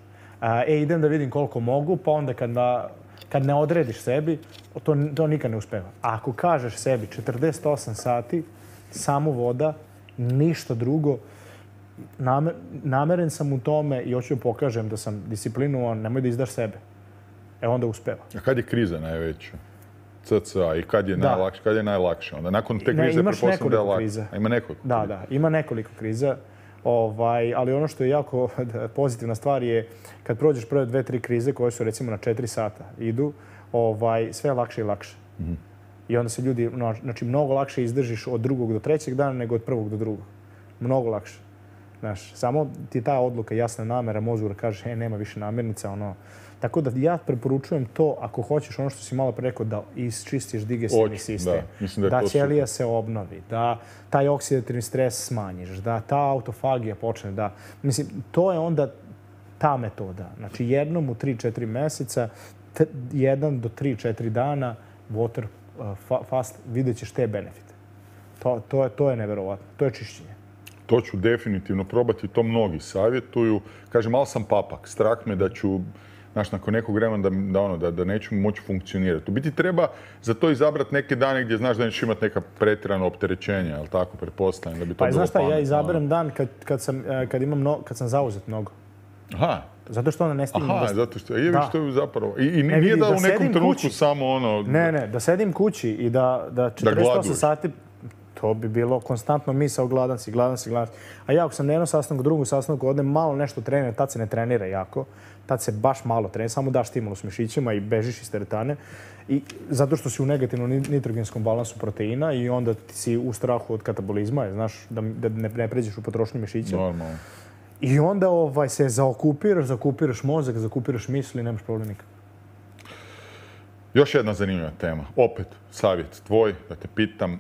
e, idem da vidim koliko mogu, pa onda kad, da, kad ne odrediš sebi, to, to nikad ne uspeva. A ako kažeš sebi četrdeset osam sati, samo voda, ništa drugo, namer, nameren sam u tome i hoću da pokažem da sam disciplinovan, nemoj da izdaš sebe. E, onda uspeva. A kad je kriza najveća? ce ce a i kad je najlakše? Kad je najlakše? Onda nakon te krize prepostavljam da je lakše. Ima nekoliko Da, da, ima nekoliko kriza. Ovaj, ali ono što je jako pozitivna stvar je kad prođeš prve dve, tri krize koje su recimo na četiri sata idu, ovaj, sve je lakše i lakše. Mm-hmm. I onda se ljudi, znači mnogo lakše izdržiš od drugog do trećeg dana nego od prvog do drugog. Mnogo lakše. Znaš, samo ti ta odluka, jasna namera, mozgu da kažeš, e, nema više namirnica, ono. Tako da ja preporučujem to, ako hoćeš ono što si malo pre rekao, da isčistiš digestivni sistem, da, da, da ćelija se obnovi, da taj oksidativni stres smanjiš, da ta autofagija počne, da... Mislim, to je onda ta metoda. Znači, jednom u tri četiri meseca, t- jedan do tri četiri dana, water uh, fast, vidjet ćeš te benefite. To, to, je, to je neverovatno. To je čišćenje. To ću definitivno probati, to mnogi savjetuju. Kažem, malo sam papak, strah me da ću, znaš, nakon nekog vremena da, da, ono, da, da neću moći funkcionirati. U biti treba za to izabrati neke dane gdje znaš da nećeš imati neka pretjerana opterećenja, jel tako, pretpostavljam da bi to pa, bilo znaš šta, pametno. ja izaberem dan kad, kad, sam, kad, imam no, kad sam zauzet mnogo. Aha. Zato što onda ne stignem. Aha, da... zato što je da. Što je zapravo. I, i ne, nije vidi, da, da u nekom trenutku kući. samo ono... Ne, ne, da sedim kući i da, da četrdeset osam sati, to bi bilo konstantno misao gladan si, gladan si, gladan si. A ja ako sam na jednom sastanku, drugom sastanku, odem malo nešto trenira, tad se ne trenira jako, tad se baš malo trenira, samo daš stimulus mišićima i bežiš iz teretane. I zato što si u negativnom nitrogenskom balansu proteina i onda ti si u strahu od katabolizma, znaš, da, da ne, ne pređeš u potrošnju mišića. Normalno. I onda ovaj, se zaokupiraš, zaokupiraš mozak, zaokupiraš misli i nemaš problem nikad. Još jedna zanimljiva tema. Opet, savjet tvoj, da te pitam. Uh,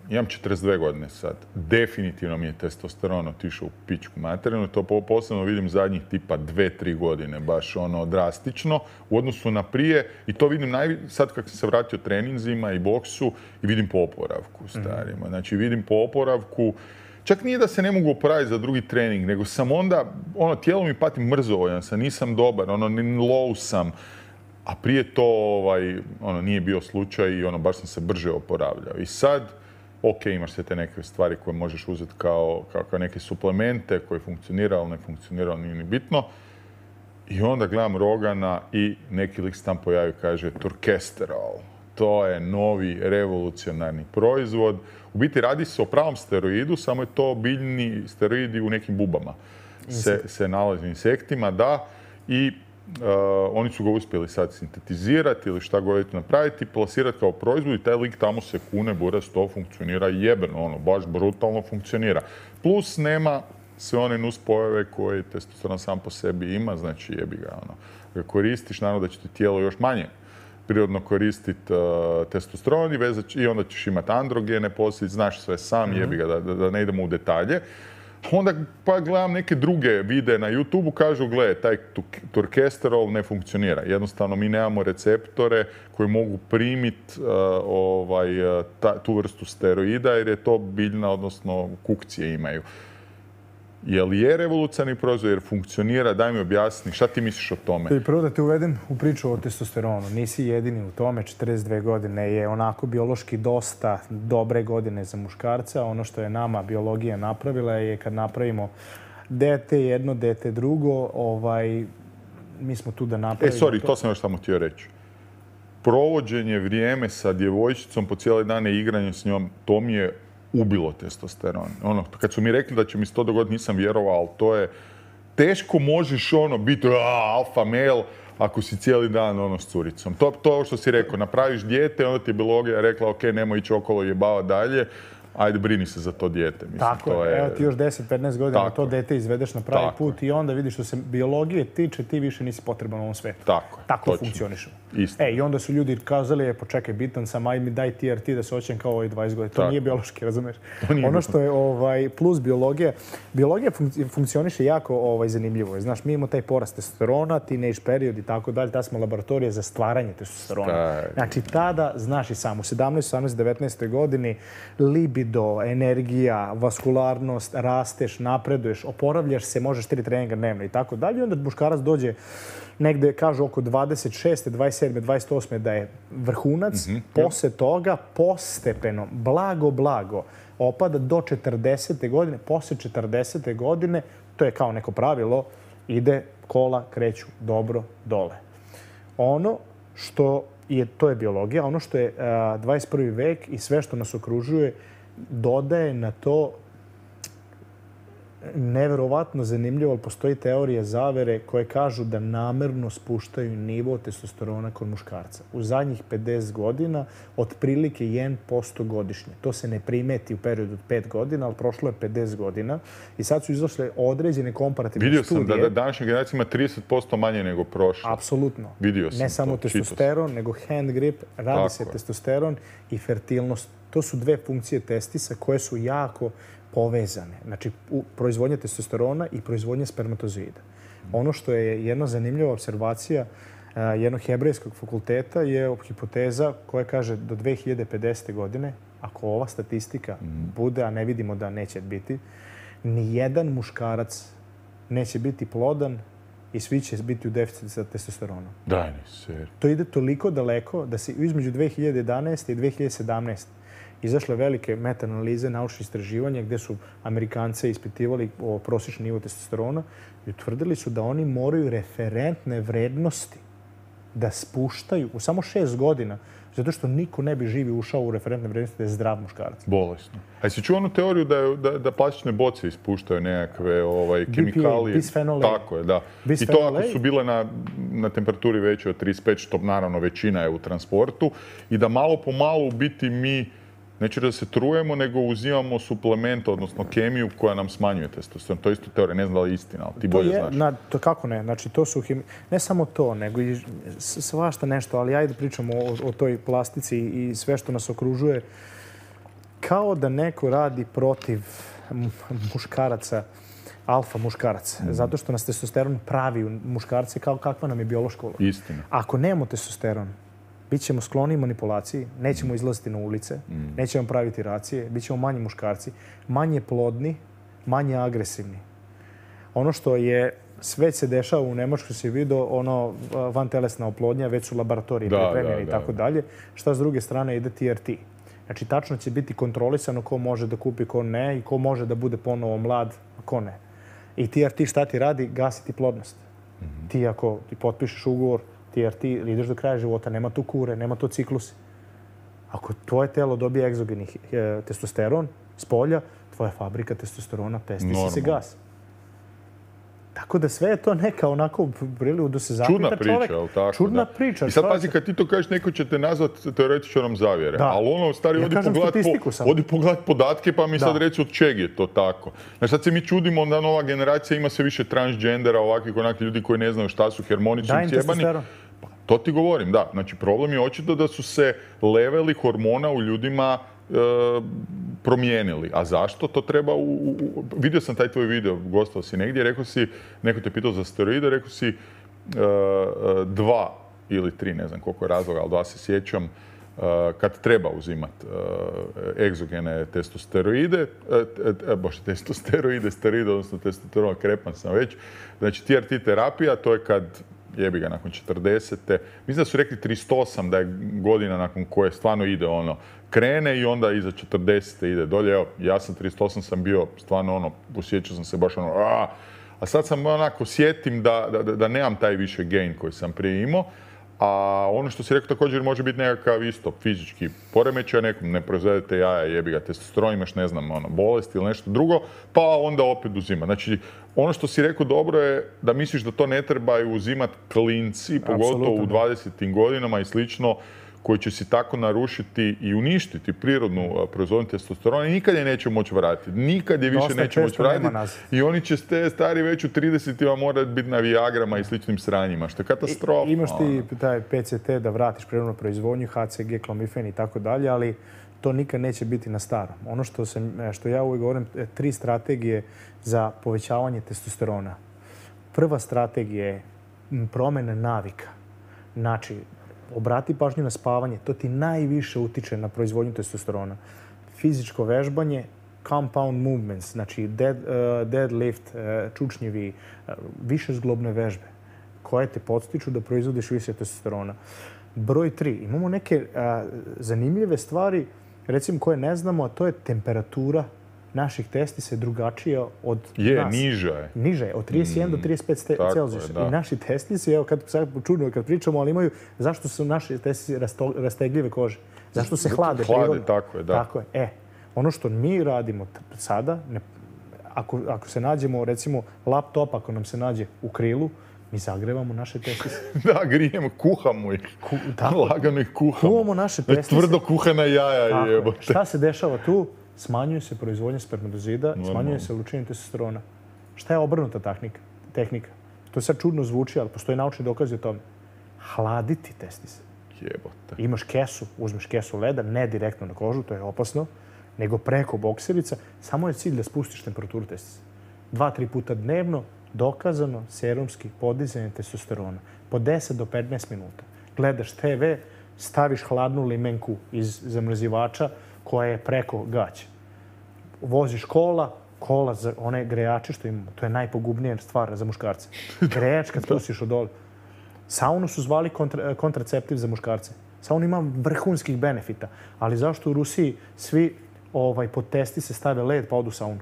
imam četrdeset dvije godine sad. Definitivno mi je testosteron otišao u pičku materinu. To posebno vidim zadnjih tipa dve, tri godine. Baš ono drastično u odnosu na prije. I to vidim najvi... sad kad sam se vratio treninzima i boksu i vidim po oporavku starima. Mm-hmm. Znači vidim po oporavku. Čak nije da se ne mogu oporaviti za drugi trening, nego sam onda, ono, tijelo mi pati mrzovoljan sam, nisam dobar, ono, low sam. A prije to ovaj, ono, nije bio slučaj i ono, baš sam se brže oporavljao. I sad, ok, imaš sve te neke stvari koje možeš uzeti kao, kao, kao neke suplemente koji funkcionira, ali ne funkcionira, nije ni bitno. I onda gledam Rogana i neki lik se tam pojavi i kaže Turkesterol. To je novi revolucionarni proizvod. U biti radi se o pravom steroidu, samo je to biljni steroidi u nekim bubama. Se, se nalazi u insektima, da. I Uh, oni su ga uspjeli sad sintetizirati ili šta god napraviti, plasirati kao proizvod i taj lik tamo se kune, buraz, to funkcionira jebeno, ono, baš brutalno funkcionira. Plus nema sve one nuspojave koje testosteron sam po sebi ima, znači jebi ga, ono, ga koristiš, naravno da će ti tijelo još manje prirodno koristiti uh, testosteron i, vezać, i onda ćeš imati androgene poslije, znaš sve sam, mm-hmm. jebi ga, da, da, da ne idemo u detalje. Onda pa gledam neke druge videe na YouTubeu, kažu, gle, taj turkesterol ne funkcionira. Jednostavno, mi nemamo receptore koji mogu primiti uh, ovaj, ta, tu vrstu steroida, jer je to biljna, odnosno kukcije imaju. Je li je revolucionarni proizvod, jer funkcionira? Daj mi objasni, šta ti misliš o tome? Prvo da te uvedem u priču o testosteronu. Nisi jedini u tome, četrdeset dvije godine je onako biološki dosta dobre godine za muškarca. Ono što je nama biologija napravila je kad napravimo dete jedno, dete drugo, ovaj, mi smo tu da napravimo... E, sorry, to, to sam još samo htio reći. Provođenje vrijeme sa djevojčicom po cijele dane i igranje s njom, to mi je ubilo testosteron. Ono, kad su mi rekli da će mi se to dogoditi, nisam vjerovao, ali to je... Teško možeš ono biti alfa male ako si cijeli dan ono s curicom. To, to što si rekao, napraviš dijete, onda ti je biologija rekla, ok, nemoj ići okolo jebava dalje, ajde brini se za to dijete. Mislim, tako to je, je... evo ti još deset petnaest godina to dete izvedeš na pravi tako put je. I onda vidiš što se biologije tiče, ti više nisi potreban u ovom svetu. Tako je. Tako funkcionišemo. Isto. E, i onda su ljudi kazali, je, počekaj, bitan sam, aj mi daj T R T da se oćem kao ovaj dvadeset godina. To tako. Nije biološki, razumiješ? Ono što je ovaj, plus biologija, biologija fun- funkcioniše jako ovaj, zanimljivo. Znaš, mi imamo taj porast testosterona, teenage period i tako dalje, ta smo laboratorija za stvaranje testosterona. Staj. Znači, tada, znaš i sam, u sedamnaest, osamnaest, devetnaest godini libido, energija, vaskularnost, rasteš, napreduješ, oporavljaš se, možeš tri treninga dnevno i tako dalje. Onda muškarac dođe negde, kažu, oko dvadeset šeste, dvadeset sedme, dvadeset osme da je vrhunac. Mm-hmm. Posle toga, postepeno, blago, blago, opada do četrdesete godine. Posle četrdesete godine, to je kao neko pravilo, ide kola, kreću dobro dole. Ono što je, to je biologija, ono što je a, dvadeset prvi vek i sve što nas okružuje, dodaje na to neverovatno zanimljivo, ali postoji teorija zavere koje kažu da namerno spuštaju nivo testosterona kod muškarca. U zadnjih pedeset godina, otprilike jedan posto godišnje. To se ne primeti u periodu od pet godina, ali prošlo je pedeset godina i sad su izašle određene komparativne Vidio studije. Vidio sam da, da današnja generacija ima trideset posto manje nego prošlo. Apsolutno. Vidio sam ne samo to, testosteron, nego hand grip, radi tako se je. Testosteron i fertilnost. To su dve funkcije testisa koje su jako povezane. Znači, proizvodnja testosterona i proizvodnja spermatozoida. Ono što je jedna zanimljiva observacija jednog hebrejskog fakulteta je hipoteza koja kaže do dve hiljade pedesete godine, ako ova statistika bude, a ne vidimo da neće biti, Nijedan muškarac neće biti plodan i svi će biti u deficitu sa testosteronom. Daj mi se. To ide toliko daleko da se između dve hiljade jedanaeste i dve hiljade sedamnaeste izašle velike meta-analize, naučne istraživanja gdje su Amerikance ispitivali o prosječnom nivou testosterona i utvrdili su da oni moraju referentne vrednosti da spuštaju u samo šest godina, zato što niko ne bi živi ušao u referentne vrednosti da je zdrav muškarac. Bolesno. A jesi čuo onu teoriju da, je, da, da plastične boce ispuštaju nekakve ovaj, kemikalije? Bisfenol A. Tako je, da. Bisfenol I to ako su bile na, na temperaturi većoj od trideset pet, što naravno većina je u transportu, i da malo po malo u biti mi, neću da se trujemo, nego uzimamo suplement, odnosno kemiju koja nam smanjuje testosteron. To je isto teorija, ne znam da li je istina, ali ti bolje je, znaš. Na, to kako ne? Znači, to su hemi... Ne samo to, nego i svašta nešto, ali ajde pričamo o, o toj plastici i sve što nas okružuje. Kao da neko radi protiv muškaraca, alfa muškaraca, mm. zato što nas testosteron pravi u muškarce kao kakva nam je biološka uloga. Istina. Ako nemamo testosteron, bit ćemo skloni manipulaciji, nećemo izlaziti na ulice, mm. nećemo praviti racije, bit ćemo manji muškarci, manje plodni, manje agresivni. Ono što je, sve se dešava u Nemačkoj, se vidio, ono vantelesna oplodnja, već su laboratoriji da, pripremljeni da, i tako da. dalje. Šta s druge strane ide T R T. Znači, tačno će biti kontrolisano ko može da kupi, ko ne i ko može da bude ponovo mlad, a ko ne. I T R T šta ti radi? Gasiti plodnost. Mm-hmm. Ti ako ti potpišeš ugovor, T R T ideš do kraja života, nema tu kure, nema to ciklus. Ako tvoje telo dobije egzogeni e, testosteron s polja, tvoja fabrika testosterona, testisi se gas. Tako da sve je to neka onako priliku da se zapita čovjek. Čudna priča, ali tako? Čudna da. priča. I sad pazi, kad ti to kažeš, neko će te nazvati teoretičarom zavjere. Da. Ali ono, stari, ja odi pogledat po, pogledat podatke, pa mi da. sad reći od čeg je to tako. Znači, sad se mi čudimo da nova generacija ima sve više transgendera, ovakvih onakvih ljudi koji ne znaju šta su, hermoni su cijebani. Pa, to ti govorim, da. Znači, problem je očito da su se leveli hormona u ljudima e, promijenili. A zašto? To treba u, u... Vidio sam taj tvoj video, gostao si negdje, rekao si, neko te pitao za steroide, rekao si uh, dva ili tri, ne znam koliko je razloga, ali dva se sjećam, uh, kad treba uzimati uh, egzogene testosteroide, uh, bože, testosteroide, steroide, odnosno testosteron, krepan sam već. Znači, T R T terapija, to je kad jebi ga nakon četrdesete. Mislim da su rekli trideset osam, da je godina nakon koje stvarno ide ono, krene i onda iza četrdesete ide dolje. Evo, ja sam trideset osam sam bio stvarno ono, osjećao sam se baš ono, a, a sad sam onako sjetim da, da, da nemam taj više gain koji sam prije imao. A ono što si rekao također može biti nekakav isto fizički poremećaj, nekom ne proizvedete jaja, jebi ga testosteron, imaš ne znam, ono, bolest ili nešto drugo, pa onda opet uzima. Znači, ono što si rekao dobro je da misliš da to ne trebaju uzimati klinci, pogotovo Absolutno. u dvadesetim godinama i slično, koji će si tako narušiti i uništiti prirodnu proizvodnju testosterona i nikad je neće moći vratiti. Nikad je više Dosta neće moći vratiti. I oni će ste stari već u tridesetima morati biti na viagrama i sličnim sranjima, što je katastrofa. I, imaš ti taj P C T da vratiš prirodnu proizvodnju, H C G, klomifen i tako dalje, ali to nikad neće biti na starom. Ono što, sam, što ja uvijek govorim, tri strategije za povećavanje testosterona. Prva strategija je promjena navika. Znači, obrati pažnju na spavanje, to ti najviše utiče na proizvodnju testosterona. Fizičko vežbanje, compound movements, znači dead, uh, deadlift, uh, čučnjevi, uh, višezglobne vežbe, koje te podstiču da proizvodiš više testosterona. Broj tri, imamo neke uh, zanimljive stvari, recimo koje ne znamo, a to je temperatura naših testisa je drugačija od je, nas. Je, niža je. Niža je, od trideset jedan mm, do trideset pet Celzijusa. I naši testisi, evo kad sad čudno kad pričamo, ali imaju, zašto su naši testisi rasto, rastegljive kože? Zašto se hlade? Hlade, prirodno? tako je, da. Tako je. E, ono što mi radimo sada, ne, ako, ako se nađemo, recimo, laptop, ako nam se nađe u krilu, mi zagrevamo naše testise. Da, grijemo, kuhamo ih. Ku, da. Lagano ih kuhamo. Kuhamo naše testise. Tvrdo kuhana jaja jebote. Šta se dešava tu? Smanjuje se proizvodnja spermatozida, smanjuje se lučenje testosterona. Šta je obrnuta tehnika? tehnika? To sad čudno zvuči, ali postoji naučni dokazi o tome. Hladiti testise. Jebote. Imaš kesu, uzmeš kesu leda, ne direktno na kožu, to je opasno, nego preko bokserica. Samo je cilj da spustiš temperaturu testisa. Dva, tri puta dnevno, dokazano, serumski podizanje testosterona. Po deset do petnaest minuta. Gledaš te ve, staviš hladnu limenku iz zamrzivača, koja je preko gaća. Voziš kola, kola, za one grejače što imamo, to je najpogubnija stvar za muškarce. Grejač kad spustiš od dole. Saunu su zvali kontra, kontraceptiv za muškarce. Sauna ima vrhunskih benefita, ali zašto u Rusiji svi ovaj, pod testi se stave led pa odu u saunu?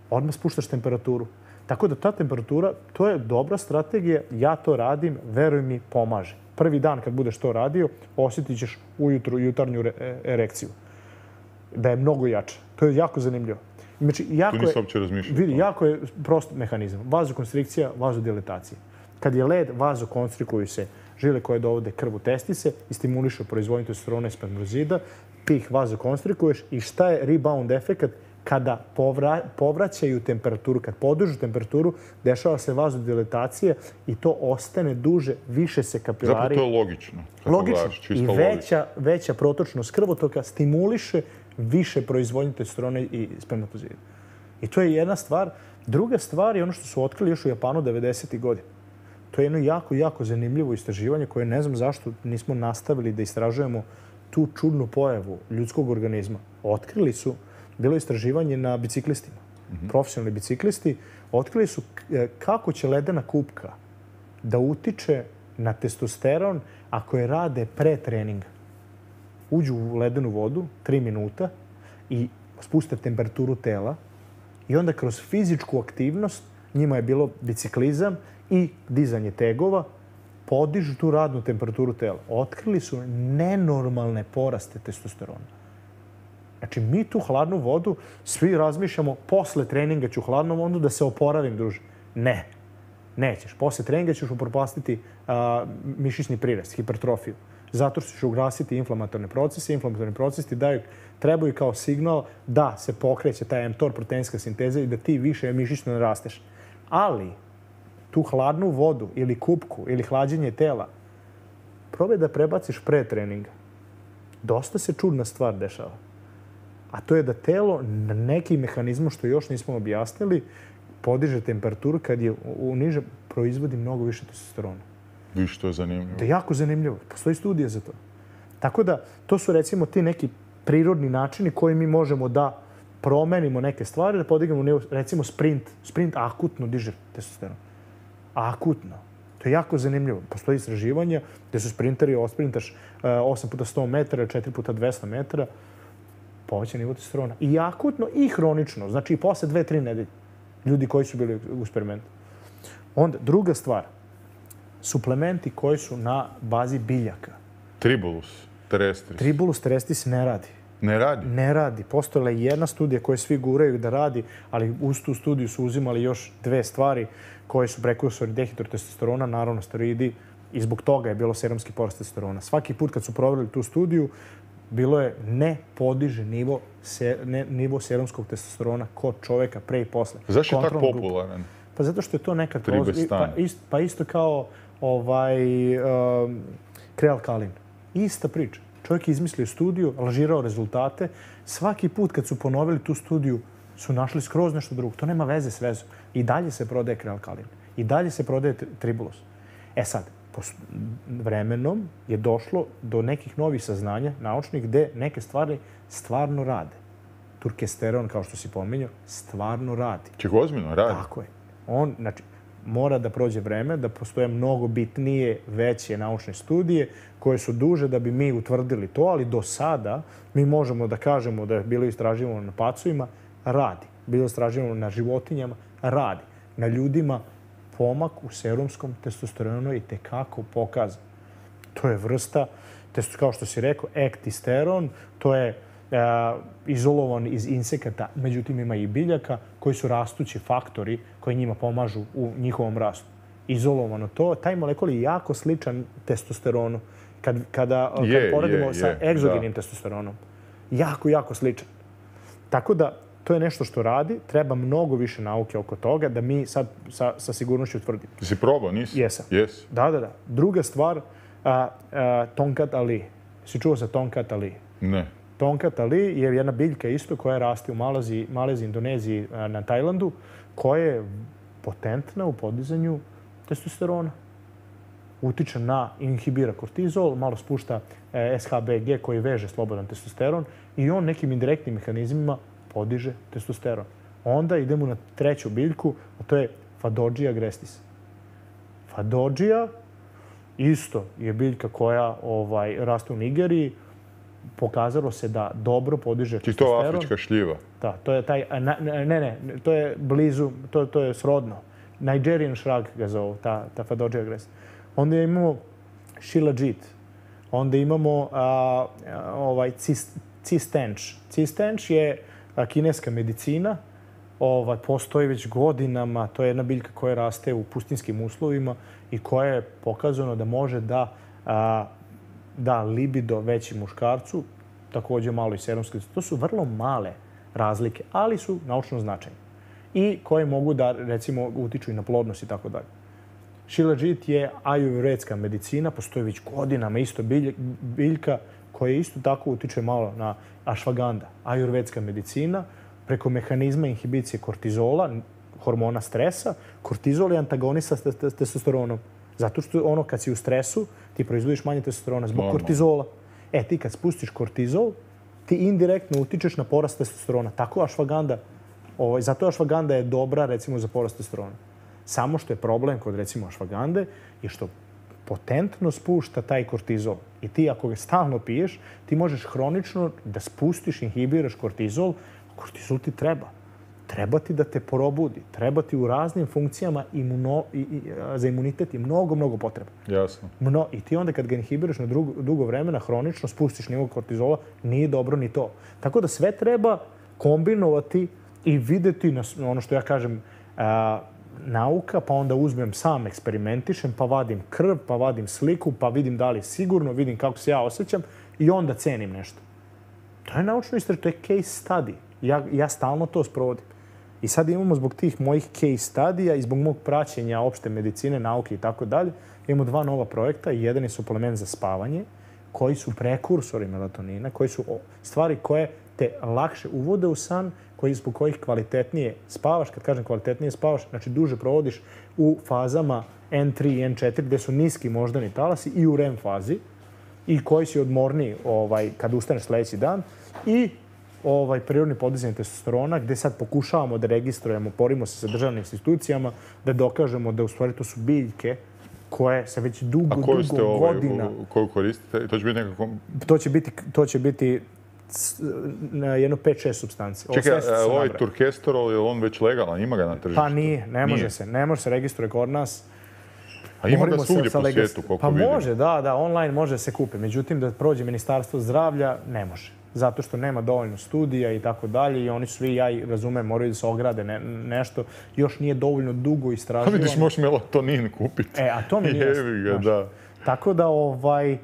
Odmah spuštaš temperaturu. Tako da ta temperatura, to je dobra strategija, ja to radim, veruj mi, pomaže. Prvi dan kad budeš to radio, osjetit ćeš ujutru jutarnju erekciju. Da je mnogo jača. To je jako zanimljivo. Znači, jako tu nisam uopće razmišljao. Vidi, jako je prost mehanizam. Vazokonstrikcija, vazodilatacija. Kad je led, vazokonstrikuju se žile koje dovode krv u testise i stimulišu proizvodnju testosterona i spermozida. Ti ih vazokonstrikuješ i šta je rebound efekat? Kada povra, povraćaju temperaturu, kad podižu temperaturu, dešava se vazodilatacija i to ostane duže, više se kapilari... Zapravo to je logično. Logično. Gledaš, I veća, veća protočnost krvotoka stimuliše više proizvodnje testosterona i spermatozida. I to je jedna stvar. Druga stvar je ono što su otkrili još u Japanu devedesetih godina. To je jedno jako, jako zanimljivo istraživanje koje ne znam zašto nismo nastavili da istražujemo tu čudnu pojavu ljudskog organizma. Otkrili su, bilo je istraživanje na biciklistima, mm-hmm. profesionalni biciklisti, otkrili su kako će ledena kupka da utiče na testosteron ako je rade pre treninga. Uđu u ledenu vodu, tri minuta, i spuste temperaturu tela i onda kroz fizičku aktivnost, njima je bilo biciklizam i dizanje tegova, podižu tu radnu temperaturu tela. Otkrili su nenormalne poraste testosterona. Znači, mi tu hladnu vodu, svi razmišljamo, posle treninga ću u hladnom vodu da se oporavim, druže. Ne, nećeš. Posle treninga ćeš upropastiti a, mišićni prirast, hipertrofiju. Zato što ćeš ugasiti inflamatorne procese. Inflamatorni procesi daju, trebaju kao signal da se pokreće ta mTOR proteinska sinteza i da ti više mišićno ne rasteš. Ali tu hladnu vodu ili kupku ili hlađenje tela probaj da prebaciš pre treninga. Dosta se čudna stvar dešava. A to je da telo na neki mehanizmu što još nismo objasnili podiže temperaturu kad je u niže proizvodi mnogo više testosterona. Viš, to je zanimljivo. To je jako zanimljivo. Postoji studija za to. Tako da, to su recimo ti neki prirodni načini koji mi možemo da promenimo neke stvari, da podignemo nivo, recimo sprint. Sprint akutno diže testosteron. Akutno. To je jako zanimljivo. Postoji istraživanja gde su sprinteri, osprintaš osam puta sto metara, četiri puta dvesta metara, poveća nivo testosterona. I akutno i hronično. Znači i posle dve, tri nedelje. Ljudi koji su bili u eksperimentu. Onda, druga stvar. Suplementi koji su na bazi biljaka. Tribulus terrestris. Tribulus terrestris ne radi. Ne radi? Ne radi. Postojala je jedna studija koju svi guraju da radi, ali uz tu studiju su uzimali još dve stvari koje su prekursori dehidrotestosterona, naravno steroidi, i zbog toga je bilo serumski porast testosterona. Svaki put kad su provjerili tu studiju, bilo je ne podiže nivo, se, ne, nivo serumskog testosterona kod čoveka pre i posle. Zašto je tako popularan? Pa zato što je to neka kroz... Pa, ist, pa isto kao ovaj, um, krealkalin. Ista priča. Čovjek je izmislio studiju, lažirao rezultate. Svaki put kad su ponovili tu studiju, su našli skroz nešto drugo. To nema veze s vezom. I dalje se prodaje krealkalin. I dalje se prodaje tribulus. E sad, vremenom je došlo do nekih novih saznanja naučnih gde neke stvari stvarno rade. Turkesteron, kao što si pominjao, stvarno radi. Ček, ozbiljno radi? Tako je. On, znači, mora da prođe vreme, da postoje mnogo bitnije, veće naučne studije koje su duže da bi mi utvrdili to, ali do sada mi možemo da kažemo da je bilo istraživano na pacovima, radi. Bilo istraživano na životinjama, radi. Na ljudima pomak u serumskom testosteronu i tekako pokazan. To je vrsta, kao što si rekao, ektisteron, to je Uh, izolovan iz insekata, međutim ima i biljaka koji su rastući faktori koji njima pomažu u njihovom rastu. Izolovano to, taj molekul je jako sličan testosteronu kad, kada je, kad poredimo je, sa je, egzogenim da. testosteronom. Jako, jako sličan. Tako da, to je nešto što radi, treba mnogo više nauke oko toga da mi sad sa, sa sigurnošću utvrdimo. Ti si probao, nisi? Jesam. Yes. Da, da, da. Druga stvar, a, a, Tonkat Ali. Si čuo za Tonkat Ali? Ne. Tonkat Ali je jedna biljka isto koja raste u Maleziji, Maleziji, Indoneziji, na Tajlandu, koja je potentna u podizanju testosterona. Utiče na, inhibira kortizol, malo spušta S H B G koji veže slobodan testosteron i on nekim indirektnim mehanizmima podiže testosteron. Onda idemo na treću biljku, a to je Fadođija agrestis. Fadođija isto je biljka koja ovaj, raste u Nigeriji. Pokazalo se da dobro podiže testosteron. I to afrička šljiva. Da, to je taj, ne, ne, to je blizu, to, to je srodno. Nigerian shrug ga zovu, ta, ta Fadođija agrestis. Onda imamo Shilajit. Onda imamo a, a, ovaj cistenč. Cistenč je a, kineska medicina. Ovaj, postoji već godinama. To je jedna biljka koja raste u pustinskim uslovima i koja je pokazano da može da a, da libido većim muškarcu, također malo i serumski. To su vrlo male razlike, ali su naučno značajne. I koje mogu da, recimo, utiču i na plodnost i tako dalje. Shilajit je ajurvedska medicina, postoji već godinama isto biljka koja isto tako utiče malo na ashwagandha. Ajurvedska medicina, preko mehanizma inhibicije kortizola, hormona stresa. Kortizol je antagonista s testosteronom. Zato što ono kad si u stresu, ti proizvodiš manje testosterona zbog Normalno. kortizola. E, ti kad spustiš kortizol, ti indirektno utičeš na porast testosterona. Tako ashwagandha, ovaj, zato ashwagandha je dobra, recimo, za porast testosterona. Samo što je problem kod, recimo, ashwagandhe je što potentno spušta taj kortizol. I ti, ako ga stalno piješ, ti možeš hronično da spustiš, inhibiraš kortizol. Kortizol ti treba. Treba ti da te probudi. Treba ti u raznim funkcijama imuno, i, i, za imunitet je mnogo, mnogo potreba. Jasno. Mno, I ti onda kad ga inhibiraš na drugo, dugo vremena, hronično spustiš nivo kortizola, nije dobro ni to. Tako da sve treba kombinovati i videti na ono što ja kažem a, nauka, pa onda uzmem sam, eksperimentišem, pa vadim krv, pa vadim sliku, pa vidim da li je sigurno, vidim kako se ja osjećam i onda cenim nešto. To je naučno istraživanje, to je case study. Ja, ja stalno to sprovodim. I sad imamo zbog tih mojih case studija i zbog mog praćenja opšte medicine, nauke i tako dalje, imamo dva nova projekta. Jedan je suplement za spavanje, koji su prekursori melatonina, koji su stvari koje te lakše uvode u san, koji zbog kojih kvalitetnije spavaš. Kad kažem kvalitetnije spavaš, znači duže provodiš u fazama en tri i en četiri, gdje su niski moždani talasi i u R E M fazi, i koji si odmorniji ovaj, kad ustaneš sljedeći dan. I ovaj, prirodni podizanje testosterona, gdje sad pokušavamo da registrujemo, porimo se sa državnim institucijama, da dokažemo da u stvari to su biljke koje se već dugo, A koju dugo ste ovaj, godina... koju koristite? To će biti nekako... To će biti, to će biti na jedno pet šest supstanci. Čekaj, ovaj turkesterol, je on već legalan? Ima ga na tržištu? Pa nije, ne može nije. se. Ne može se registruje kod nas. A ima ga svugdje po svijetu, koliko pa vidim. Pa može, da, da, online može se kupi. Međutim, da prođe Ministarstvo zdravlja, ne može. Zato što nema dovoljno studija i tako dalje i oni svi, ja i razumem, moraju da se ograde ne, nešto. Još nije dovoljno dugo istraživano. A vidiš, možeš melatonin kupiti. E, a to mi nije Jevi ga, da. Tako da, ovaj,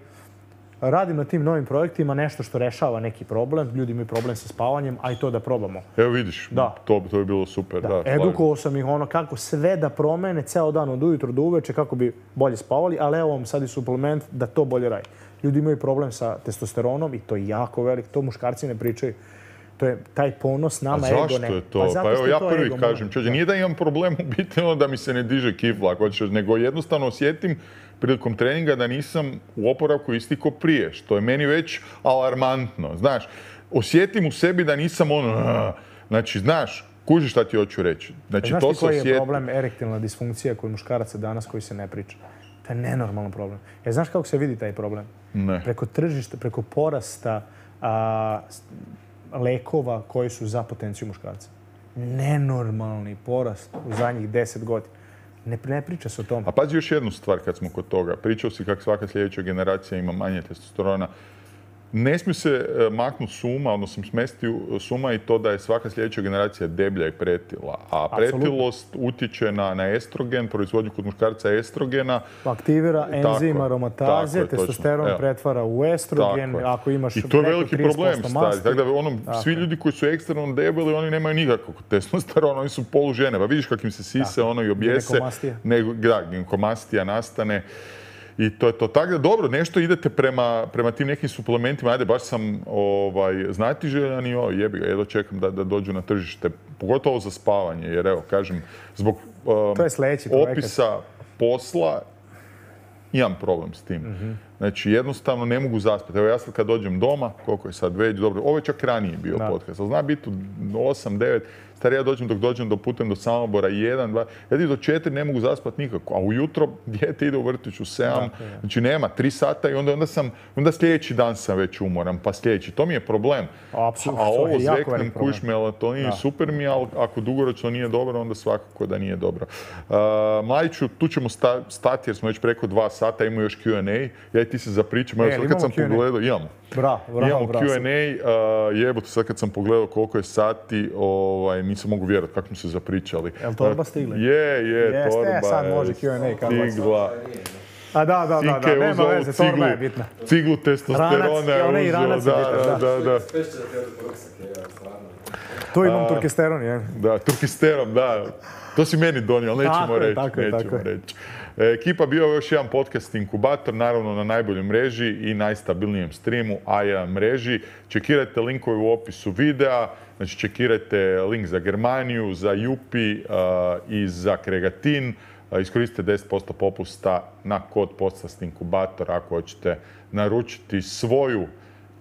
radim na tim novim projektima nešto što rešava neki problem. Ljudi imaju problem sa spavanjem, a i to da probamo. Evo vidiš, da. to, to je bilo super. Da. Da, edukovao sam ih ono kako sve da promene, ceo dan od ujutro do uveče, kako bi bolje spavali, ali evo vam sad i suplement da to bolje radi. Ljudi imaju problem sa testosteronom i to je jako velik, to muškarci ne pričaju. To je taj ponos nama ego ne. A zašto je to? Pa, pa evo ja prvi ego, kažem, čođe, nije da imam problem u biti ono da mi se ne diže kifla, ako hoćeš, nego jednostavno osjetim prilikom treninga da nisam u oporavku isti ko prije, što je meni već alarmantno. Znaš, osjetim u sebi da nisam ono, znači, znaš, kužiš šta ti hoću reći. Znači, znaš to ti se koji osjeti. je problem erektilna disfunkcija kod muškaraca danas koji se ne priča? To je nenormalan problem. E, znaš kako se vidi taj problem? Ne. Preko tržišta, preko porasta a, lekova koji su za potenciju muškarca. Nenormalni porast u zadnjih deset godina. Ne, ne priča se o tome. A pazi još jednu stvar kad smo kod toga. Pričao si kako svaka sljedeća generacija ima manje testosterona. Ne smije se maknuti suma, odnosno smesti suma i to da je svaka sljedeća generacija deblja i pretila. A pretilost utječe na, na estrogen, proizvodnju kod muškarca estrogena. Aktivira enzim aromataze, je, testosteron Evo. pretvara u estrogen. Tako ako imaš I to je preko veliki trideset posto problem, masti. stari. Tako da ono, Tako svi ljudi koji su ekstremno debeli, oni nemaju nikakvog testosterona, oni su polužene. Pa vidiš kakvim se sise, ono i objese. Ginekomastija. Nego, da, ginekomastija nastane. I to je to. Tako da, dobro, nešto idete prema, prema tim nekim suplementima. Ajde, baš sam ovaj, znatiželjan i o, jebi ga, jedno čekam da, da dođu na tržište. Pogotovo za spavanje, jer evo, kažem, zbog um, to je sljedeći opisa posla imam problem s tim. Mm-hmm. Znači, jednostavno ne mogu zaspati. Evo ja sad kad dođem doma, koliko je sad već, dobro, ovo je čak ranije bio Da. podcast, ali zna biti u osam, devet, stari ja dođem dok dođem do putem do Samobora, jedan, dva, ja ti do četiri ne mogu zaspati nikako, a ujutro dijete ide u vrtić u sedam, znači nema, tri sata i onda, onda sam, onda sljedeći dan sam već umoran, pa sljedeći, to mi je problem. Apsolutno, A to je ovo jako zveknem, velik problem. kuš melatonin, super mi je, ali ako dugoročno nije dobro, onda svakako da nije dobro. Uh, Mladiću, tu ćemo sta- stati jer smo već preko dva sata, imamo još Q and A, ja i ti se zapričamo, evo E, sad kad sam imamo Q and A? pogledao, imamo. Bravo, bravo, Imamo bravo. Q and A, uh, jebote, sad kad sam pogledao koliko je sati, ovaj, nisam mogu vjerovati kako smo se zapričali. Jel torba stigla? Je, je, Jeste, torba sad je može Q and A, kako god. stigla. A da, da, da, Sinke da, je nema uzeo veze, ciglu, torba je bitna. ciglu testosterona Ranac, je onaj uzeo, ranac je da, bitan, da, da, da. Spešće da te ruksak, je, stvarno. Tu imam turkesteron, je. Da, turkisterom, da. To si meni donio, ali nećemo Tako je, reći. tako je, nećemo tako je. reći. E, Ekipa bio je još jedan podcast inkubator, naravno na najboljoj mreži i najstabilnijem streamu A jedan mreži. Čekirajte linkove u opisu videa, znači čekirajte link za Germaniju, za Jupi uh, i za Kregatin. Uh, iskoristite deset posto popusta na kod podcast inkubator ako hoćete naručiti svoju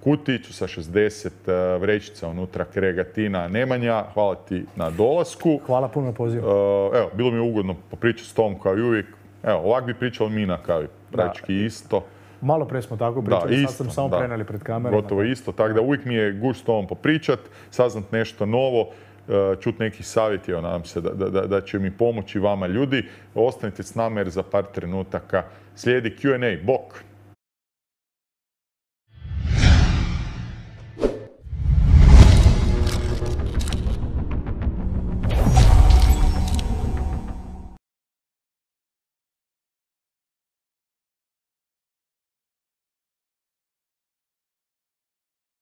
kutiću sa šezdeset uh, vrećica unutra Kregatina Nemanja. Hvala ti na dolasku. Hvala puno na pozivu. Uh, evo, bilo mi je ugodno popričati s tom kao i uvijek. Evo, ovak bi pričali mi na kavi. Praktički isto. Malo pre smo tako pričali, Da, sad isto, sam samo da. preneli pred kamerama. Gotovo isto, tako da uvijek mi je gušt s tobom popričat, saznat nešto novo, uh, čut neki savjet, evo, nadam se da, da, da će mi pomoći vama ljudi. Ostanite s nama jer za par trenutaka slijedi Q and A. Bok!